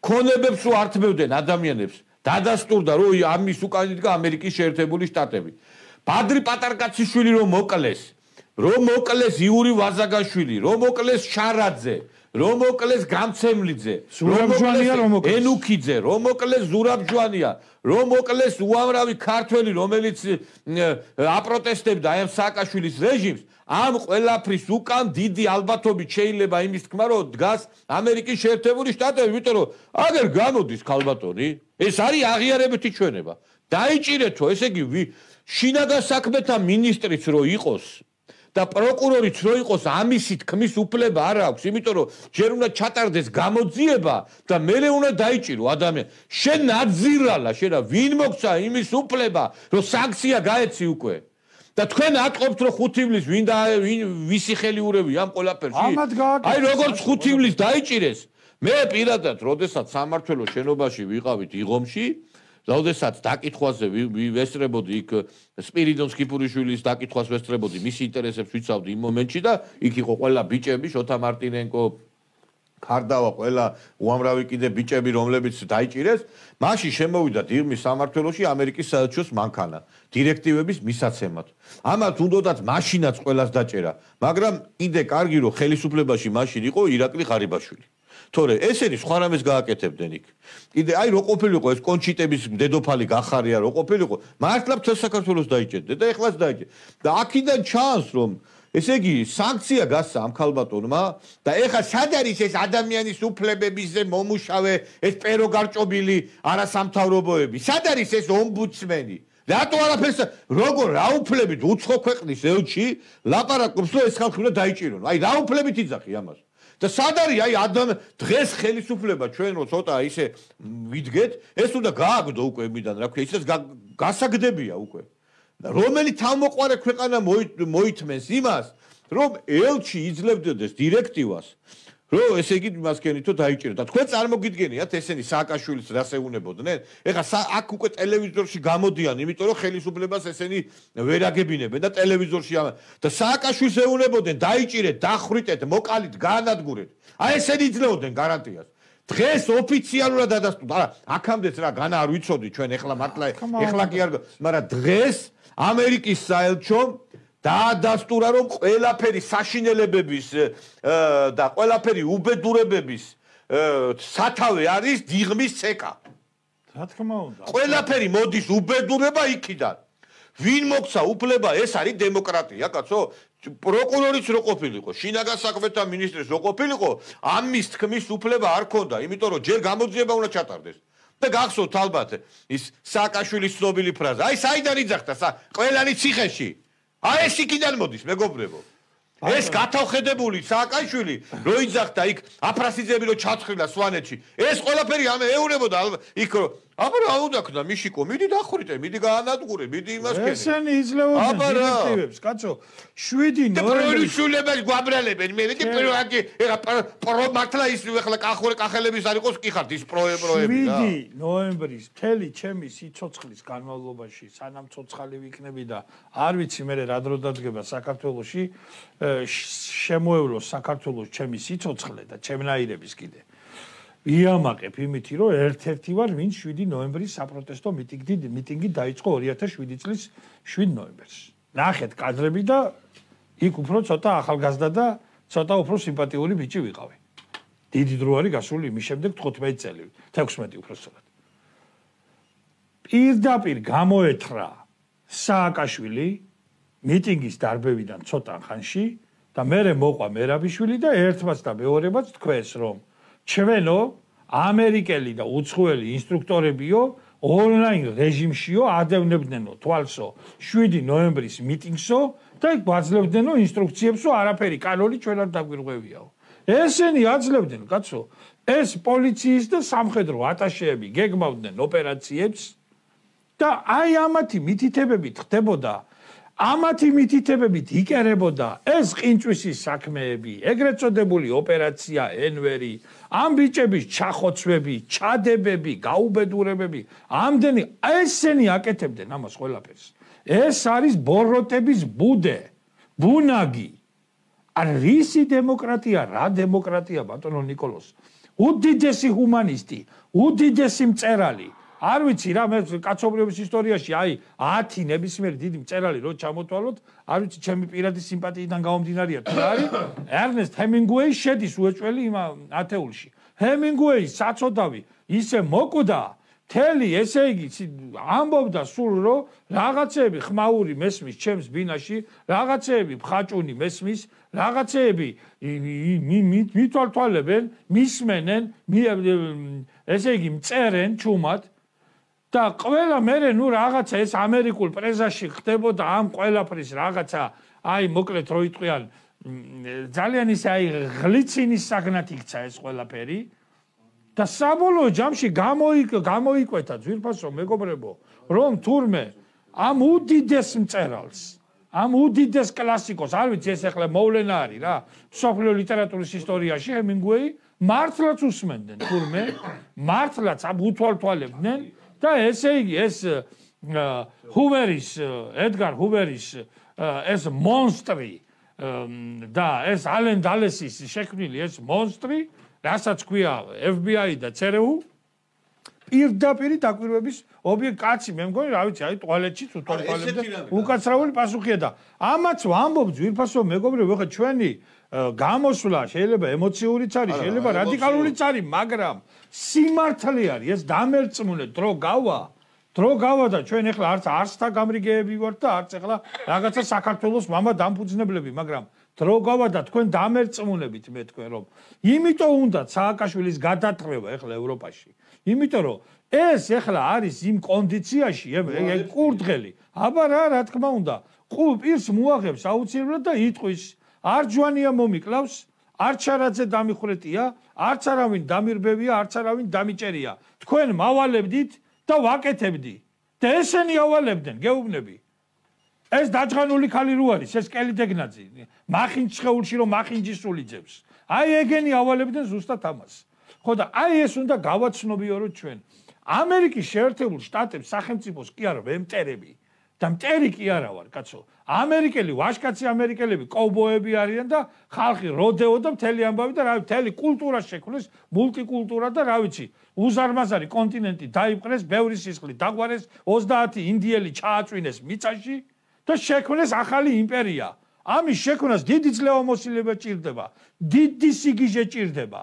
ქონებებს რო ართმევდნენ ადამიანებს დადასტურდა რომ ამის უკან იდგა ამერიკის შეერთებული შტატები ბადრი პატარკაციშვილი რომ მოკლეს იური ვაზაგაშვილი რომ მოკლეს შარაძე რომ მოკლეს გამცემლიძე რომ მოკლეს ენუქიძე რომ მოკლეს ზურაბჯვანია რომ მოკლეს უამრავი ქართველი რომელიც აპროტესტებდა აი ამ სააკაშვილის რეჟიმს ამ ყველაფრის უკან დიდი ალბათობით შეიძლება იმის თქმა რომ დგას ამერიკის შეერთებული შტატები იმიტომ რომ აგერ გამოდის ქალბატონი ეს არის აღიარებითი ჩვენება დაიჭირეთო ესე იგი შინაგან საქმეთა მინისტრიც რო იყოს და პროკურორიც რო იყოს ამისი თქმის უფლება არ აქვს იმიტომ რომ ჯერ უნდა ჩატარდეს გამოძიება და მერე უნდა დაიჭირო ადამიანი შენ ნაძირალა შენ ვინ მოგცა იმის უფლება რომ სანქცია გაეცი უკვე და თქვენ ატყობთ რომ 5 ივლის ვისი ხელი ურევი ამ ყველაფერში აი როგორც 5 ივლის დაიჭირეს მე პირადად როდესაც სამმართველოს შენობაში ვიყავით იღომში როდესაც დაკითხვაზე ვესწრებოდი იქ სპირიდონ სკიპურიშვილის დაკითხვას ვესწრებოდი მის ინტერესებს ვიცავდი იმ მომენტში და იქ იყო ყველა ბიჭები შოთა მარტინენკო ქარდავა ყველა უამრავი კიდე ბიჭები რომლებიც დაიჭირეს მაშინ შემოვიდა დირმის სამმართველოში ამერიკის საელჩოს მანქანა დირექტივების მისაცემად ამათ უნდათ მაშინაც ყველას დაჭერა მაგრამ კიდე კარგი რომ ხელისუფლებაში მაშინ იყო ირაკლი ღარიბაშვილი თორე ესენი სხვა რამეს გააკეთებდნენ იქ კიდე აი რო ყოფილიყო ეს კონჩიტების დედოფალი გახარია რო ყოფილიყო მართლა მთელ საქართველოს დაიჭერდა და ეხლაც დაიჭერდა და აქედან ჩანს რომ ესე იგი სანქცია გასცა ამ ქალბატონმა და ეხლა სად არის ეს ადამიანის უფლებებზე მომუშავე ეს პერო გარჭობილი არასამთავრობოები სად არის ეს ომბუდსმენი რატო არაფერს როგორ რა უფლებით უცხო ქვეყნის ელჩი ლაპარაკობს რომ ეს ხალხი უნდა დაიჭირონ აი რა უფლებით იძახი ამას და სად არის აი დღეს ხელისუფლება ჩვენ რო ცოტა ისე ვიდგეთ ეს უნდა გააგდო უკვე მიდან რა ქვია ისე გასაგდებია უკვე რომელი თავმოყარე ქვეყანა მოითმენს იმას, რომ ელჩი იძლებდეს დირექტივას, რომ ესე იგი მას გენითო დაიჭიროთ. და თქვენ წარმოგიდგენიათ ესენი სააკაშვილის რას ეუნებოდნენ? ეხლა აქ უკვე ტელევიზორში გამოდიან, იმიტომ რომ ხელისუფლებას ესენი ვერ აგებინებენ და ტელევიზორში და სააკაშვილს ეუნებოდნენ დაიჭირეთ, დახრიტეთ, მოკალით, გაანადგურეთ. აი ესენი იძლეოდნენ გარანტიას. დღეს ოფიციალურად დადასტურდა. არა, აქამდეც რა განა არ ვიცოდი ჩვენ ეხლა კი არ, მაგრამ დღეს ამერიკის საელჩომ დაადასტურა რომ ყველაფერი საშინელებების და ყველაფერი უბედურებების სათავე არის დიღმის ცეკა. რა თქმა უნდა. ყველაფერი მოდის უბედურება იქიდან. ვინ მოგცა უფლება, ეს არის დემოკრატია, კაცო. პროკურორიც რო ყოფილიყო, შინაგან საქმეთა მინისტრიც რო ყოფილიყო, ამის თქმის უფლება არ ქონდა, იმიტომ რომ ჯერ გამოძიება უნდა ჩატარდეს. და გახსოვთ ალბათ ის სააკაშვილის ცნობილი ფრაზა. აი საიდან იძახდა ყველანი ციხეში. აი ეს იქიდან მოდის, მეგობრებო. ეს გათავხედებული სააკაშვილი რო იძახდა იქ აფრასიძეები რო ჩაცხრილა სვანეთში. ეს ყველაფერი ეუნებოდა იქ რომ აბა რა უნდა ქნა მიშიკო, მიდი დახრიტე, მიდი გაანადგურე, მიდი იმას ქენი. ესენი იძლეოდნენ დირექტივებს, კაცო. 7 ნოემბრის შულებას გვაბრალებენ. მე ვიდი პირველი ეხა მართლა ის ეხლა კახელების არ იყოს კი ხართ ის პროები რა. 7 ნოემბრის მთელი ჩემი სიცოცხლის განმავლობაში, სანამ ცოცხალი ვიქნები და არ ვიცი მე რა დრო დადგება საქართველოში, შემოევლო საქართველოს ჩემი სიცოცხლე და ჩემნაირების კიდე. იამაყებ იმითი რომ ერთ-ერთი ვარ ვინც 7 ნოემბრის საპროტესტო მიტინგი დაიწყო 2007 წლის 7 ნოემბერს. ნახეთ კადრები და იქ უფრო ცოტა ახალგაზრდა და ცოტა უფრო სიმპათიური ბიჭი ვიყავი. დიდი დრო არის გასული იმის შემდეგ 15 წელი, 16 უბრალოდ. პირდაპირ გამოეთრა სააკაშვილი მიტინგის დარბევიდან ცოტა ხანში და მერე მოყვა მერაბიშვილი და ერთმაც და მეორებაც თქვეს რომ ჩვენო ამერიკელი და უცხოელი ინსტრუქტორებიო ონლაინ რეჟიმშიო ადევნებდნენო თვალსო 7 ნოემბრის მიტინგსო და იქ გვაძლევდნენო ინსტრუქციებსო არაფერი კანონი ჩვენ არ დაგვირღვევიაო. ესენი აძლევდნენ კაცო ეს პოლიციის და სამხედრო ატაშეები გეგმავდნენ ოპერაციებს და აი ამათი მითითებებით ხდებოდა ამათი მითითებებით იკერებოდა ეს ყინჭვისის საქმეები, ეგრეთ წოდებული ოპერაცია ენვერი, ამ ბიჭების ჩახოცვები, ჩადებები, გაუბედურებები, ამდენი ესენი აკეთებდნენ ამას ყველაფერს. ეს არის ბოროტების ბუდე, ბუნაგი. არ რისი დემოკრატია, რა დემოკრატია ბატონო ნიკოლოს. უდიდესი ჰუმანისტი, უდიდესი მწერალი. არ ვიცი რა მე კაცობრიობის ისტორიაში აი 10 ნებისმიერი დიდი მწერალი რო ჩამოთვალოთ, არ ვიცი ჩემი პირადი სიმპათიიდან გამომდინარია თუ რა არის. ერნესტ ჰემინგუეი შედის უეჭველი იმ ათეულში. ჰემინგუეის საწოდავი ისე მოკვდა, მთელი ესე იგი ამბობდა სულ რომ რაღაცეები ხმაური მესმის ჩემს ბინაში, რაღაცეები მხაჭუნი მესმის, რაღაცეები მითვალთვალებენ, მისმენენ, ესე იგი მწერენ ჩუმად და ყველა მერე ნუ რაღაცა ეს ამერიკულ პრესაში ხდებოდა ამ ყველაფრის რაღაცა აი მოკლედ რო იტყვიან ძალიან ისე აი ღლიცინის საგნად იქცა ეს ყველაფერი და საბოლოო ჯამში გამოიკვეთა ძვირფასო მეგობრებო რომ თურმე ამ უდიდეს მწერალს ამ უდიდეს კლასიკოს არ ვიცი ეს ახლა მოვლენა არის რა მსოფლიო ლიტერატურის ისტორიაში ჰემინგუეი მართლაც უსმენდნენ თურმე მართლაც უთვალთვალებდნენ და ესე იგი ეს ჰუვერის ედგარ ჰუვერის ეს მონსტრი და ეს ალენ დალესის შექმნილი ეს მონსტრი რასაც ქვია FBI და CRU პირდაპირ დაკვირვების ობიექტი კაცი მე მგონი რა ვიცი აი ტუალეტში უთვალთვალებდა უკაცრავული პასუხია და ამაც ვამბობ ძვირფასო მეგობრებო ხა ჩვენი გამოსვლა შეიძლება ემოციურიც არის შეიძლება რადიკალურიც არის მაგრამ სიმართლე არის ეს დამერწმუნე დრო გავა და ჩვენ ახლა არც არსთა გამრიგეები ვართ და არც ახლა რაღაცა საქართველოს მამა დამფუძნებლები მაგრამ დრო გავა და თქვენ დამერწმუნებით მე თქვენ რომ იმიტომ უნდა სააკაშვილის გადათრევა ახლა ევროპაში იმიტომ რომ ეს ახლა არის იმ კონდიციაში ეგ კურდღელი აბა რა თქმა უნდა პირს მოაღებს აუცილებლად და იტყვის არ ჯვანია მომიკლავს არ ჩარაძე დამიხრეტია არც არავინ დამირბევია არც არავინ დამიჭერია თქვენ მავალებდით და ვაკეთებდი და ესენი ავალებდნენ გეუბნები ეს დაჯღანული ქალი რო არის, ეს კელი დეგნაძე. მახინჯ შეულში რომ მახინჯისული ძებს. აი ეგენი ავალებდნენ ზუსტად ამას. ხო და აი ეს უნდა გავაცნობიოროთ ჩვენ. ამერიკის შეერთებულ შტატებს სახელმწიფოს კი არა ვემტერები და მტერი კი არა ვარ, კაცო. ამერიკელი ვაჟკაცი ამერიკელები კოვბოები არიან და ხალხი როდეო და მთელი ამბავი და რა მთელი კულტურა შექმნეს, მულტიკულტურა და რა ვიცი, უზარმაზარი კონტინენტი დაიპყრეს, ბევრი სისხლი დაგვარეს, 30 ინდიელი ჩააწვინეს მიწაში და შექმნეს ახალი იმპერია. ამის შექმნას დიდი ძლევამოსილება ჭირდება, დიდი სიგიჟე ჭირდება.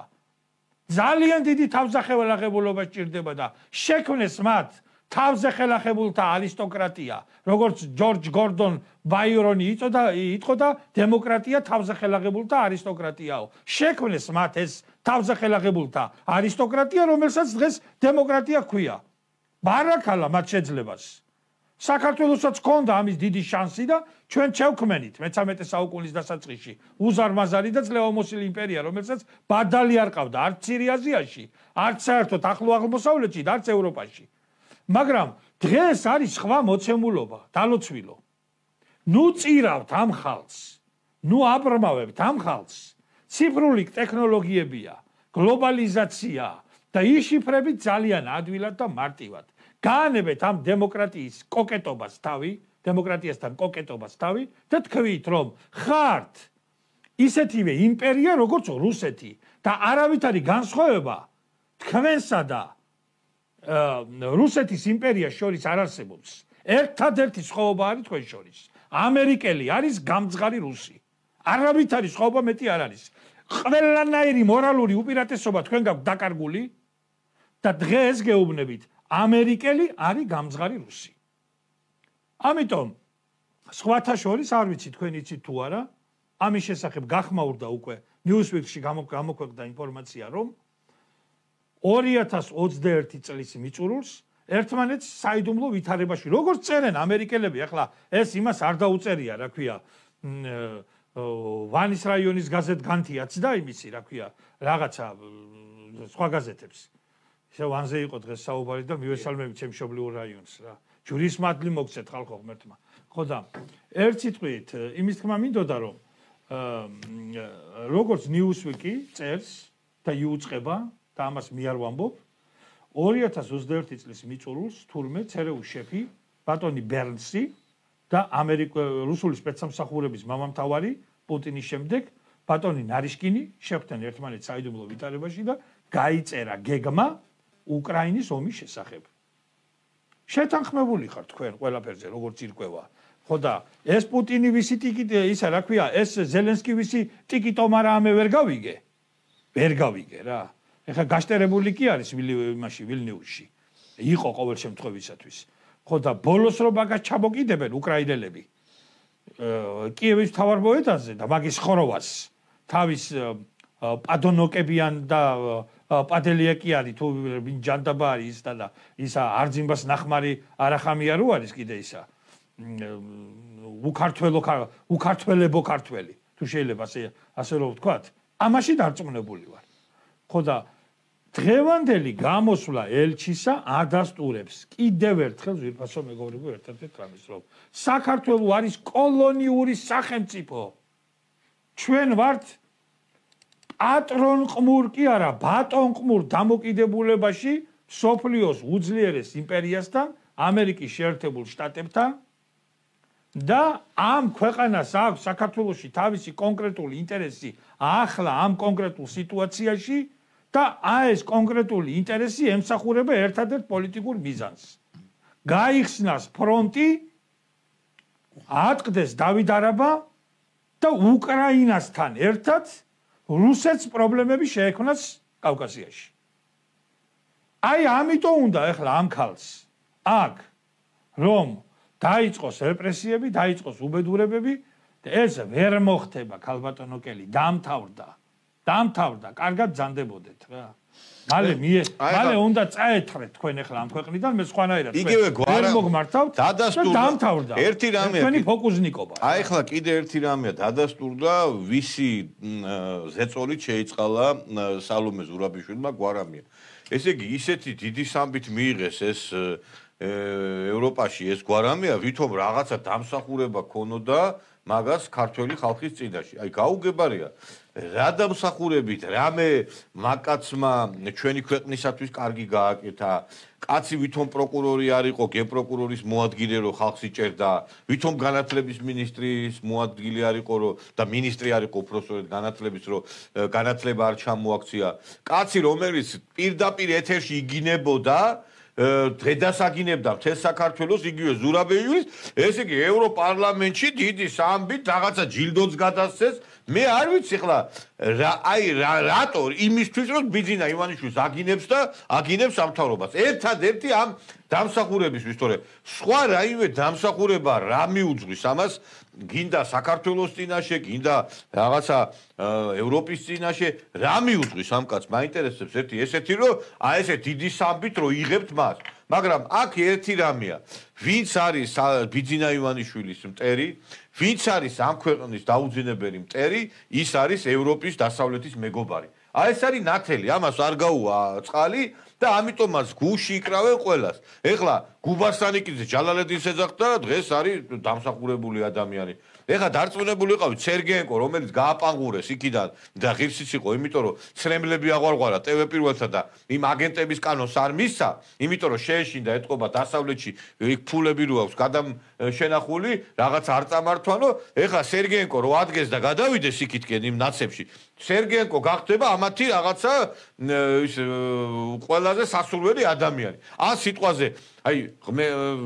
ძალიან დიდი თავზახელაღებულობა ჭირდება და შექმნეს მათ თავზეხელახებულთა არისტოკრატია, როგორც ჯორჯ გორდონ ბაირონი იტყოდა დემოკრატია თავზეხელაღებულთა არისტოკრატიაო. შექმნეს მათ ეს თავზეხელაღებულთა არისტოკრატია, რომელსაც დღეს დემოკრატია ჰქვია. ბარაკალა მათ შეძლებას. საქართველოსაც ჰქონდა ამის დიდი შანსი და ჩვენ შევქმენით მე-13 საუკუნის დასაწყისში უზარმაზარი და ძლევამოსილი იმპერია, რომელსაც ბადალი არ ყავდა არც ცირიაზიაში, არც საერთოდ ახლო აღმოსავლეთში და არც ევროპაში. მაგრამ დღეს არის სხვა მოცემულობა, დალოცვილო. ნუ წირავთ ამ ხალხს, ნუ აბრმავებთ ამ ხალხს. ციფრული ტექნოლოგიებია, გლობალიზაცია და იშიფრებით ძალიან ადვილად და მარტივად. გაანებეთ ამ დემოკრატიის კოკეტობას თავი, დემოკრატიასთან კოკეტობას თავი და თქვით, რომ ხართ ისეთივე იმპერია, როგორც რუსეთი და არავით არის განსხვავება თქვენსა და რუსეთის იმპერიას შორის არ არსებობს. ერთადერთი სხვაობა არის თქვენ შორის. ამერიკელი არის გამძღარი რუსი. არავით არის სხვაობა მეტი არ არის. ყველანაირი მორალური უპირატესობა თქვენ გაქვთ დაკარგული და დღეს გეუბნებით ამერიკელი არის გამძღარი რუსი. ამიტომ სხვათა შორის არ ვიცი თქვენ იცით თუ არა, ამის შესახებ გახმაურდა უკვე Newsweek-ში გამოქვეყნდა ინფორმაცია, რომ 2021 წლის მიწურულს ერთმანეთს საიდუმლო ვითარებაში როგორც წერენ ამერიკელები, ახლა ეს იმას არ დაუწერია, რა ქვია, ვანის რაიონის გაზეთ განთიაც და იმისი, რა ქვია, რაღაცა სხვა გაზეთებს. ისე ვანზე იყო დღეს საუბარი და მივესალმები ჩემ მშობლიურ რაიონს რა. ჯურის მადლი მოგცეთ ხალხო ღმერთმა. ხო და ერთ სიტყვით იმის თქმა მინდოდა, რომ როგორც Newsweek-ი წერს და იუწყება და ამას მე არ ვამბობ, 2021 წლის მიწურულს თურმე ЦРУ შეფი ბატონი ბერნსი და რუსული სპეცსამსახურების მამამთავარი პუტინის შემდეგ ბატონი ნარიშკინი შეხვდნენ ერთმანეთს საიდუმლო ვითარებაში და გაიწერა გეგმა უკრაინის ომის შესახებ. შეთანხმებული ხართ თქვენ ყველაფერზე, როგორც ირკვევა. ხო და ეს პუტინი ვისი ტიკიტი, ისა რა ქვია, ეს ზელენსკი ვისი ტიკიტომარა ამე ვერ გავიგე. ვერ გავიგე რა. ეხლა გაშტერებული კი არის იმაში ვილნიუსში. იყო ყოველ შემთხვევისათვის. ხო და ბოლოს რო მაგას ჩამოკიდებენ უკრაინელები. კიევის მთავარბოეთაზე და მაგის ხოროვას თავის პადონოკებიან და პადელიეკი არის თუ ჯანდაბა არის და ისა არძიმბას ნახმარი არახამია რო არის კიდე ისა უკართველებო ქართველი თუ შეიძლება ასე რომ ვთქვათ, ამაში დარწმუნებული ვარ. ხო და დღევანდელი გამოსვლა ელჩისა ადასტურებს კიდევ ერთხელ ზვირფასო მეგობრებო ერთ-ერთ რამის, რომ საქართველო არის კოლონიური სახელმწიფო. ჩვენ ვართ პატრონყმურ კი არა, ბატონყმურ დამოკიდებულებაში სოფლიოს უძლიერეს იმპერიასთან, ამერიკის შეერთებულ შტატებთან და ამ ქვეყანას აქვს საქართველოში თავისი კონკრეტული ინტერესი ახლა ამ კონკრეტულ სიტუაციაში და ეს კონკრეტული ინტერესი ემსახურება ერთადერთ პოლიტიკურ მიზანს. გაიხსნას ფრონტი, ატყდეს დავით არაბა და უკრაინასთან ერთად რუსეთს პრობლემები შეექმნას კავკასიაში. აი ამიტომ უნდა ახლა ამ ქალს აქ რომ დაიწყოს რეპრესიები, დაიწყოს უბედურებები და ეს ვერ მოხდება ქალბატონო კელი, დამთავრდა, კარგად ძანდებოდეთ რა. მალე უნდა წაეთრეთ თქვენ ახლა ამ ქვეყნიდან მე სხვანაირად ვერ მოგმართავთ და დამთავრდა. ერთი რამეა. თქვენი ფოკუსნიკობა. აი ახლა კიდე ერთი რამეა დადასტურდა, ვისი ზეწოლით შეიწყალა სალომე ზურაბიშვილმა გვარამია. ესე იგი ისეთი დიდი სამბით მიიღეს ევროპაში ეს გვარამია ვითომ რაღაცა დამსახურება ქონოდა მაგას ქართველი ხალხის წინაშე. აი გაუგებარია რა დამსახურებით რამე მაკაცმა ჩვენი ქვეყნისათვის კარგი გააკეთა. კაცი ვითომ პროკურორი არ იყო, გენპროკურორის მოადგილე რო ხალხს იჭერდა, ვითომ განათლების მინისტრის მოადგილე არ იყო რო და მინისტრი არ იყო უпроსტოდ განათლების რო განათლება არ ჩამოაქცია. კაცი რომელიც პირდაპირ ეთერში იგინებოდა დღედასაგინებდა მთელ საქართველოს იგივე ზურაბეიულის, ესე იგი ევროპარლამენტში დიდი სამბით რაღაცა ჯილდოც გადასცეს. მე არ ვიცი ხლა რატო იმისთვის რომ ბიძინა ივანიშვილს აგინებს და აგინებს სამთავრობას. ერთადერთი ამ დამსახურებისთვის, თორე სხვა რაიმე დამსახურება რა მიუძღვის ამას გინდა საქართველოს წინაშე, გინდა რაღაცა ევროპის წინაშე, რა მიუძღვის ამ კაცს? მაინტერესებს ერთი ესეთი რომ აი ესე დიდი სამბით რომ იღებთ მას. მაგრამ აქ ერთი რამეა, ვინც არის ბიძინა ივანიშვილის მტერი, ვინც არის ამ ქვეყნის დაუძინებელი მტერი, ის არის ევროპის დასავლეთის მეგობარი. აი ეს არის ნათელი, ამას არ გაუვა წყალი და ამიტომაც გუში იკრავენ ყველას. ეხლა გუბასტანიკიძე ჯალალედინს ეძახდა და დღეს არის დამსახურებული ადამიანი. ეხლა დარწმუნებული ვიყავით სერგეენკო, რომელიც გააპანგურეს იქიდან და ღირსიც იყო, იმიტომ რომ ცრემლები აღვარღვარა TV პირველთა და იმ აგენტების კანონს არ მისცა, იმიტომ რომ შეეშინდა ეთყობა დასავლეთში იქ ფულები რო აქვს გადაშენახული, რაღაც არ წამართვანო, ეხლა სერგეენკო რო ადგეს და გადავიდეს იქითკენ იმ ნაცებში, სერგეენკო გახდება ამათი რაღაცა ის ყველაზე სასურველი ადამიანი. ან სიტყვაზე აი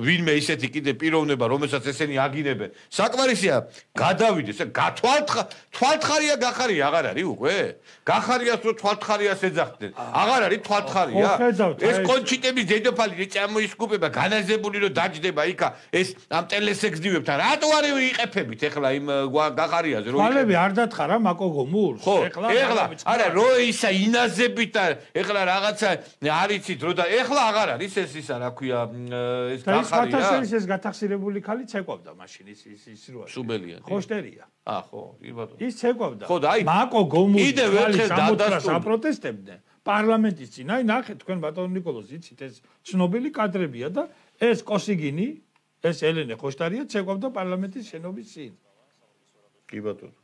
ვინმე ისეთი კიდე პიროვნება რომელსაც ესენი აგინებენ საკმარისია გადავიდეს თვალთხარია გახარია აღარ არის უკვე გახარიას რო თვალთხარიას ეძახდნენ აღარ არის თვალთხარია ეს კონჩიტების დედოფალი წამოისკუპება განაზებული რო დაჯდება იქა ეს ამ ტელესექსდივებთან რატო არ იყეფებით ეხლა იმ გახარიაზე რო თვალები არ დათხარა მაკო გომურს ეხლა არა რო ისა ინაზებით და ეხლა რაღაცა არიცით რო და ეხლა აღარ არის ეს ისა რა ქვია ეს გახარია ეს გათახსირებული ხალი ცეკვავდა მაშინ ის როა სუბელია ხოშტერია ხო კი ბატონო ის ცეკვავდა ხო და აი მაკო გომური კიდევ ერთხელ დადასტურდა აპროტესტებდნენ პარლამენტის წინ აი ნახეთ თქვენ ბატონო ნიკოლოზ იცით ეს ცნობილი კადრებია და ეს კოსიგინი ეს ელენე ხოშტარია ცეკვავდა პარლამენტის შენობის წინ კი ბატონო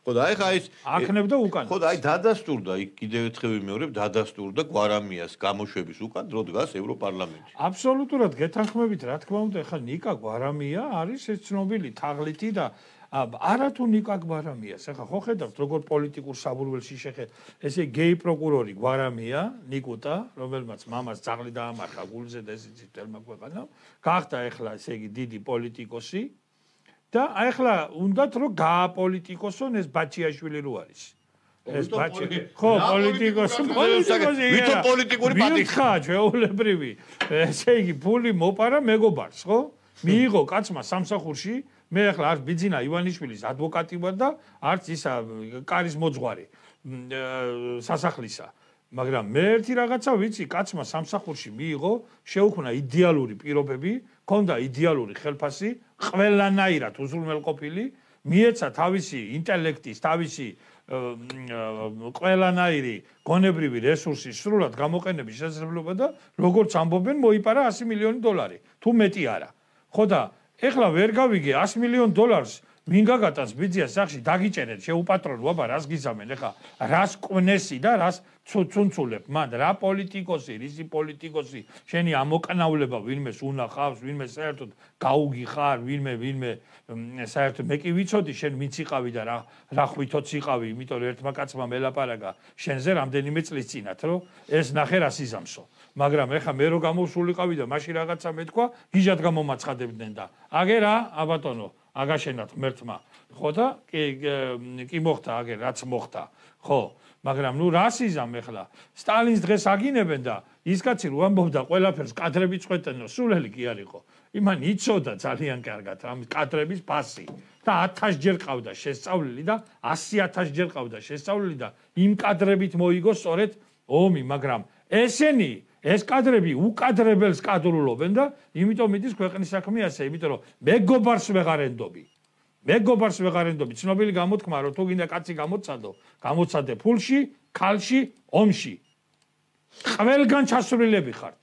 ხო და აი ხა ის აქნებდა უკან ხო და აი დადასტურდა იქ კიდევ ერთხელ ვიმეორებ დადასტურდა გვარამიას გამოშვების უკან დრო დგას ევროპარლამენტში აბსოლუტურად გეთანხმებით რა თქმა უნდა ხა ნიკა გვარამია არის ეს ცნობილი თაღლითი და არათუ ნიკა გვარამიას ახლა ხო ხედავთ როგორ პოლიტიკურ საბურველში ესე გეი პროკურორი გვარამია ნიკუტა რომელმაც მამას ძაღლი დაამარხა გულზე და ეს იცით თელმა ქვეყანა გახდა ახლა ესე იგი დიდი პოლიტიკოსი და ახლა უნდათ რომ გააპოლიტიკოსონ ეს ბაჩიაშვილი რო არის ეს ბაჩი ხო პოლიტიკოსი ვითომ პოლიტიკური პატიხა ჩვეულებრივი ესე იგი ფული მოპარა მეგობარს ხო მიიღო კაცმა სამსახურში მე ახლა არც ბიძინა ივანიშვილის ადვოკატი ვარ და არც ისა კარის მოძღვარი სასახლისა მაგრამ მე ერთი რაღაცა ვიცი კაცმა სამსახურში მიიღო შეუქმნა იდეალური პირობები ქონდა იდეალური ხელფასი ყველანაირად უზრუნველყოფილი მიეცა თავისი ინტელექტის თავისი ყველანაირი გონებრივი რესურსი სრულად გამოყენების შესაძლებლობა და როგორც ამბობენ მოიპარა 100 მილიონი დოლარი თუ მეტი არა ხო და ეხლა ვერ გავიგე 100 მილიონ დოლარს ვინ გაგატანს ბიძიას სახში დაგიჭერეთ შეუპატრონო აბა რას გიზამენ ეხლა რას ყვნესი და რას ცუნცულებ მან რა პოლიტიკოსი რისი პოლიტიკოსი შენი ამოკანავლება ვინმეს უნახავს ვინმე საერთოდ გაუგიხარ ვინმე საერთოდ მე კი ვიცოდი შენ ვინც იყავი და რა ხვითოც იყავი იმიტომ რომ ერთმა კაცმა მელაპარაკა შენზე რამდენიმე წლის წინათ რომ ეს ნახე რა სიზამსო მაგრამ ეხლა მე რო გამოსულიყავი და მაშინ რაღაცა მეთქვა გიჟად გამომაცხადებდნენ და აგე რა აბატონო აგაშენათ ღმერთმა ხო და კი მოხდა აგე რაც მოხდა ხო მაგრამ ნუ რა სიზამ ეხლა სტალინს დღეს აგინებენ და ის კაცი რო ამბობდა ყველაფერს კადრები წვეთენო სულელი კი არისო იმან იცოდა ძალიან კარგად ამ კადრების ფასი და 1000 ჯერ ყავდა შესწავლილი და 100000 ჯერ ყავდა შესწავლილი და იმ კადრებით მოიგო სწორედ ომი მაგრამ ესენი ეს კადრები უკადრებელს კადრულობენ და იმიტომ მიდის ქვეყნის საქმე ასე იმიტომ რომ მეგობარს ვეღარ ენდობი ცნობილი გამოთქმა რომ თუ გინდა კაცი გამოცადე ფულში ქალში ომში ყველგან ჩასვლილები ხართ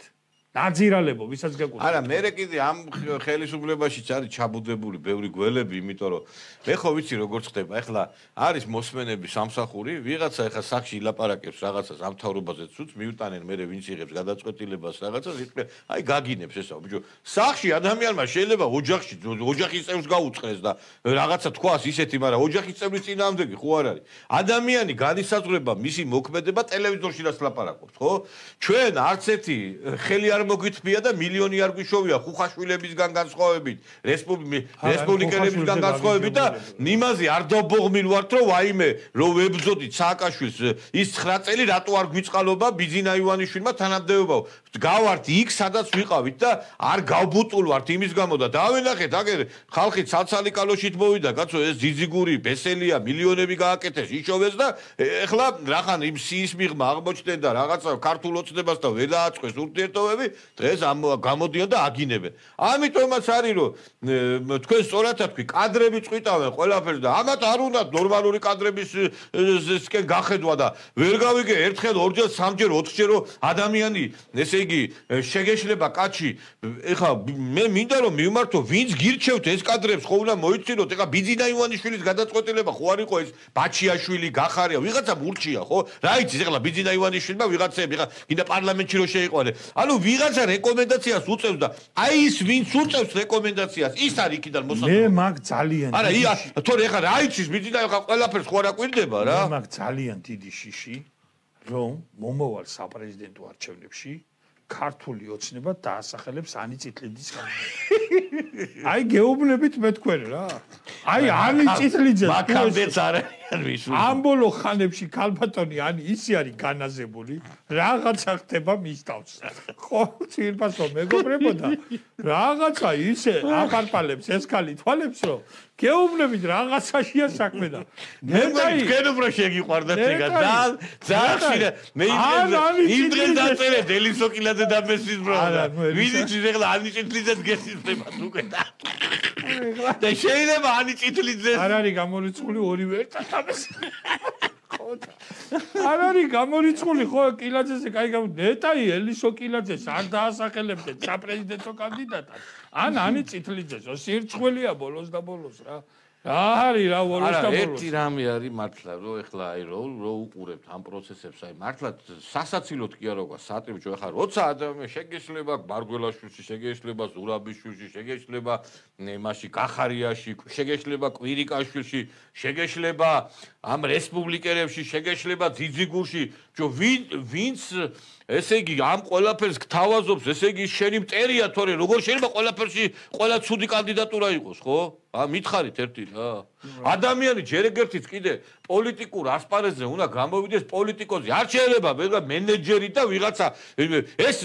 ნაძირალებო, ვისაც გეკუთვნით. არა, მე კიდე ამ ხელისუფლებაშიც არის ჩაბუდებული ბევრი გველები, იმიტომ რომ მე ხო ვიცი როგორ ხდება. ეხლა არის მოსმენები სამსახური, ვიღაცა ეხლა სახში ილაპარაკებს რაღაცას ამ თავრობაზე ცუც, მიუტანენ მე ვინც იღებს გადაწყვეტილებას რაღაცას, იტყვი, აი გაგინებს ესა, ბიჭო. სახში ადამიანმა შეიძლება ოჯახის წევრს გაუწყდეს და რაღაცა თქვას ისეთი, მაგრამ ოჯახის წევრის წინააღმდეგი ხო არ არის. ადამიანი განისაზღვრება მისი მოქმედება ტელევიზორში რაც ლაპარაკობს, ხო? ჩვენ არც ერთი ხელი არ მოგითბია და მილიონი არ გვიშოვია ხუხაშვილებისგან განსხვავებით, რესპუბლიკელებისგან განსხვავებით და იმაზე არ დავბოღმილ ვართ, რომ ვაიმე, რომ ვებრძოდით სააკაშვილს ის 9 წელი რატო არ გვიწყალობა ბიძინა ივანიშვილმა თანამდებობა. გავართ იქ, სადაც ვიყავით და არ გავბუტულ ვართ იმის გამო და დავენახეთ, აგერ ხალხი ცალცალი კალოშით მოვიდა, კაცო, ეს ძიძიგური, ბესელია, მილიონები გააკეთეს, იშოვეს და ეხლა რახან იმ სიის მიღმა აღმოჩნდნენ და რაღაცა ქართულ ოცნებას და ვერ დააწყვეს ურთიერთობები, დღეს გამოდიან და აგინებენ. ამიტომაც არის, რომ თქვენ სწორად თქვი, კადრები წვიტავენ ყველაფერს და ამათ არ უნდა ნორმალური კადრებისკენ გახედვა და ვერ გავიგე ერთხელ, ორჯერ, სამჯერ, 4ჯერ ადამიანი, ესე იგი, შეგეშლება კაცი, ეხლა მე მინდა რომ მივმართო, ვინც გირჩევთ ეს კადრებს, ხო უნდა მოიცინოთ, ეხლა ბიძინა ივანიშვილის გადაწყვეტილება ხო არ იყო ეს ბაჩიაშვილი, გახარია, ვიღაცა მურჩია, ხო? რა იცის ეხლა ბიძინა ივანიშვილმა ვიღაცები, ეხლა კიდე პარლამენტში რო შეიყვანე. ანუ ვიღაცა რეკომენდაციას უწევს და აი ის ვინც უწევს რეკომენდაციას, ის არის იქიდან მოსაწყობი. მე მაგ ძალიან არა, თორე ეხლა რა იცის ბიძინა ეხლა ყველაფერს ხო არ აკვირდება რა? მე მაგ ძალიან დიდი შიში, რომ მომავალ საპრეზიდენტო არჩევნებში ქართული ოცნება დაასახელებს ანი წითლიძის კანდიდატს. აი გეუბნებით მე თქვენ რა. აი ანი წითლიძეს მაგამდეც არიან ვისურვი. ამ ბოლო ხანებში ქალბატონი ანი ისე არის განაზებული, რაღაცა ხდება მის თავს. ხო, ცირფასო მეგობრებოდა. რაღაცა ისე აფარფალებს ეს ქალი თვალებს, რომ გეუბნებით რაღაცაშია საქმე და მე თქვენ უფრო შეგიყვარდათ ეგა ძალიან ხშირად მე იმ დღეს დაწერე დელისოკილაძე და მესის ბრალდა ვინც ეხლა ანი წითლიძეს გესწრებათ უკვე და შეიძლება ანი წითლიძეს არ არის გამორიცხული ორივე ერთად ამას არ არის გამორიცხული ხო კილაძეზე კაი ნეტაი ელისოკილაძეს არ დაასახელებდნენ საპრეზიდენტო კანდიდატად ან ანი წითლიძეს სირცხვილია ბოლოს და ბოლოს რა არის რა ბოლოს და ბოლოს ერთი რამე არის მართლა რომ ეხლა აი რო უყურებთ ამ პროცესებს აი მართლა სასაცილოდ კი არა გვა სატრიბჭო ეხლა როცა ადამიანი შეგეშლება ბარგველაშვილში შეგეშლება ზურაბიშვილში შეგეშლება იმაში გახარიაში შეგეშლება კვირიკაშვილში შეგეშლება ამ რესპუბლიკერებში შეგეშლება ძიძიგურში ვინც ესე იგი ამ ყველაფერს გთავაზობს ესე იგი შენი მტერია თორე როგორ შეიძლება ყველაფერში ყველა ცუდი კანდიდატურა იყოს ხო მითხარით ერთი რა ადამიანი ჯერ ეგერთიც კიდე პოლიტიკურ ასპარეზზე უნდა გამოვიდეს პოლიტიკოსი არ შეიძლება მე მენეჯერი და ვიღაცა ეს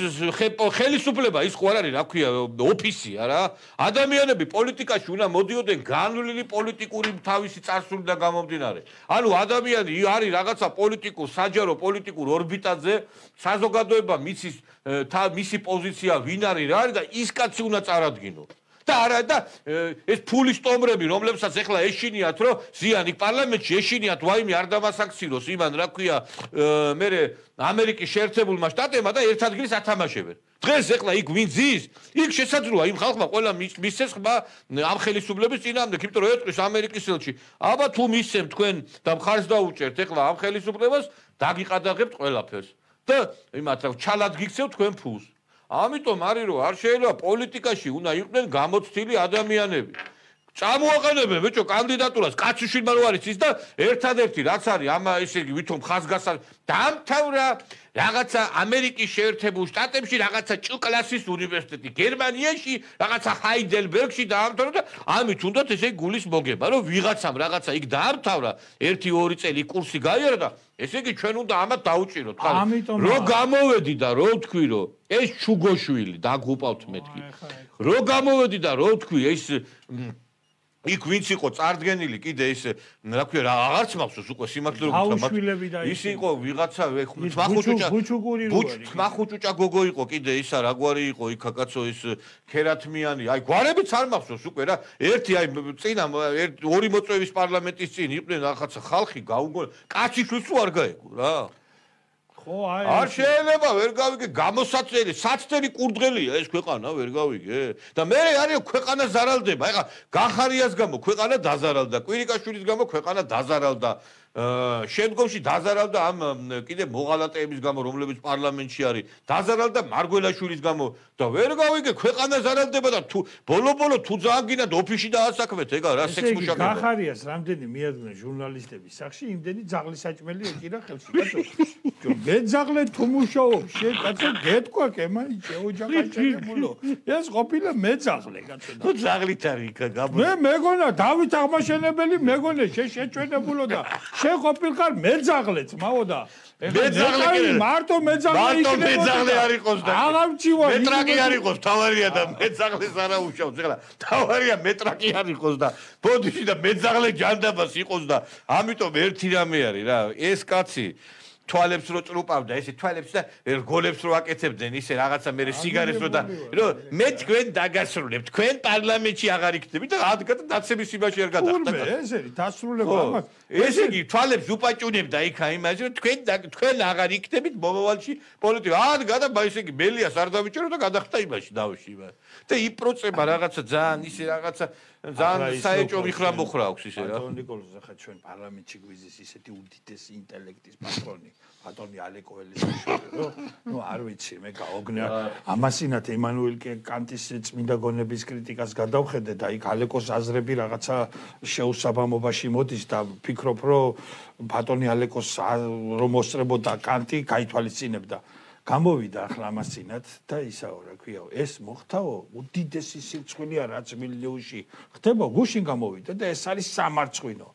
ხელისუფლება ის ხო არ არის რა ქვია ოფისია რა ადამიანები პოლიტიკაში უნდა მოდიოდნენ განვლილი პოლიტიკური თავისი წარსულიდან გამომდინარე ანუ ადამიანი არის რაღაცა პოლიტიკურ საჯარო პოლიტიკურ ორბიტაზე საზოგადოება მისი პოზიცია ვინ არის რა არის და ის კაცი უნდა წარადგინო და არა და ეს ფულის ტომრები რომლებსაც ეხლა ეშინიათ რომ ზიანი პარლამენტში ეშინიათ ვაიმე არ დამასაქციროს იმან რა ქვია მე ამერიკის შეერთებულმა შტატებმა და ერთ ადგილს ათამაშებენ დღეს ეხლა იქ ვინ ზის იქ შესაძლოა იმ ხალხმა ყველა მისცეს ხმა ამ ხელისუფლების წინააღმდეგ იმიტომ რომ ეტყვის ამერიკის ელჩი აბა თუ მისცემ თქვენ და მხარს დაუჭერთ ეხლა ამ ხელისუფლებას დაგიყადაღებთ ყველაფერს და იმათ რა ჩალად გიქცევთ თქვენ ფულს ამიტომ არის რომ არ შეიძლება პოლიტიკაში უნდა იყვნენ გამოცდილი ადამიანები. წამოაყენებენ ბიჭო კანდიდატურას კაციშვილმა რო არის ის და ერთადერთი რაც არის ამ ესე იგი ვითომ ხაზგასა დამთავრა რაღაცა ამერიკის შეერთებულ შტატებში რაღაცა ჭ-კლასის უნივერსიტეტი გერმანიაში რაღაცა ჰაიდელბერგში დაამთავრა და ამით უნდათ ესე გულის მოგება რომ ვიღაცამ რაღაცა იქ დაამთავრა 1-2 წელი კურსი გაიარა და ესე იგი ჩვენ უნდა ამათ დაუჭიროთ ხარ რო გამოვედი და რო თქვი რომ ეს ჩუგოშვილი დაგუპავთ მეთქი რო გამოვედი და რო თქვი ეს იქ ვინც იყო წარდგენილი კიდე ეს რა ქვია რა აღარც მახსოვს უკვე სიმართლე რომ ის იყო ვიღაცა ხმახუჭუჭა გოგო იყო კიდე ისა რაგვარი იყო იქა კაცო ის ქერათმიანი აი გვარებიც არ მახსოვს უკვე რა ერთი აი წინა ორი მოწვევის პარლამენტის წინ იყვნენ რაღაცა ხალხი გაუგო კაციშვილს თუ არ გაეგო რა ხო, აი. არ შეიძლება ვერ გავიგე, გამოსაწერი, საცდელი კურდღელია ეს ქვეყანა, ვერ გავიგე. და მე არის ქვეყანა ზარალდება. ეხლა გახარიას გამო ქვეყანა დაზარალდა, კვირიკაშვილის გამო ქვეყანა დაზარალდა. შემდგომში დაზარალდა ამ კიდე მოღალატეების გამო, რომლებიც პარლამენტში არის, დაზარალდა მარგველაშვილის გამო და ვერ გავიგე, ქვეყანა ზარალდება და თუ ბოლო-ბოლო თუ ძალიან გინდათ ოფისში დაასაქმეთ, ეგა რა სექსმუშაკება. გახარიას რამდენი მიადგნენ ჟურნალისტების სახში, იმდენი ძაღლის საჭმელი ეჭირა ხელში, კაცო. მე ძაღლე თუ მუშაობ, შენ კაცო გეთქვა კემანი შეოჯახა შეგებულო. ეს ყოფილა მე ძაღლე, კაცო. თუ ძაღლით არის გაბო. მე მეგონა დავით აღმაშენებელი მეგონე შეჩვენებულო და შენ ყოფილიყარ მეძაღლეც მაო და მეძაღლე მარტო მეძაღლე მარტო მეძაღლე არ იყოს და აღამჩივა მეტრაკი არ იყოს თავარია და მეძაღლეს არა უშავს ეხლა თავარია მეტრაკი არ იყოს და ბოდიში და მეძაღლე ჯანდაბას იყოს და ამიტომ ერთი რამე არის რა ეს კაცი თვალებს რო წრუპავდა ესე თვალებს და რგოლებს რო აკეთებდნენ ისე რაღაცა მე სიგარეს რო და რომ მე თქვენ დაგასრულებთ თქვენ პარლამენტში აღარ იქნებით და ადგათ დაცემის იმაში არ გადახდა ეს არის დასრულება ამას ესე იგი თვალებს უპაჭუნებდა იქა იმაზე რომ თქვენ აღარ იქნებით მომავალში პოლიტიკა ადგა და ესე იგი მელიას არ დავიჭერო და გადახდა იმაში დავში და იპროცება რაღაცა ძალიან ისე რაღაცა ძალიან საეჭო მხრა მოხრა აქვს ისე რა ბატონი ნიკოლოზ ახლა ჩვენ პარლამენტში გვიზის ისეთი უდიდესი ინტელექტის პატრონი ბატონი ალეკოელის ნუ არ ვიცი მე გაოგნა ამასინათ ემანუელ კანტის წმინდა გონების კრიტიკას გადავხედე და იქ ალეკოს აზრები რაღაცა შეუსაბამობაში მოდის და ფიქრობ რომ ბატონი ალეკოს რომ მოსწრებოდა კანტი გაითვალისწინებდა გამოვიდა ახლა ამასინათ და ისაო რა ქვიაო ეს მოხდაო უდიდესი სიცხვილია რაც მილიონში ხდება გუშინ გამოვიდა და ეს არის სამარცხვინო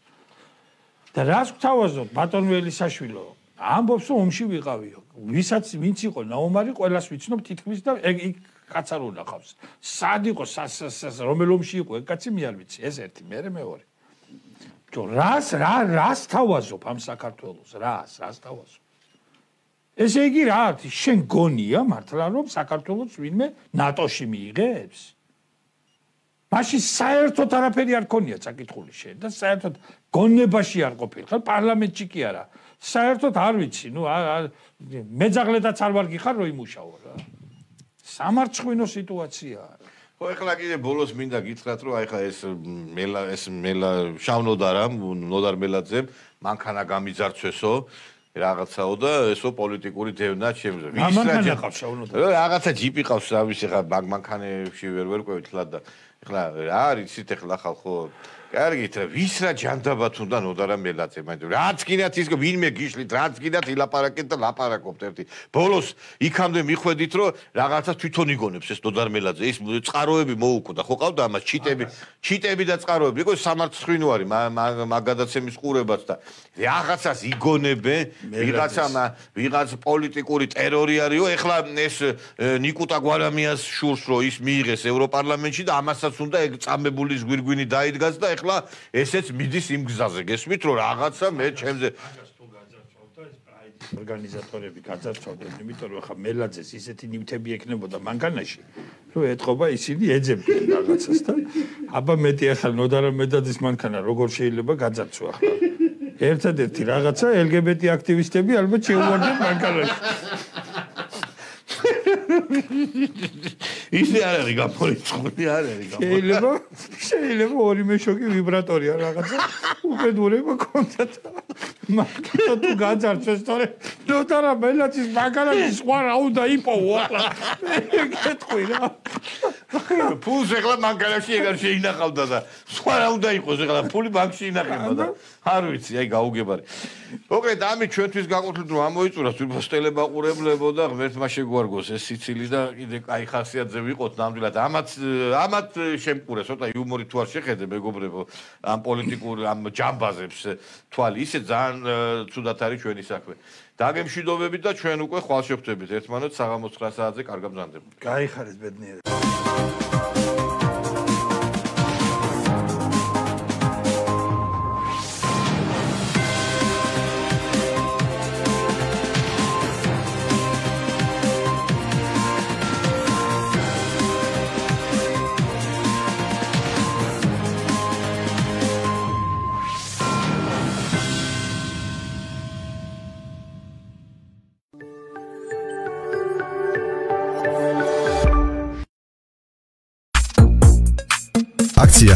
და რას გვთავაზობ ბატონ ველისაშვილო ამბობს რომ ომში ვიყავიო ვისაც ვინც იყო ნაომარი ყველას ვიცნობ თითქმის და ეგ კაც არ უნახავს სად იყო რომელ ომში იყო ეგ კაცი მე არ ვიცი ეს ერთი მე მეორე რას თავაზობ ამ საქართველოს რას თავაზობ ესე იგი რა არის შენ გონია მართლა რომ საქართველოს ვინმე ნატოში მიიღებს მაშინ საერთოდ არაფერი არ ქონია წაკითხული შენ და საერთოდ გონებაში არ ყოფილი ხარ პარლამენტში კი არა საერთოდ არ ვიცი ნუ მეძაღლედაც არ ვარ გიხარ რომ იმუშაო რა სამარცხვინო სიტუაციაა ხო ეხლა კიდე ბოლოს მინდა გითხრათ რომ აი ხა ეს მელა შავნოდა რა ნოდარ მელაძემ მანქანა გამიძარცვესო რაღაცაო და ესო პოლიტიკური დევნა ჩემზე. მანქანა ყავს შავნოდა. რაღაცა ჯიპი ყავს ამის ხა მანქანებში ვერ ყვევით ხლა და ეხლა რა არის იცით ეხლა ხალხო კარგით რა ვის რა ჯანდაბათ უნდა ნოდარა მელაძე მაგრამ რაც გინათ ის ვინმე გიშლით რაც გინათ ილაპარაკეთ და ლაპარაკობთ ერთი ბოლოს იქამდე მიხვედით რომ რაღაცა თვითონ იგონებს ეს ნოდარ მელაძე ის წყაროები მოუკვდა ხო ყავდა ამას ჩიტები და წყაროები იყო სამარცხვინო არის მაგადაცემის ყურებაც და რაღაცას იგონებენ ვიღაც პოლიტიკური ტერორი არისო ეხლა ეს ნიკუტა გვარამიას შურს რო ის მიიღეს ევროპარლამენტში და ამასაც უნდა ეგ წამებულის გვირგვინი დაიდგას და ეხლა ესეც მიდის იმ გზაზე გესმით რომ რაღაცა მე ჩემზე ორგანიზატორები გაძარცვავდნენ იმიტომ რომ ახლა მელაძეს ისეთი ნივთები ექნებოდა მანქანაში რომ ეთყობა ისინი ეძებდნენ რაღაცას და აბა მეტი ახლა ნოდარა მელაძის მანქანა როგორ შეიძლება გაძარცვა ახლა ერთადერთი რაღაცა LGBT აქტივისტები ალბათ შეუვარდნენ მანქანაში ისე არ არის გამორიცხული არ არის შეიძლება ორი მეშოკი ვიბრატორია რაღაცა უყედურება კონდათ მაგალითად თუ გაძარცვეს თორე ნოდარა მელაძის მანქანაში სხვა რა უნდა იპოვო ახლა გეტყვი რა ფულს ეხლა მანქანაში ეგარ შეინახავდა და სხვა რა უნდა იყოს ეხლა ფული ბანკში ინახება და არ ვიცი აი გაუგებარი მოკლედ ამით ჩვენთვის გაყოთლით რომ ამოიწურა სულფასტელებაყურებლებო და ღმერთმა შეგვარგოს ეს სიცილი და კიდე კაი ხასიათზე ვიყოთ ნამდვილად ამათ შემკურე ცოტა იუმორი თუ არ შეხედე მეგობრებო ამ პოლიტიკურ ამ ჯამბაზებს თვალი ისე ძალიან ცუდად არის ჩვენი საქმე დაგემშვიდობებით და ჩვენ უკვე ხვალ შევხვდებით ერთმანეთს საღამოს 9 საათზე კარგად მზადდება გაიხარეთ ბედნიერება